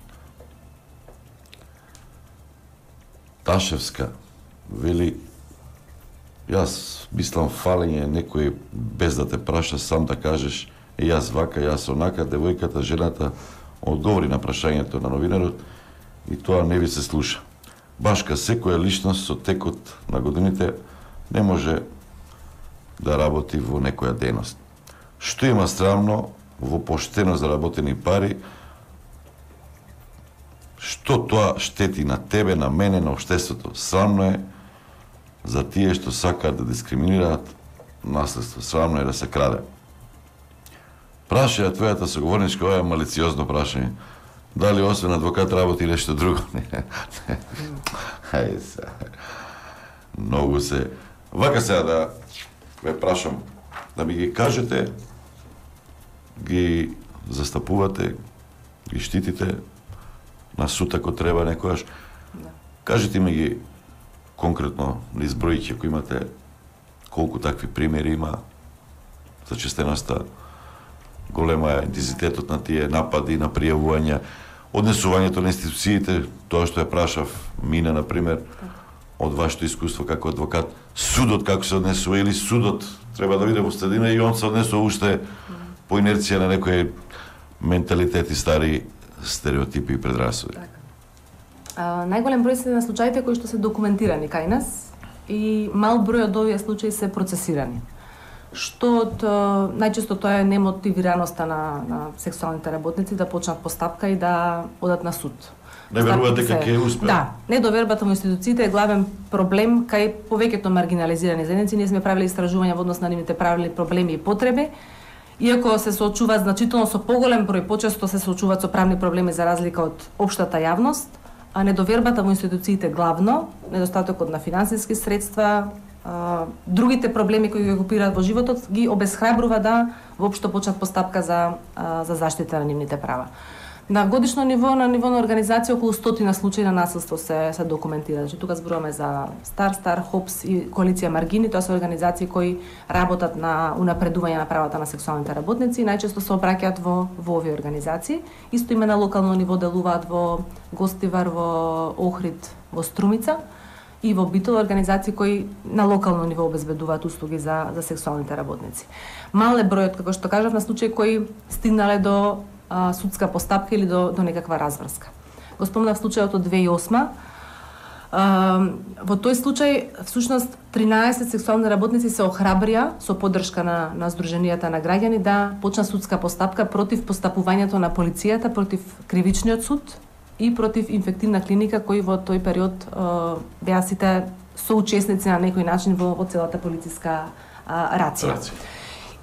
Ташевска вели, јас мислам фалење некој без да те праша сам да кажеш е јас вака, јас онака, девојката, жената одговори на прашањето на новинарот и тоа не ви се слуша. башка секоја личност со текот на годините не може да работи во некоја дејност. Што има срамно во поштено заработени пари, што тоа штети на тебе, на мене, на општеството. Срамно е за тие што сакаат да дискриминираат наследство. Срамно е да се краде. Прашаја твојата соговорничка, ова е малициозно прашање. Дали освен адвокат работи нешто друго? Не, не. Хајде се. Многу се. Вака сега да ве прашам, да ми ги кажете, ги застапувате, ги штитите на суд ако треба некојаш. Кажете ми ги конкретно, на избројќи, ако имате колку такви примери има за честеноста, голема е интензитетот на тие напади, на пријавувања, однесувањето на институциите, тоа што ја прашав Мина, например, од вашето искуство како адвокат, судот како се однесува, или судот треба да биде во средина и он се однесува уште по инерција на некои менталитети, стари стереотипи и предрасуди. А, најголем број се на случаите кои што се документирани кај нас и мал број од овие случаи се процесирани. Што од, најчесто тоа е немотивираноста на, на сексуалните работници да почнат постапка и да одат на суд. Не веруваат дека ќе успеат. Да, недовербата во институциите е главен проблем кај повеќето маргинализирани заедници. Ние сме правиле истражувања во однос на нивните правили, проблеми и потреби. Иако се соочуваат значително со поголем број, почесто се соочуваат со правни проблеми за разлика од општата јавност, а недовербата во институциите главно, недостатокот на финансиски средства, а, другите проблеми кои ги окупираат во животот ги обесхрабрува да воопшто почнат постапка за а, за заштита на нивните права. На годишно ниво, на ниво на организација, околу стотина случаи на насилство се се документира. Значи тука зборуваме за Стар Стар, Хопс и Коалиција Маргини, тоа се организации кои работат на унапредување на правата на сексуалните работници и најчесто се обраќаат во во овие организации. Исто име на локално ниво делуваат во Гостивар, во Охрид, во Струмица и во Битол, организации кои на локално ниво обезбедуваат услуги за за сексуалните работници. Мал е бројот, како што кажав, на случаи кои стигнале до а, судска постапка или до до некаква разврска. Го спомнав случајот од две илјади и осма. А, во тој случај всушност тринаесет сексуални работници се охрабрија со поддршка на на здруженијата на граѓани да почна судска постапка против постапувањето на полицијата, против кривичниот суд и против инфективна клиника кои во тој период а, беа сите соучесници на некој начин во, во целата полициска а, рација. Рација.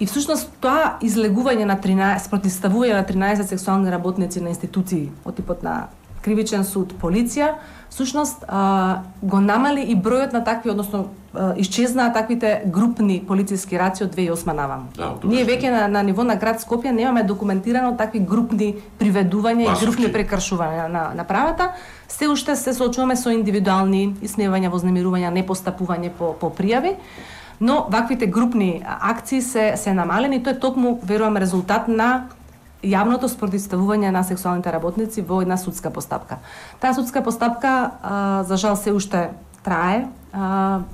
И всушност тоа излегување на тринаесет, противставување на тринаесет сексуални работници на институции од типот на кривичен суд, полиција, всушност а, го намали и бројот на такви, односно а, исчезнаа таквите групни полициски раци од две илјади и осма наваму. Да, ние веќе на, на ниво на град Скопје немаме документирано такви групни приведувања и групни прекршувања на, на правата. Се уште се соочуваме со индивидуални исмевања, вознемирувања, непостапување по, по пријави. Но ваквите групни акции се се намалени, тоа е токму, верувам, резултат на јавното спротивставување на сексуалните работници во една судска постапка. Таа судска постапка, а, за жал, се уште трае. А,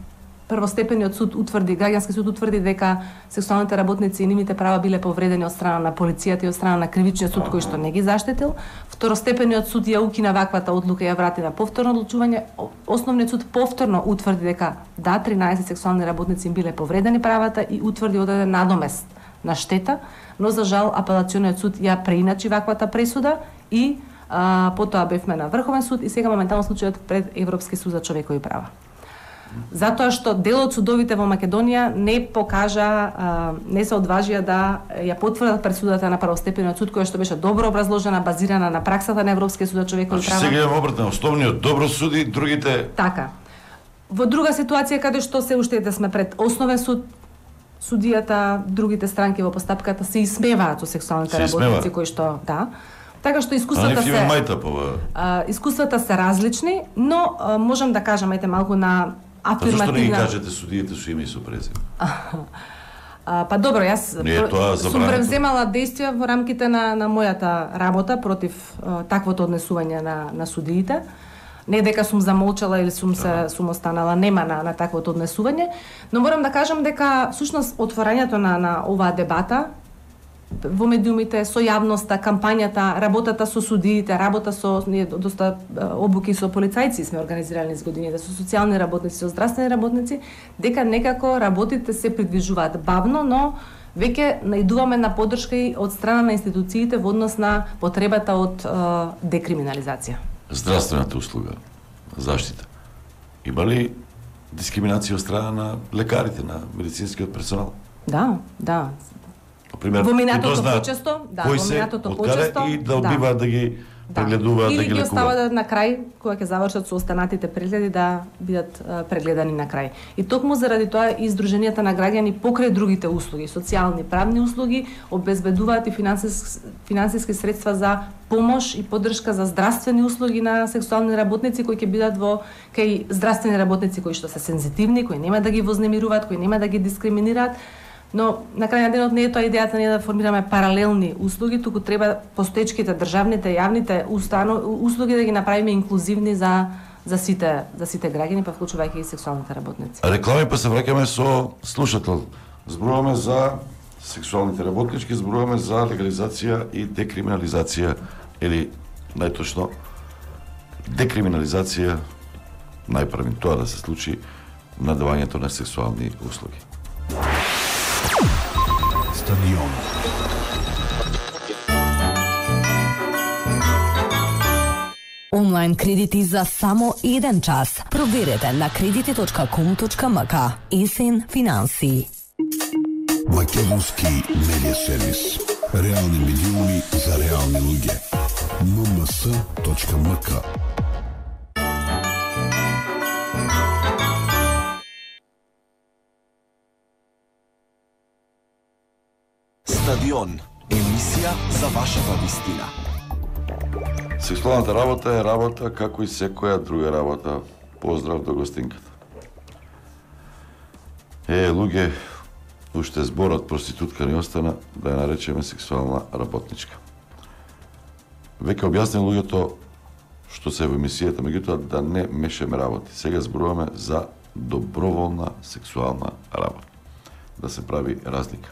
првостепениот суд утврди, граѓански суд утврди дека сексуалните работници и нивните права биле повредени од страна на полицијата и од страна на кривичниот суд кој што не ги заштитил. Второстепениот суд ја укина ваквата одлука и ја врати на повторно одлучување. Основниот суд повторно утврди дека да, тринаесет сексуални работници им биле повредени правата и утврди одреден надомест на штета, но за жал апелациониот суд ја преиначи ваквата пресуда и а, потоа бевме на Врховен суд и сега моментално случајот пред Европски суд за човекови права. Затоа што дел од судовите во Македонија не покажа, а, не се одважија да ја потврдат пресудата на првостепениот суд, која што беше добро образложена, базирана на праксата на Европскиот суд за човекови права. Сега имаме обратно, основниот добро суди, другите... Така. Во друга ситуација каде што се уште да сме пред основен суд, судијата, другите странки во постапката се исмеваат со сексуалните работници кои што, да. Така што искуствата се мајта, а, искуствата се различни, но а, можам да кажам ете малку на афирмативна. Зашто не ги кажете судиите со име и со презиме? Па добро, јас сум превземала действија во рамките на на мојата работа против а, таквото однесување на на судиите. Не дека сум замолчала или сум се сум останала нема на на таквото однесување, но морам да кажам дека всушност отворањето на на оваа дебата во медиумите, со јавноста, кампањата, работата со судиите, работа со ние доста обуки со полицајци сме организирали низ годините, со социјални работници, со здравствени работници, дека некако работите се придвижуваат бавно, но веќе наидуваме на поддршка и од страна на институциите во однос на потребата од е, декриминализација. Здравствената услуга, заштита. Има ли дискриминација од страна на лекарите, на медицинскиот персонал? Да, да. Пример, во минатото знаат почесто, да, кои во се, минатото од каде почесто и да одбиваат да, да ги прегледуваат, да. да ги Или ги лекуваат. остават на крај, кога ќе завршат со останатите прегледи, да бидат а, прегледани на крај. И токму заради тоа и Сдруженијата на граѓани покрај другите услуги, социјални, правни услуги, обезбедуваат и финансиски, финансиски средства за помош и поддршка за здравствени услуги на сексуални работници кои ќе бидат во кај здравствени работници кои што се сензитивни, кои нема да ги вознемируваат, кои нема да ги дискриминираат. Но на крај на денот не е тоа идејата ние да формираме паралелни услуги, туку треба постоечките државните, јавните установ, услуги да ги направиме инклузивни за за сите за сите граѓани, па вклучувајќи и сексуалните работници. Реклами, па се враќаме со слушател. Зборуваме за сексуалните работнички, зборуваме за легализација и декриминализација, или најточно декриминализација, најпрвин тоа да се случи на давањето на сексуални услуги. Стадион. Онлайн кредити за само еден час. Проверете на кредити точка ком точка ем ка. Есен финанси. Македонски медиа сервис. Реални медиуми за реални луѓе. ем ем с точка ем ка. Стадион. Емисија за вашата вистина. Сексуалната работа е работа како и секоја друга работа. Поздрав до гостинката. Е, луѓе, уште зборот проститутка ни остана да ја наречеме сексуална работничка. Веќе објаснил луѓето што се во емисијата, меѓутоа да не мешаме работи. Сега зборуваме за доброволна сексуална работа. Да се прави разлика.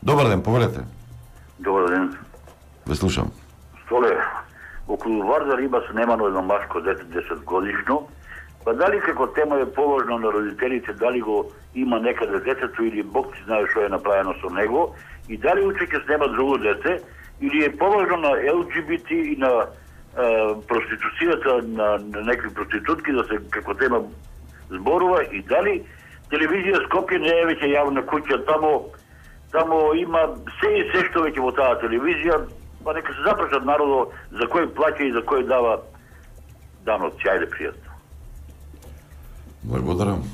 Добар ден, повелете. Добар ден. Ве слушам. Столе, околу Вардар има снемано едно машко дете десет годишно, па дали како тема е поважно на родителите, дали го има некаде детето или Бог ти знае што е направено со него, и дали уче ќе снема друго дете, или е поважно на Ел Џи Би Ти и на е, проституцијата на, на некои проститутки да се како тема зборува, и дали телевизија Скопје не е веќе јавна куќа, тамо Тамо има се и се што веќе во таа телевизија, па нека се запрашат народо за кој плаќа и за кој дава данот. Ајде, пријатно. Благодарам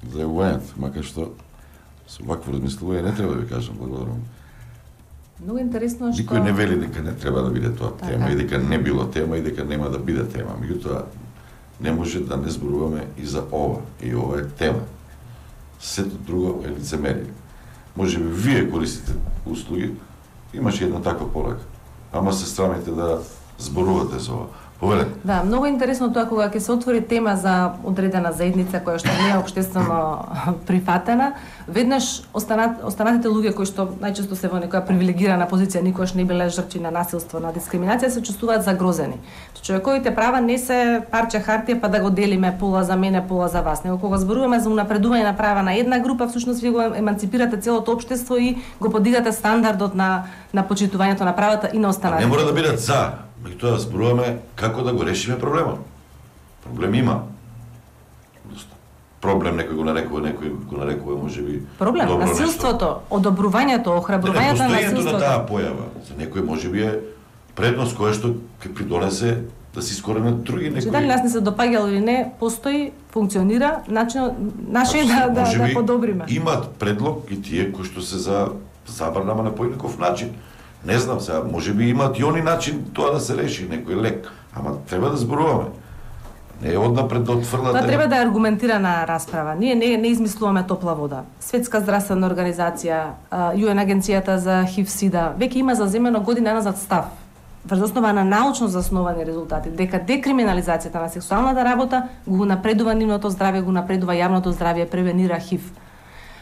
за јавувањето, макар што со вакво размислување не треба да ви кажам благодарам. Многу интересно што Никој не вели дека не треба да биде тоа така. тема и дека не било тема и дека нема да биде тема. Меѓутоа не може да не зборуваме и за ова. И ова е тема. Сето друго е лицемерие. Може би вие користите услуги, имаше една таква порака. Ама се срамите да зборувате за ова. Повеле. Да, многу интересно тоа кога ќе се отвори тема за одредена заедница која што не е општествено прифатена, веднаш останат, останатите луѓе кои што најчесто се во некоја привилегирана позиција, никогаш не биле жртви на насилство, на дискриминација, се чувствуваат загрозени. Човековите права не се парче хартија па да го делиме пола за мене, пола за вас, него кога зборуваме за унапредување на права на една група, всушност вие го еманципирате целото општество и го подигате стандардот на на почитувањето на правата и на останатите. Не мора да бидат за, меѓутоа зборуваме како да го решиме проблемот. Проблем има. Проблем некој го нарекува, некој го нарекува можеби проблем добро насилството, нешто. одобрувањето, охрабрувањето на Постојањето насилството. на таа појава за некој можеби е предност која што ќе придонесе да се искоренат други некои. Че дали нас не се допаѓало или не, постои, функционира, начин наше е да да, да подобриме. Имаат предлог и тие кои што се за забрана на поинаков начин. Не знам сега, можеби имаат и они начин тоа да се реши, некој лек, ама треба да зборуваме. Не е однапред да отфрлате. Тоа треба да е аргументирана расправа. Ние не, не измислуваме топла вода. Светска здравствена организација, ЮЕН агенцијата за ХИВ-СИДА, веќе има заземено година назад став, врз основа на научно засновани резултати, дека декриминализацијата на сексуалната работа го напредува нивното здравје, го напредува јавното здравје, превенира ХИВ.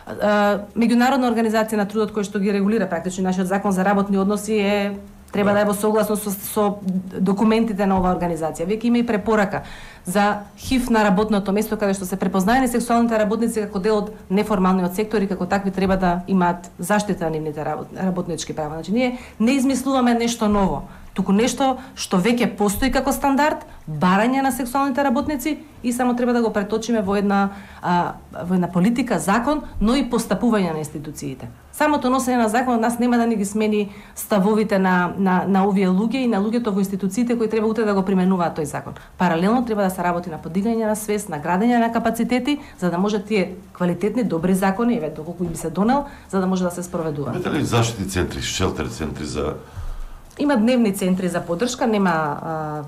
меѓународна организација на трудот кој што ги регулира практично нашиот закон за работни односи е треба да е во согласност со, со документите на оваа организација. Веќе има и препорака за ХИВ на работното место каде што се препознаени сексуалните работници како дел од неформалниот сектор и како такви треба да имаат заштита на нивните работ, работнички права. Значи ние не измислуваме нешто ново, туку нешто што веќе постои како стандард, барање на сексуалните работници и само треба да го преточиме во една а, во една политика, закон, но и постапување на институциите. Самото носење на закон од нас нема да ни ги смени ставовите на на на овие луѓе и на луѓето во институциите кои треба утре да го применуваат тој закон. Паралелно треба да се работи на подигање на свест, на градење на капацитети, за да може тие квалитетни, добри закони, еве доколку би се донел, за да може да се спроведуваат. Имате ли заштитни центри, шелтер центри за Има дневни центри за поддршка, нема а,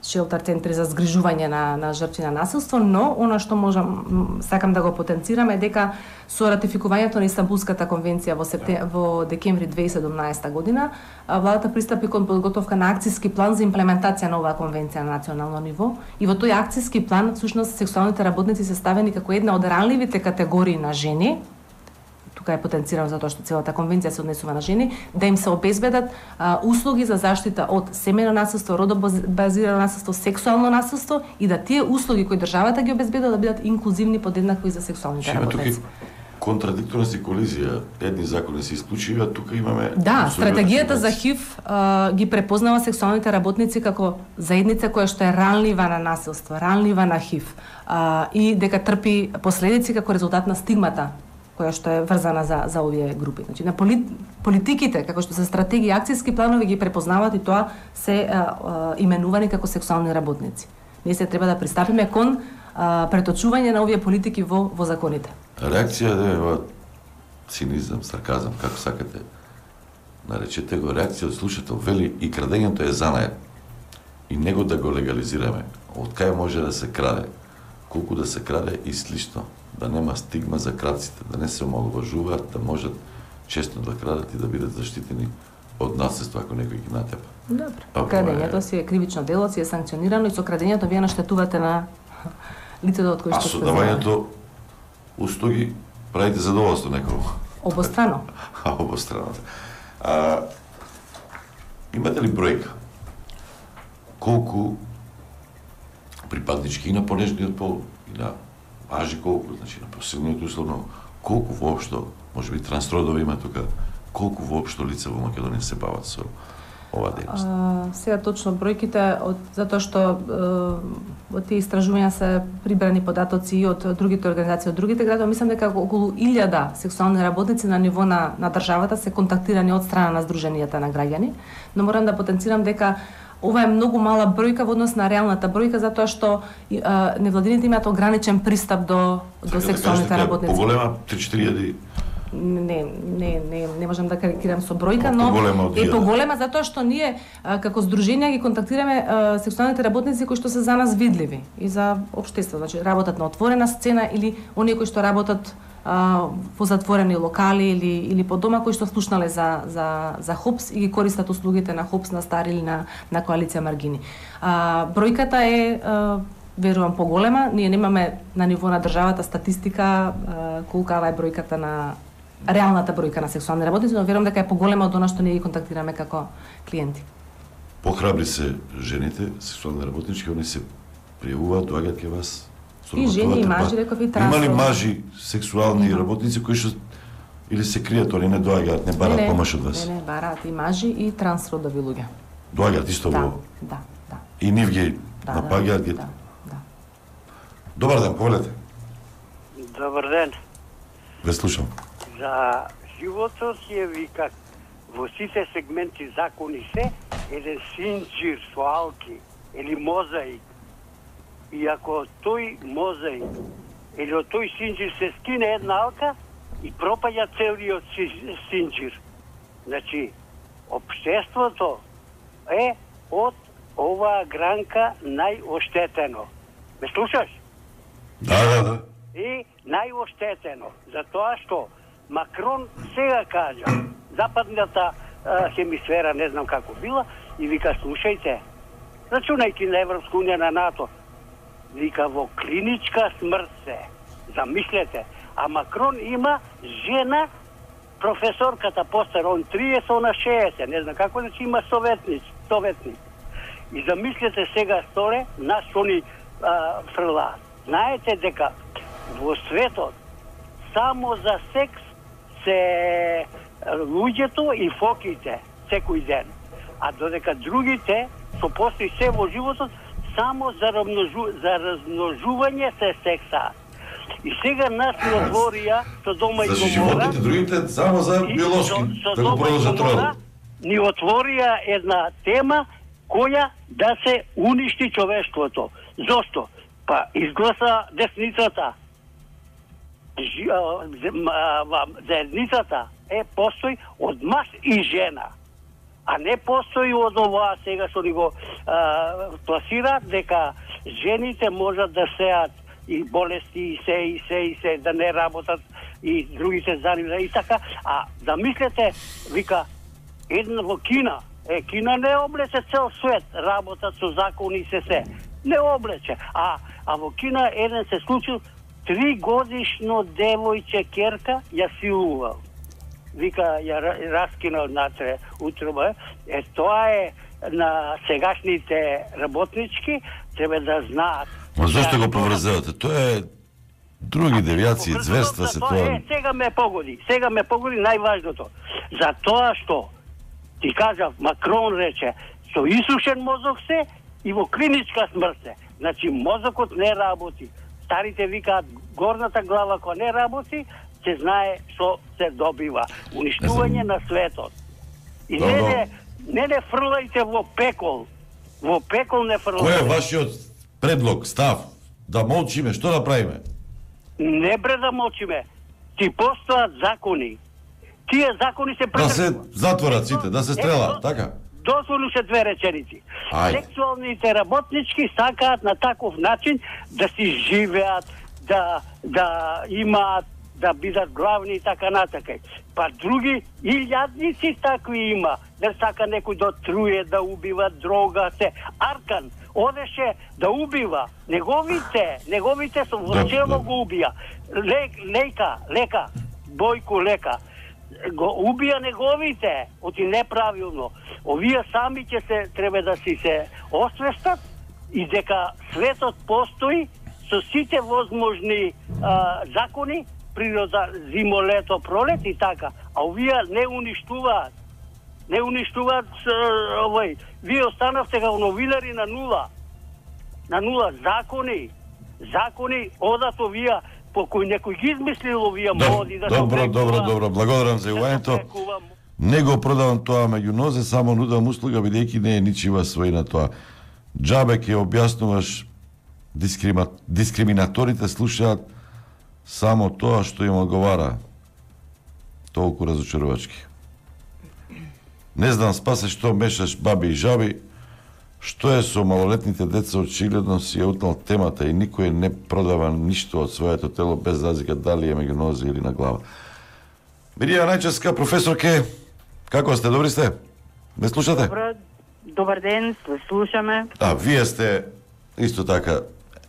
шелтер центри за згрижување на на жртви на насилство, но она што можам сакам да го потенцирам е дека со ратификувањето на Истанбулската конвенција во септем... во декември две илјади и седумнаесета година, владата пристапи кон подготовка на акциски план за имплементација на оваа конвенција на национално ниво и во тој акциски план всушност сексуалните работници се ставени како една од ранливите категории на жени. Тука е потенцирано затоа што целата конвенција се однесува на жени, да им се обезбедат а, услуги за заштита од семејно насилство, родобазирано насилство, сексуално насилство и да тие услуги кои државата ги обезбедува да бидат инклузивни подеднакво и за сексуалните работници. Контрадикторност и колизија, едни закони се исклучиви, а тука имаме... Да, стратегијата за ХИВ а, ги препознава сексуалните работници како заедница која што е ранлива на насилство, ранлива на ХИВ а, и дека трпи последици како резултат на стигмата која што е врзана за за овие групи. Значи на полит, политиките како што се стратегии, акциски планови ги препознаваат и тоа се а, а, именувани како сексуални работници. Ние се треба да пристапиме кон а, преточување на овие политики во во законите. Реакција е цинизам, сарказам, како сакате наречете го, реакција од слушател вели и крадењето е занает. И него да го легализираме. Од кај може да се краде, колку да се краде и слично. Да нема стигма за крадците, да не се омаловажуваат, да можат често да крадат и да бидат заштитени од насилство ако некој ги натепа. Добро. Крадењето си е кривично дело, си е санкционирано и со крадењето вие наштетувате на лицето од кој што сте. А со давањето услуги правите задоволство некој. Обострано. А обострано. А, имате ли бројка? Колку припаднички и на понежниот пол, и на мажи колку, значи на посилниот условно, колку воопшто, може би трансродови има тука, колку воопшто лица во Македонија се бават со оваа дејност? Сега точно бројките, од, затоа што во тие истражувања се прибрани податоци и од другите организации, од другите градови, мислам дека околу илјада сексуални работници на ниво на, на државата се контактирани од страна на Сдруженијата на граѓани, но морам да потенцирам дека ова е многу мала бројка во однос на реалната бројка, затоа што а, невладините имаат ограничен пристап до, до сексуалните да работници. Поголема три-четири илјади? Не, не, не, не можам да карикирам со бројка, но е поголема затоа што ние а, како здруженија ги контактираме а, сексуалните работници кои што се за нас видливи и за општество, значи работат на отворена сцена или оние кои што работат а, во затворени локали или или по дома кои што слушнале за за за ХОПС и ги користат услугите на ХОПС на Стари или на на коалиција Маргини. А, бројката е а, верувам поголема, ние немаме на ниво на државата статистика а, колкава е бројката на реалната бројка на сексуални работници, но верувам дека е поголема од она што ние ги контактираме како клиенти. Похрабри се жените, сексуални работнички, они се пријавуваат, доаѓаат кај вас. И жени, и мажи, реков и трансродови. Има ли мажи сексуални Има. работници кои што или се кријат, они не доаѓаат, не бараат не, помош од вас? Не, не, бараат и мажи и трансродови луѓе. Доаѓаат исто да, во? Да, да. И нив ги да, напаѓаат ги? Да, да. Добар ден, повелете. Добар ден. Ве слушам. За животот е вика во сите сегменти закони се еден синџир со алки или мозаик. И ако тој мозаик или од тој синџир се скине една алка и пропаѓа целиот синџир. Значи, општеството е од оваа гранка најоштетено. Ме слушаш? Да, да, да. И најоштетено, затоа што Макрон сега кажа, западната а, хемисфера, не знам како била, и вика, слушајте, рачунајќи на Европска унија, на НАТО, вика, во клиничка смрт се, замислете, А Макрон има жена, професорката постар, он триесет, она шеесет, не знам како, значи има советник, советник. И замислете сега сторе, нас они фрла. Знаете дека во светот само за секс се луѓето и фоките секој ден. А додека другите, што постои се во животот, само за, размножу, за размножување се секса. И сега нас ни отворија со дома и Значи Гомора. животните, другите само за биолошки, со, со да го продолжат Гомора род. ни отворија една тема која да се уништи човештвото. Зошто? Па изгласа десницата. Жи, а, заедницата е постои од маж и жена. А не постои од ова сега што ни го а, пласираат дека жените можат да сеат и болести и се и се и се да не работат и другите занимаат и така. А да мислете, вика една во Кина, е Кина не облече цел свет, работат со закони и се се. Не облече. А а во Кина еден се случил три годишно девојче керка ја силувал. Вика ја раскинал натре утроба. Е тоа е на сегашните работнички треба да знаат. Ма зошто го поврзевате? Тоа е други девијации, зверства се тоа. Е, сега ме погоди, сега ме погоди најважното. За тоа што ти кажав, Макрон рече, со исушен мозок се и во клиничка смрт се. Значи мозокот не работи. Старите викаат горната глава која не работи, се знае што се добива. Уништување на светот. И не не, не не фрлајте во пекол. Во пекол не фрлајте. Кој е вашиот предлог, став? Да молчиме, што да правиме? Не бре да молчиме. Ти постојат закони. Тие закони се Да се затворат сите, да се стрелаат, така? Дозволу се две реченици. Ајде. Сексуалните работнички сакаат на таков начин да си живеат, да да имаат, да бидат главни и така натака. Па други илјадници такви има. Да сака некој да труе, да убива, дрога се. Аркан одеше да убива неговите, неговите со во село го убија. Лек, лека, лека, Бојко Лека го убија неговите, оти неправилно. Овие сами ќе се треба да си се освестат и дека светот постои со сите возможни а, закони, природа, зимо, лето, пролет и така. А овие не уништуваат. Не уништуваат овој. Вие останавте како новинари на нула. На нула закони. Закони одат овие по кој некој ги измислил овие моди да Добро, се добро, добро, благодарам за јавањето. Не го продавам тоа меѓу нозе, само нудам услуга, бидејќи не е ничива својна тоа. Џабе ќе објаснуваш, дискрима... дискриминаторите слушаат само тоа што им одговара. Толку разочарувачки. Не знам, Спасе, што мешаш баби и жаби, што е со малолетните деца, очигледно си е утнал темата и никој не продава ништо од своето тело без разлика дали е меѓу нозе или на глава. Мирија Најчевска, професорке, како сте, добри сте? Ме слушате? Добро, добар ден, слушаме. А, вие сте исто така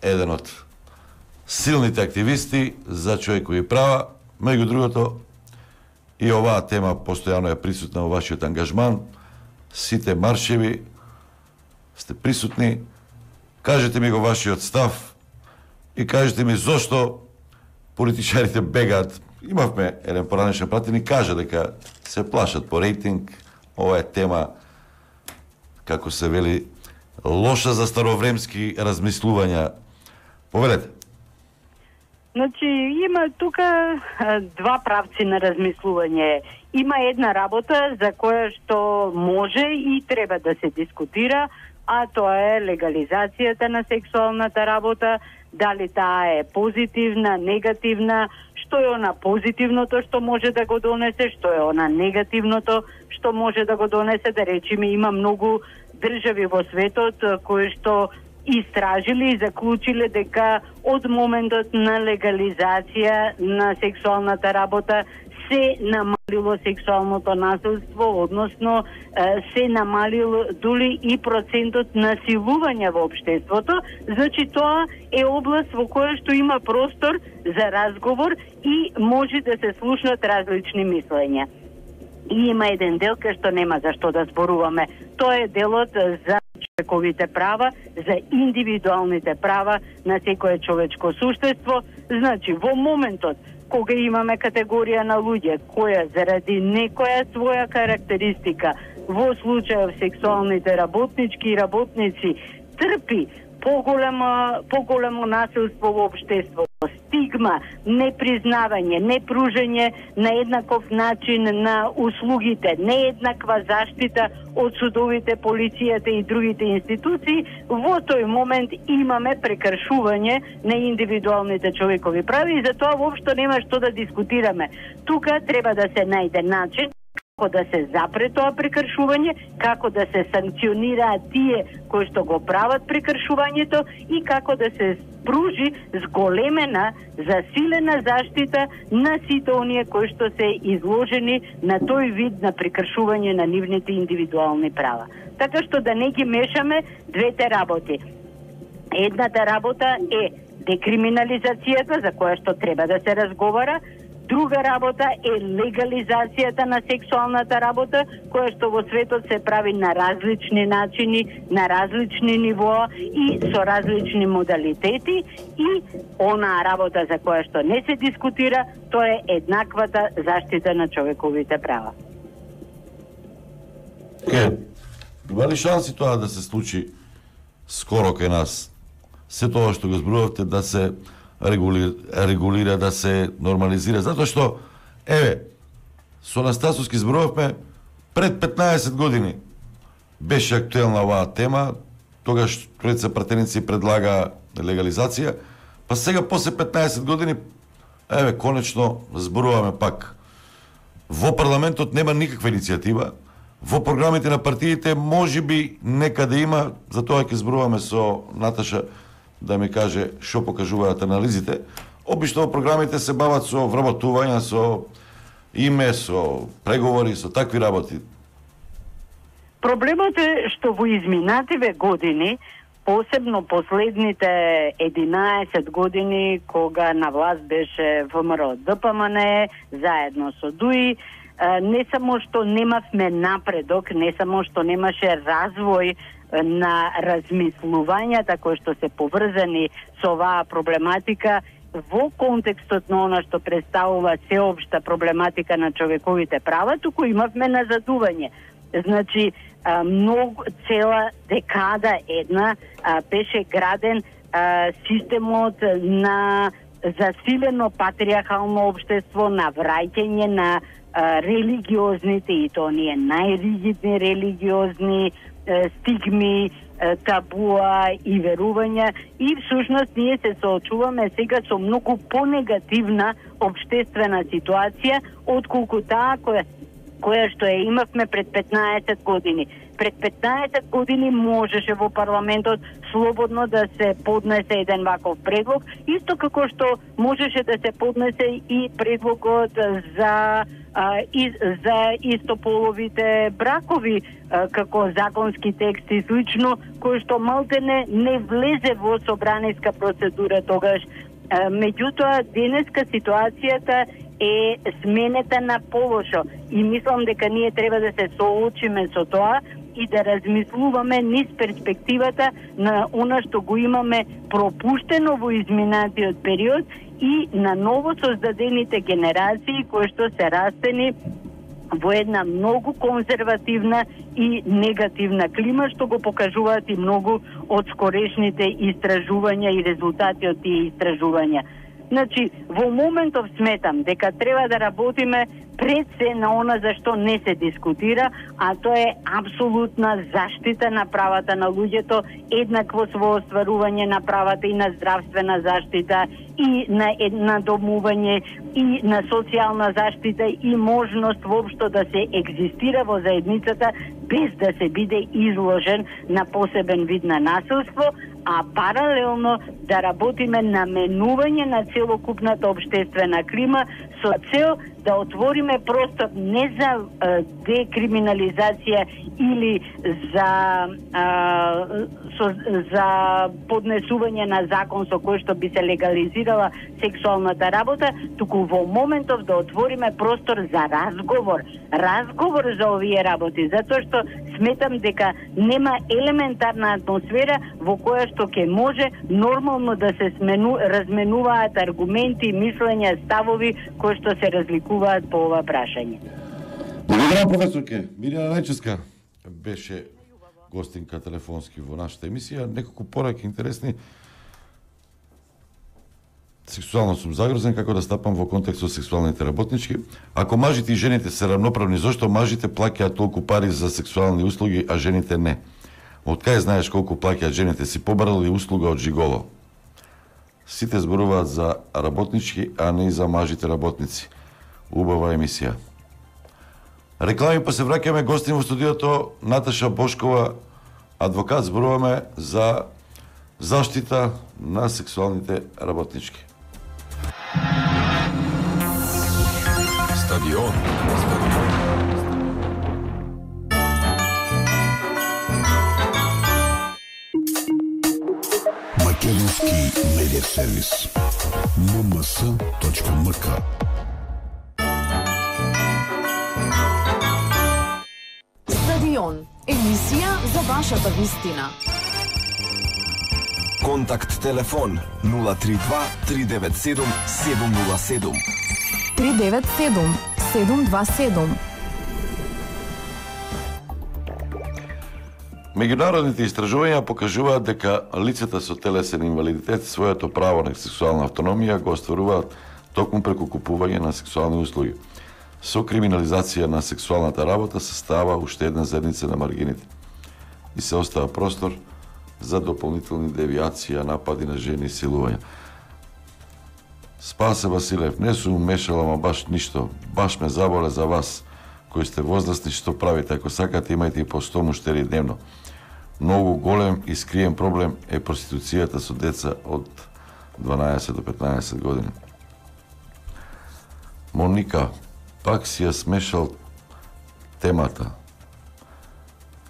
еден од силните активисти за човекови права, меѓу другото и оваа тема постојано е присутна во вашиот ангажман, сите маршеви сте присутни. Кажете ми го вашиот став и кажете ми зошто политичарите бегаат. Имавме еден поранешен пратеник, кажа дека се плашат по рейтинг. Ова е тема, како се вели, лоша за старовремски размислувања. Повелете. Значи, има тука два правци на размислување. Има една работа за која што може и треба да се дискутира, а тоа е легализацијата на сексуалната работа, дали таа е позитивна, негативна, што е она позитивното што може да го донесе, што е она негативното што може да го донесе, да речеме, има многу држави во светот кои што истражили и заклучиле дека од моментот на легализација на сексуалната работа се намалило сексуалното насилство, односно се намалило дури и процентот насилување во општеството. Значи тоа е област во која што има простор за разговор и може да се слушнат различни мислења. И има еден дел кај што нема за што да зборуваме. Тоа е делот за човековите права, за индивидуалните права на секое човечко суштество. Значи, во моментот кога имаме категорија на луѓе која заради некоја своја карактеристика, во случајов сексуалните работнички и работници, трпи поголемо, поголемо насилство во општеството, стигма, непризнавање, непружање на еднаков начин на услугите, нееднаква заштита од судовите, полицијата и другите институции, во тој момент имаме прекршување на индивидуалните човекови прави и затоа воопшто нема што да дискутираме. Тука треба да се најде начин како да се запре тоа прекршување, како да се санкционираат тие кои што го прават прекршувањето и како да се спружи зголемена, засилена заштита на сите оние кои што се изложени на тој вид на прекршување на нивните индивидуални права. Така што да не ги мешаме двете работи. Едната работа е декриминализацијата, за која што треба да се разговара. Друга работа е легализацијата на сексуалната работа, која што во светот се прави на различни начини, на различни нивоа и со различни модалитети. И онаа работа за која што не се дискутира, тоа е еднаквата заштита на човековите права. Ке, има ли шанси тоа да се случи скоро кај нас? Се тоа што го зборувавте да се регулира, регулира, да се нормализира, затоа што, еве, со Анастасовски зборувавме пред петнаесет години беше актуелна оваа тема, тогаш тројца пратеници предлага легализација, па сега после петнаесет години, еве, конечно зборуваме пак. Во парламентот нема никаква иницијатива, во програмите на партиите можеби некаде има, затоа ќе зборуваме со Наташа да ми каже што покажуваат анализите. Обично во програмите се бават со вработување, со име, со преговори, со такви работи. Проблемот е што во изминативе години, посебно последните единаесет години, кога на власт беше ВМРО Д П М Н, заедно со ДУИ, не само што немавме напредок, не само што немаше развој на размислувањата кои што се поврзани со оваа проблематика во контекстот на она што представува сеопшта проблематика на човековите права, туку имавме назадување. Значи, многу, цела декада една беше граден системот на засилено патриархално општество, на враќање на религиозните, и то оние најригидни религиозни стигми, табуа и верувања, и всушност ние се соочуваме сега со многу понегативна општествена ситуација отколку таа која која што ја имавме пред петнаесет години. Пред петнаесет години можеше во парламентот слободно да се поднесе еден ваков предлог, исто како што можеше да се поднесе и предлогот за а, и, за истополовите бракови а, како законски текст и слично, кој што малтене не влезе во собраниска процедура тогаш. А, меѓутоа, денеска ситуацијата е сменета на полошо и мислам дека ние треба да се соочиме со тоа и да размислуваме низ перспективата на она што го имаме пропуштено во изминатиот период и на ново создадените генерации кои што се растени во една многу конзервативна и негативна клима, што го покажуваат и многу од скорешните истражувања и резултати од тие истражувања. Значи, во моментов сметам дека треба да работиме пред се на она за што не се дискутира, а тоа е апсолутна заштита на правата на луѓето, еднакво во остварување на правата и на здравствена заштита, и на надомување, и на социјална заштита, и можност воопшто да се екзистира во заедницата без да се биде изложен на посебен вид на насилство, а паралелно да работиме на менување на целокупната општествена клима со цел да отвориме простор не за а, декриминализација или за а, со, за поднесување на закон со кој што би се легализирала сексуалната работа, туку во моментов да отвориме простор за разговор, разговор за овие работи, затоа што сметам дека нема елементарна атмосфера во која што ќе може нормално да се смену, разменуваат аргументи, мислења, ставови кои што се разликуваат по ова прашање. Благодарам, професорке. Мирјана Најчевска беше гостинка телефонски во нашата емисија. Неколку пораки интересни. Сексуално сум загрозен како да стапам во контекст со сексуалните работнички. Ако мажите и жените се равноправни, зошто мажите плаќаат толку пари за сексуални услуги, а жените не? Од кај знаеш колку плаќаат жените? Си побарали услуга од жиголо? Сите зборуваат за работнички, а не и за мажите работници. Убава емисија. Реклами, па се враќаме, гостин во студиото Наташа Бошкова, адвокат, зборуваме за заштита на сексуалните работнички. Стадион. Македонски медиа сервис. ем ем ес точка ем ка. Стадион. Емисија за вашата вистина. Контакт телефон нула три два три девет седум седум нула седум. три девет седум седум два седум. Меѓународните истражувања покажуваат дека лицата со телесен инвалидитет своето право на сексуална автономија го остваруваат токму преку купување на сексуални услуги. Со криминализација на сексуалната работа се става уште една зедница на маргините и се остава простор за дополнителни девијации, напади на жени и силувања. Спасе Василев, не сум мешала, ама баш ништо. Баш ме заболе за вас, кои сте возрастни, што правите. Ако сакате, имајте и по сто муштери дневно. Многу голем и скриен проблем е проституцијата со деца од дванаесет до петнаесет години. Моника, пак си ја смешал темата.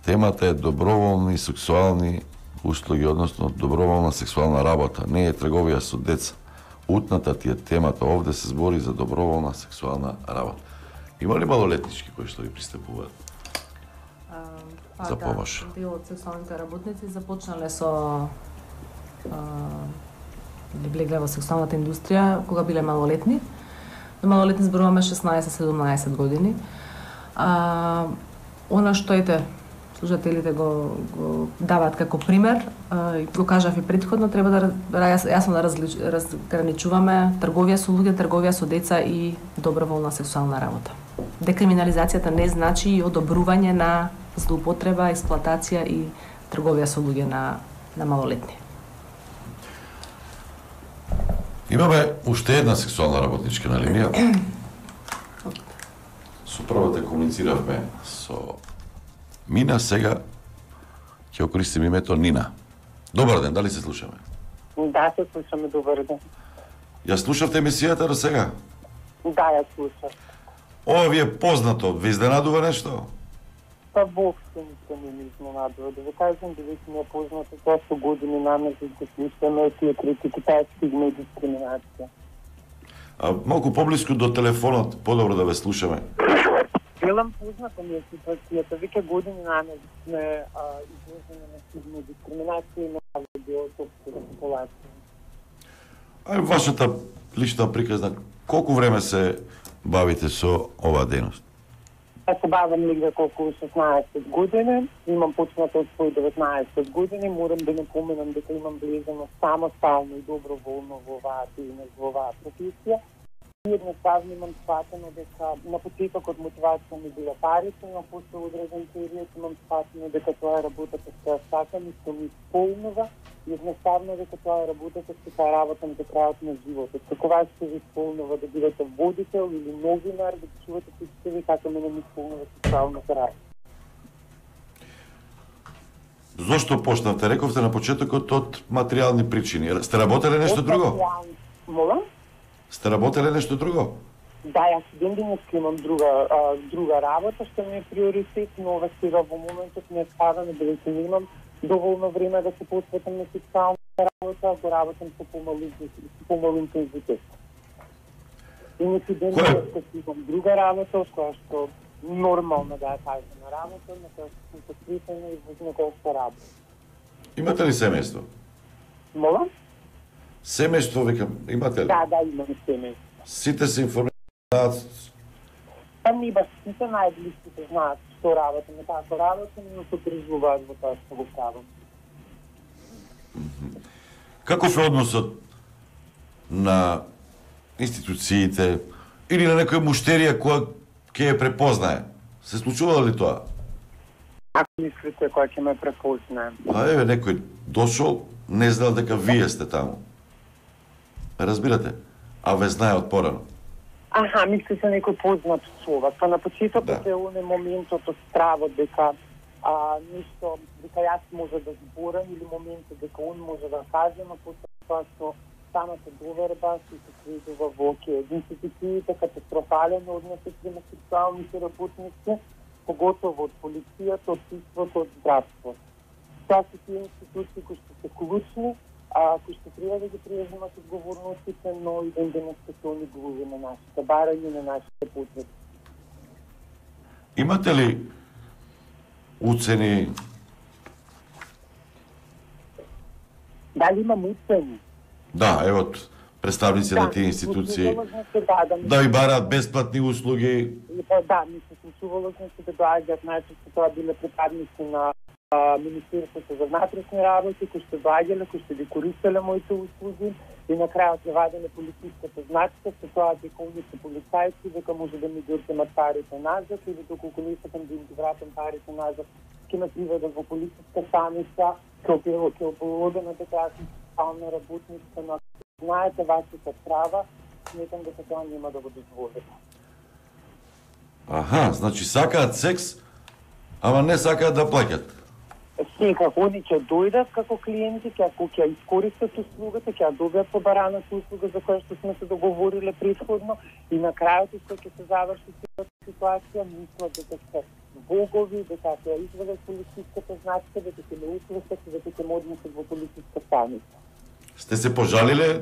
Темата е доброволни сексуални услуги, односно доброволна сексуална работа. Не е трговија со деца. Утната ти е темата. Овде се збори за доброволна сексуална работа. Има ли малолетнички кои што ви пристапуваат а, за помош? Да, дел од сексуалните работници започнале со а, влегле во сексуалната индустрија кога биле малолетни. За малолетни зборуваме шеснаесет седумнаесет години. А, она што ете слушателите го, го даваат како пример, а, го кажав и претходно, треба да јасно да различ, разграничуваме трговија со луѓе, трговија со деца и доброволна сексуална работа. Декриминализацијата не значи и одобрување на злоупотреба, експлоатација и трговија со луѓе на, на малолетни. Имаме уште една сексуална работничка на линија. Со првата комунициравме со Мина, сега ќе окористим името Нина. Добар ден, дали се слушаме? Да, се слушаме, добар ден. Ја слушавте емисијата до сега? Да, ја слушав. Ова ви е познато, ви изненадува нешто? Па воопшто ништо не ми изненадува. Да ви кажам, да ви ми е познато тоа што години наместо да слушаме тие критики, таа стигма и дискриминација. А малку поблиску до телефонот, подобро да ве слушаме. Велам познато ми е ситуацијата, веќе години наместо сме изложени на стигма и дискриминација и на дел од општата популација. А вашата лична приказна, колку време се бавите со оваа дејност? Јас се бавам негде колку шеснаесет години, имам почнато од своји деветнаесет години, морам да напоменам дека имам влезено самостално и доброволно во оваа дејност, во оваа професија. И едноставно имам сватено дека на почетокот мотивација ми била парите, но после одреден период имам сватено дека тоа е работата што ја сакам и што ми исполнува. И едноставно дека тоа е работата што ја работам до крајот на животот. Како вас што ви исполнува да бидете водител или новинар, да чувате представи како мене ми исполнува сексуалната работа. Зошто почнавте? Рековте на почетокот од материјални причини. Сте работеле нешто друго? Молам? Сте работеле нешто друго? Да, јас ден денеска имам друга, а, друга работа, што ми е приоритет, но ова сега во моментот не е ставаме, бидејќи не имам доволно време да се посветам на сексуална работа, го работам со помал, помал интензитет. Иначе ден денеска имам друга работа, која што нормално да ја кажем на работа, на која што сум посветена и во која што работа. Имате ли семејство? Молам? Семејство, викам, имате ли? Да, да, имам семејство. Сите се информираат? Па не баш сите најблиските знаат што работам, како работам, но се приживуваат во тоа што го правам. Каков е односот на институциите или на некоја муштерија која ќе ја препознае? Се случува ли тоа? Ако мислите која ќе ме препознае? А еве, некој дошол, не знал дека вие сте таму. Разбирате? А ве знае од порано. Аха, мислите некој познат човек. Па на почетокот да. Е оне моментот од стравот дека а, ништо, дека јас може да зборам или моментот дека он може да каже, но после тоа што самата доверба се сведува во ке институциите катастрофален однос према сексуалните работници, поготово од полицијата, од судството, од здравството. Тоа се тие институции кои што се клучни, а кои што треба да ги преземат одговорностите, но и ден денеска се они глуви на нашите барања, на нашите потреби. Имате ли уцени? Дали имам уцени? Да, ево, представници да, на тие институции да, да ви бараат бесплатни услуги. Да, ми се случувало значи да доаѓаат најчесто тоа биле припадници на а, Министерството за внатрешни работи, кои што доаѓале, кои што ги користеле моите услуги и на крајот ја ваделе полициската значка со тоа дека оние се полицајци, дека може да ми ги отземат парите назад или доколку не сакам да им ги вратам парите назад, ќе ме приведат во полициска станица, ќе ополодена дека сексуална работница, но знаете вашата права, сметам дека тоа нема да го дозволите. Аха, значи сакаат секс, ама не сакаат да плаќат. Секако, они ќе дојдат како клиенти, ќе ќе искористат услугата, ќе ја добијат побараната услуга за која што сме се договориле претходно и на крајот што ќе се заврши целата ситуација, мислат дека се богови, дека ќе ја извадат полициската значка, дека ќе ме услушат, дека ќе ме однесат во полициска станица. Сте се пожалиле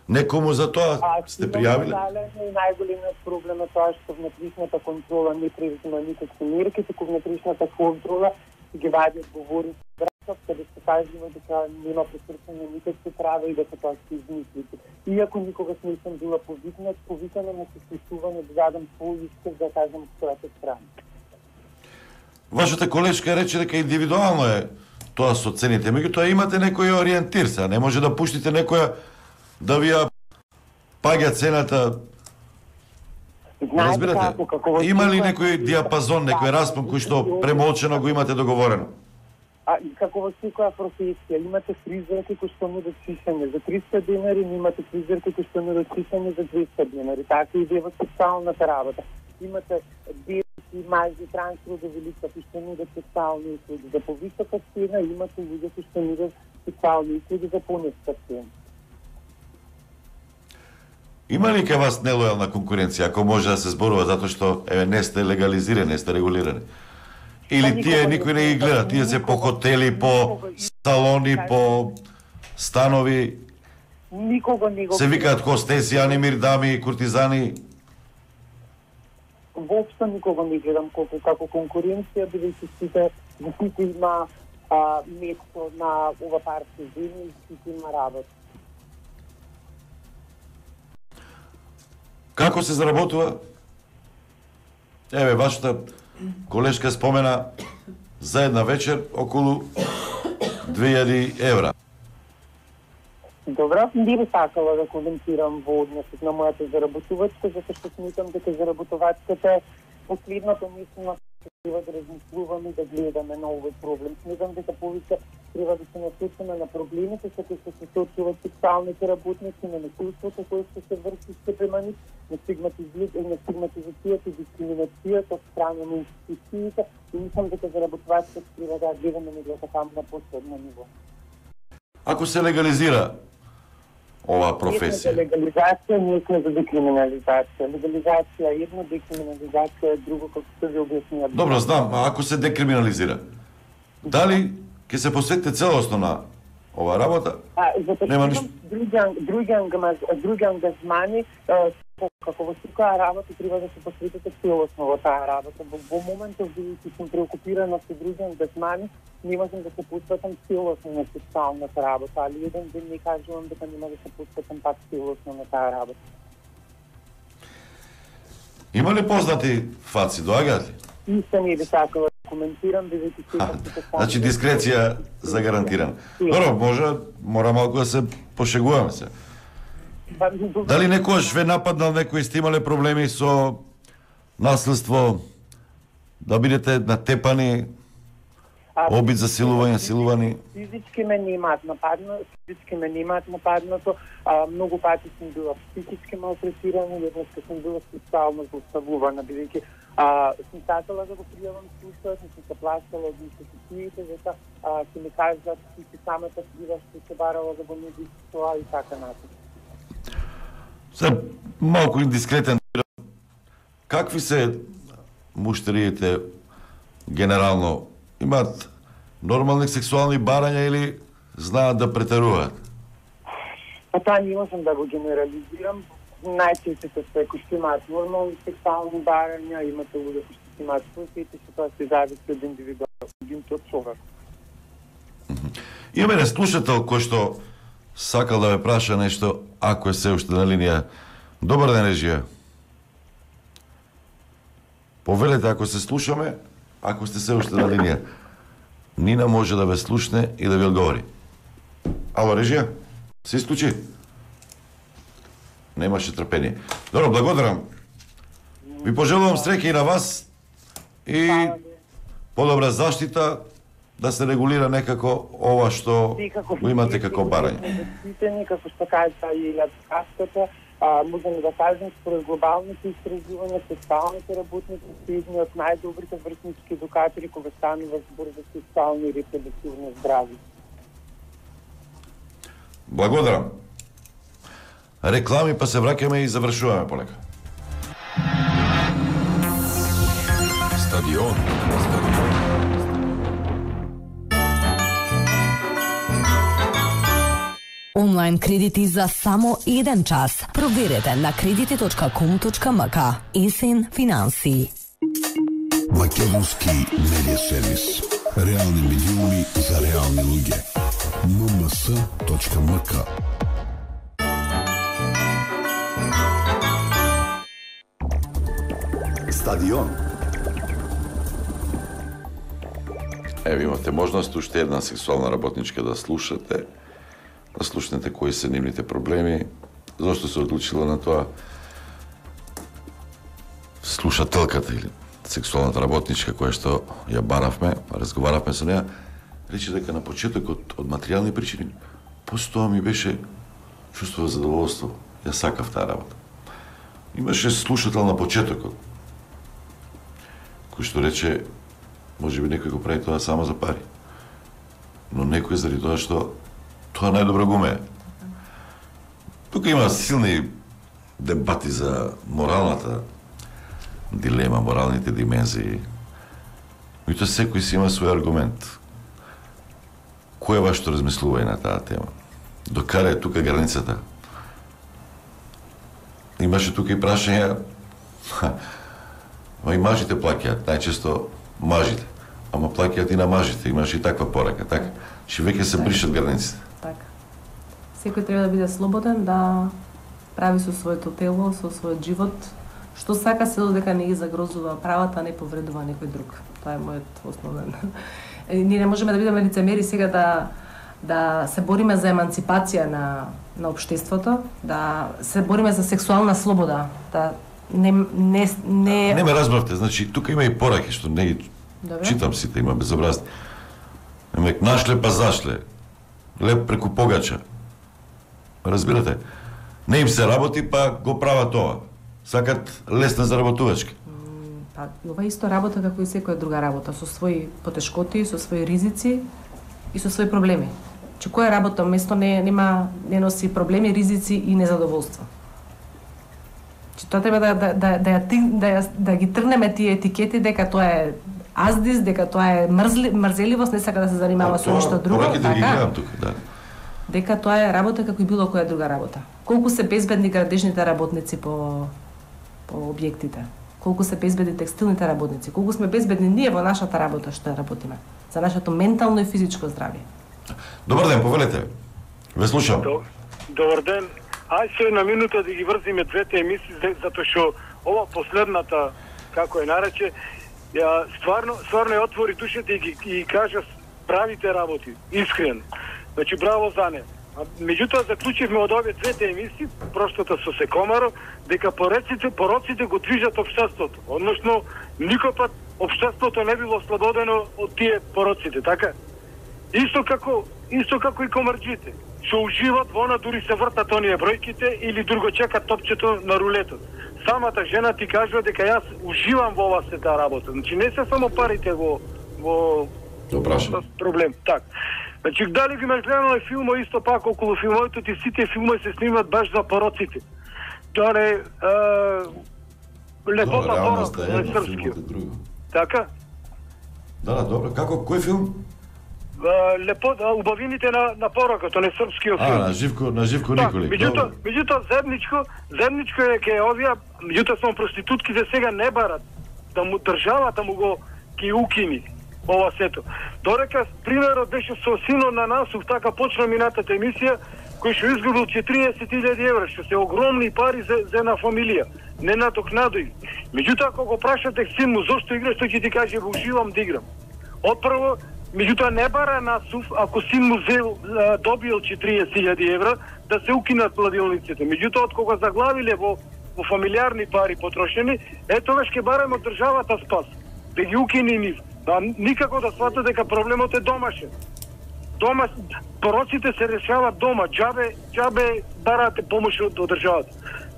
некому за тоа? А, сте пријавиле? И најголемиот проблем е тоа што внатрешната контрола не презема никакви мерки, туку внатрешната контрола ги вади одговори братот, каде се кажува дека нема пресрчани никакви права и дека тоа се измислите. Иако никогаш не сум била повикнат, повикана на сослушување да дадам свој искав да кажам својата страна. Вашата колешка рече дека индивидуално е тоа со цените, меѓутоа имате некој ориентир се, не може да пуштите некоја да ви ја паѓа цената. Разбирате? Како, како има ли некој диапазон, некој распон кој што премолчено го имате договорено? А како во секоја професија, имате фризерки кои што нудат чишење за триста денари, имате фризерки кои што нудат чишење за двеста денари. Така и во сексуалната работа. Имате белки, мажи, трансродови лица кои што нудат сексуални услуги за повисока цена, имате луѓе кои што нудат сексуални услуги за пониска цена. Има ли кај вас нелојална конкуренција, ако може да се зборува, затоа што еве не сте легализирани, не сте регулирани? Или тие никој не ги гледа, тие се по хотели, по салони, по станови? Никого не го се викаат хостеси, анимир дами, куртизани? Воопшто никого не гледам колку како конкуренција, бидејќи сите во сите има а, место на ова парти земи и сите има работа. Како се заработува? Еве, вашата колешка спомена за една вечер околу две илјади евра. Добро, не би сакала да коментирам во односот на мојата заработувачка, затоа што смитам дека заработувачката е последното место треба да размислуваме, да гледаме на овој проблем. Смитам дека повеќе треба да се насочиме на проблемите со кои се соочуваат сексуалните работници, на насилството кое што се врши спрема нив, на стигматизацијата и дискриминацијата од страна на институциите и мислам дека заработувачката треба да гледаме на така на последно ниво. Ако се легализира оваа професија? Ние сме за легализација, ние сме за декриминализација. Легализација е едно, декриминализација е друго, како се ви објаснија. Добро, знам, а ако се декриминализира, дали ќе се посветите целосно на оваа работа? А, затоа нема ништо... ништо. други, други, ангамаз, други ангажмани, како во секоја работа треба да се посветите целосно во таа работа. Во, во моментот бидејќи сум преокупирана со други ангажмани, не можам да се посветам целосно на сексуалната работа, али еден ден не кажувам дека нема да се посветам пак целосно на таа работа. Има ли познати фаци, доаѓаат ли? Исто не би сакала да коментирам, бидејќи се... Значи дискреција загарантирана. Добро, може, мора малку да се пошегуваме се. Дали некојаш ве нападнал некој, сте имале проблеми со наследство, да бидете натепани, обид за силување, силувани? Физички ме немаат нападнато, физички ме немаат нападнато, а, многу пати сум била психички малтретирана, еднаш сум била сексуално злоставувана, бидејќи а, сум сакала да го пријавам случајот, сум се плашала од институциите, дека ќе ми кажат ти си самата крива што се барала да го не тоа и така натаму. Се малку индискретен. Какви се муштериите генерално? Имаат нормални сексуални барања или знаат да претеруваат? Па тоа не можам да го генерализирам. Најчестите се кои што имаат нормални сексуални барања, имате луѓе кои што имаат случаите, што тоа се зависи од индивидуалното од човек. Имаме не слушател кој што сакал да ве праша нешто, ако е се уште на линија. Добар ден, режија. Повелете ако се слушаме, ако сте се уште на линија. Нина може да ве слушне и да ви одговори. Ало, режија? Се исклучи? Немаше трпение. Добро, благодарам. Ви пожелувам среќа и на вас и подобра заштита, да се регулира некако ова што го имате како барање. Како што кажа и адвокатката, можеме да кажем според глобалните истражувања, сексуалните работници се едни од најдобрите врснички едукатори кога станува збор за сексуално и репродуктивно здравје. Благодарам. Реклами, па се враќаме и завршуваме полека. Стадион. Онлайн кредити за само еден час. Проверете на кредити точка ком точка ем ка. Есен финанси. Македонски медиа сервис. Реални медиуми за реални луѓе. ем ем ес точка ем ка. Стадион. Еве имате можност уште една сексуална работничка да слушате, да слушнете кои се нивните проблеми, зашто се одлучила на тоа. Слушателката или сексуалната работничка која што ја баравме, разговаравме со неа, рече дека на почетокот од материјални причини постоа ми беше чувство за задоволство. Ја сакав таа работа. Имаше слушател на почетокот кој што рече може би некој го прави тоа само за пари. Но некој заради тоа што тоа најдобро го умее. Тука има силни дебати за моралната дилема, моралните димензии. И тоа секој си има свој аргумент. Кој е вашето размислување на таа тема? Докаде е тука границата? Имаше тука и прашања, ма и мажите плаќаат, најчесто мажите. Ама плаќаат и на мажите, имаше и таква порака, така? Че веќе се бришат границите. Така. Секој треба да биде слободен, да прави со своето тело, со својот живот, што сака, се додека не ги загрозува правата, не повредува некој друг. Тоа е мојот основен. Ние не можеме да бидеме лицемери сега да да се бориме за еманципација на на општеството, да се бориме за сексуална слобода, да не не не Не ме разбравте, значи тука има и пораки што не ги Добре. читам сите, има безобразни. Емек нашле па зашле. Леп преку погача. Разбирате? Не им се работи, па го прават тоа. Сакат лесна заработувачка. Па, ова исто работа како и секоја друга работа, со своји потешкоти, со своји ризици и со своји проблеми. Че кое работно место не нема не носи проблеми, ризици и незадоволство. Че тоа треба да да да да, да, да ги тргнеме тие етикети дека тоа е аздис, дека тоа е мрзли, мрзеливост, не сака да се занимава со ништо друго, така? Тук, да. Дека тоа е работа како и било која друга работа. Колку се безбедни градежните работници по по објектите, колку се безбедни текстилните работници, колку сме безбедни ние во нашата работа што работиме, за нашето ментално и физичко здравје. Добар ден, повелете. Ве слушам. Добар ден. Ај се на минута да ги врзиме двете емисии, затоа што ова последната, како е нарече, ја стварно стварно ја отвори душата и ги и кажа правите работи, искрено. Значи браво за не. А меѓутоа заклучивме од овие двете емисии, проштата со Секомаро, дека пороците, пороците го движат општеството. Односно, никој пат општеството не било ослободено од тие пороците, така? Исто како, исто како и комарџите, што уживат во она, дури се вртат оние бројките или друго чекат топчето на рулетот. Самата жена ти кажува дека јас уживам во ова сета работа. Значи не се само парите во во проблем. Так. Значи дали ги имаш гледано е филмо исто пак околу филмовите, ти сите филмови се снимат баш за пороците. Тоа е лепота порок на српски. Така? Да, да, добро. Како кој филм? Лепо убавините на на порокот, не српскиот филм. А, на Живко, на Живко Николи. Меѓутоа, меѓутоа земничко, земничко е ке овие, меѓутоа само проститутките сега не барат да му државата му го ги укини ова сето. Дорека примерот беше со синот на Насув, така почна минатата емисија, кој што изгубил четириесет илјади евра, што се огромни пари за, за една фамилија. Не надокнадои. Меѓутоа, ако го прашате син му зошто играш, тој ќе ти каже, уживам да играм. Отпрво, меѓутоа не бара Насув, ако син му зел, добил четириесет илјади евра, да се укинат кладилниците. Меѓутоа, од кога заглавиле во, во фамилиарни пари потрошени, е тогаш ќе бараме од државата спас. Да ги укини нив. Да, никако да сватат дека проблемот е домашен. Дома, пороците се решават дома, џабе, џабе барате помош од државата.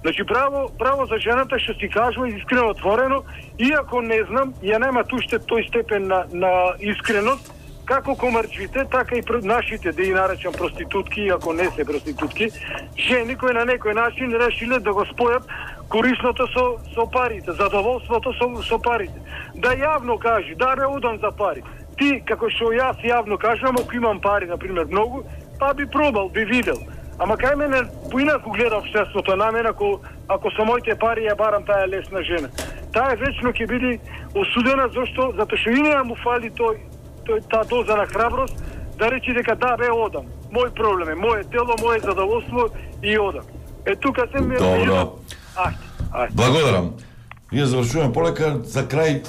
Значи, браво, браво за жената што си кажува искрено отворено, иако не знам, ја нема уште тој степен на, на искреност, како комарџите, така и нашите, да ги наречам проститутки, ако не се проститутки, жени кои на некој начин решиле да го спојат корисното со, со парите, задоволството со, со парите. Да јавно кажи, да не удам за пари. Ти, како што јас јавно кажам, ако имам пари, например, многу, па би пробал, би видел. Ама кај мене поинаку гледа општеството на мене, ако, ако со моите пари ја барам таа лесна жена. Таа вечно ќе биде осудена, зашто? Затоа што и неа му фали тој, тој таа доза на храброст да речи дека да, бе, одам. Мој проблем е, моје тело, моје задоволство и одам. Е, тука се ми... Добро. Ајде, ајде. Благодарам. Ние завршуваме полека. За крај,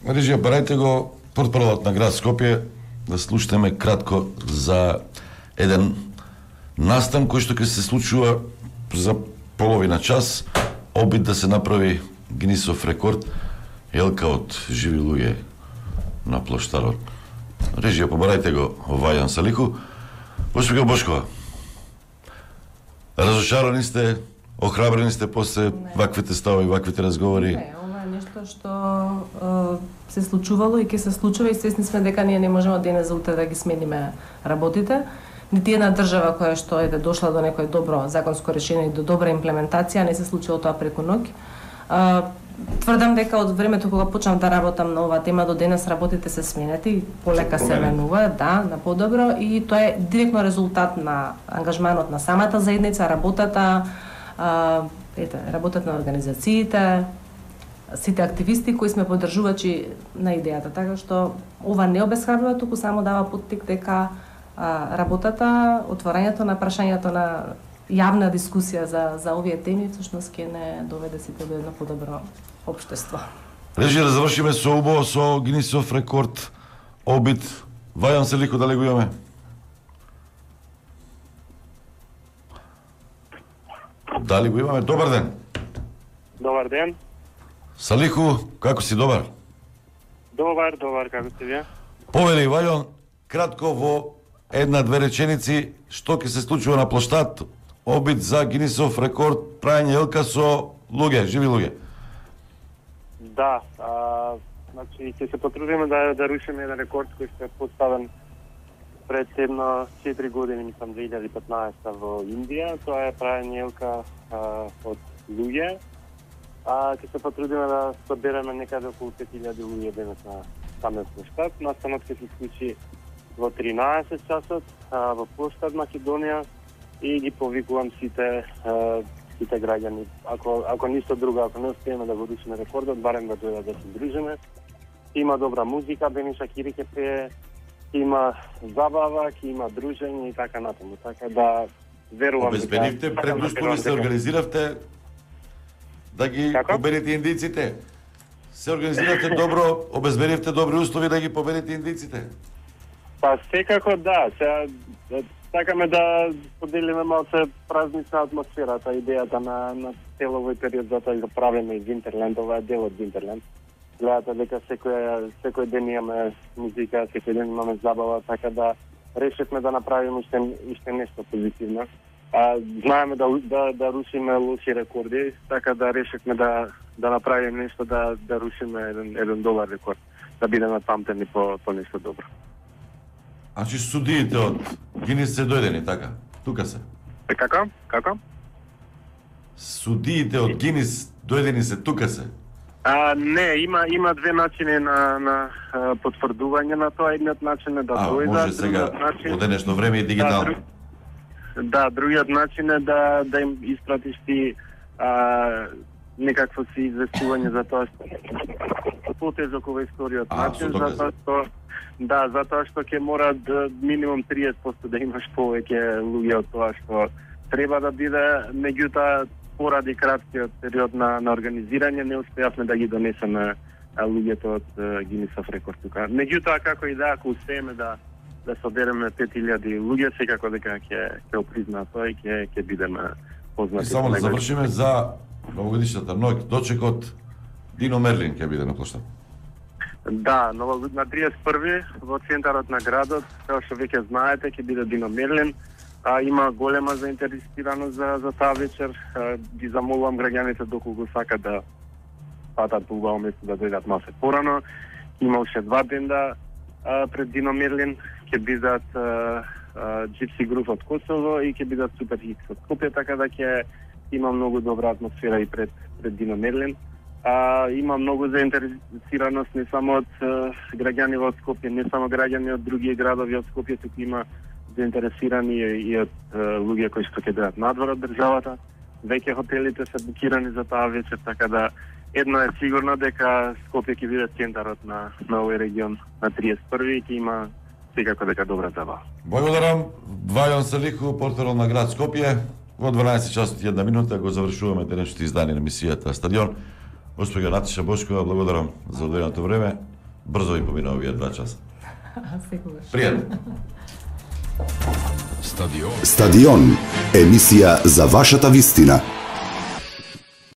режија, барајте го портпаролот на град Скопје да слушаме кратко за еден настан кој што ќе се случува за половина час, обид да се направи Гинисов рекорд, елка од живи луѓе на плоштарот. Режија, побарајте го Вајан Салиху. Госпожа Бошкова, разошарани сте, охрабрени сте после ваквите стави, ваквите разговори? Не, ова е нешто што е, се случувало и ќе се случува и свесни сме дека ние не можеме од денес за утре да ги смениме работите. Нити една држава која што е дошла до некој добро законско решение и до добра имплементација, не се случило тоа преку ноќ. Тврдам дека од времето кога почнав да работам на оваа тема до денес работите се сменети, полека се менуваат, да, на подобро, и тоа е директно резултат на ангажманот на самата заедница, работата, а, ете, работата на организациите, сите активисти кои сме поддржувачи на идејата, така што ова не обесхрабрува, туку само дава поттик дека а, работата, отворањето на прашањето на јавна дискусија за за овие теми всушност ќе не доведе сите до едно подобро општество. Режи да завршиме со убаво со Гинисов рекорд обид. Вајан Салиху, дали го имаме? Дали го имаме? Добар ден. Добар ден. Салиху, како си, добар? Добар, добар, како сте вие? Повели, Вајан, кратко во една-две реченици, што ќе се случува на плоштад, обид за Гинисов рекорд, прајање елка со луѓе, живи луѓе. Да, а, значи ќе се потрудиме да да рушиме еден рекорд кој што е поставен пред едно четири години, мислам две илјади и петнаесета во Индија. Тоа е правење елка а, од луѓе. А ќе се потрудиме да собереме некаде околу пет илјади луѓе денес на самиот площад. Настанот ќе се случи во тринаесет часот а, во площад Македонија и ги повикувам сите а, сите граѓани. Ако ако ништо друго, ако не успееме да го рушиме рекордот, барем да дојдат да се дружиме. Има добра музика, Бени Шакири ќе пее, има забава, ќе има дружење и така натаму. Така да верувам. Обезбедивте предуслови, се организиравте да ги Како? победите индиците. Се организиравте добро, обезбедивте добри услови да ги победите индиците. Па секако да, сега сакаме да поделиме малце празнична атмосферата, идејата на на цело овој период, затоа го правиме и Винтерленд, ова е дел од Винтерленд. Гледате дека секој секој ден имаме музика, секој ден имаме забава, така да решивме да направиме уште уште нешто позитивно. А знаеме да да да рушиме лоши рекорди, така да решивме да да направиме нешто да да рушиме еден еден добар рекорд, да бидеме памтени по по нешто добро. Значи судиите од Гинис се дојдени, така? Тука се. Како? Како? Судиите од Гинис дојдени се, тука се. А, не, има има две начини на на а, потврдување на тоа. Едниот начин е да а, дојдат, може сега начин... во денешно време и дигитално. Да, друг... да, другиот начин е да да им испратиш ти а, некакво си известување за тоа што потежок ова историјот начин, затоа што да, затоа што ќе мора да минимум триесет проценти да имаш повеќе луѓе од тоа што треба да биде, меѓутоа поради краткиот период на, на организирање не успеавме да ги донесеме луѓето од Гинисов рекорд тука. Меѓутоа како и да, ако успееме да да собереме пет илјади луѓе, секако дека ќе ќе опризна тоа и ќе ќе бидеме познати. И само да завршиме за новогодишната ноќ, дочекот Дино Мерлин ќе биде на площад. Да, на триесет и први во центарот на градот, како што веќе знаете, ќе биде Дино Мерлин. А, има голема заинтересираност за, за таа вечер. А, ги замолувам граѓаните доколку сакат да патат по убаво место да дојдат малце порано. Има уште два бенда а, пред Дино Мерлин. Ќе бидат Gypsy Groove од Косово и ќе бидат Super Hits од Скопје, така да ќе има многу добра атмосфера и пред, пред Дино Мерлин. А, има многу заинтересираност не само од граѓани од Скопје, не само граѓани од други градови од Скопје, туку има заинтересирани и од луѓе кои што ќе бидат надвор од државата. Веќе хотелите се букирани за таа вечер, така да едно е сигурно дека Скопје ќе биде центарот на на овој регион на триесет и први и ќе има секако дека добра забава. Благодарам Вајон Салиху, портер на град Скопје. Во дванаесет часот и една минута го завршуваме денешното издание на емисијата Стадион. Госпоѓа Наташа Бошкова, благодарам за одвоеното време. Брзо ви помина овие два часа. Секогаш. Пријатно. Стадион. Стадион. Емисија за вашата вистина.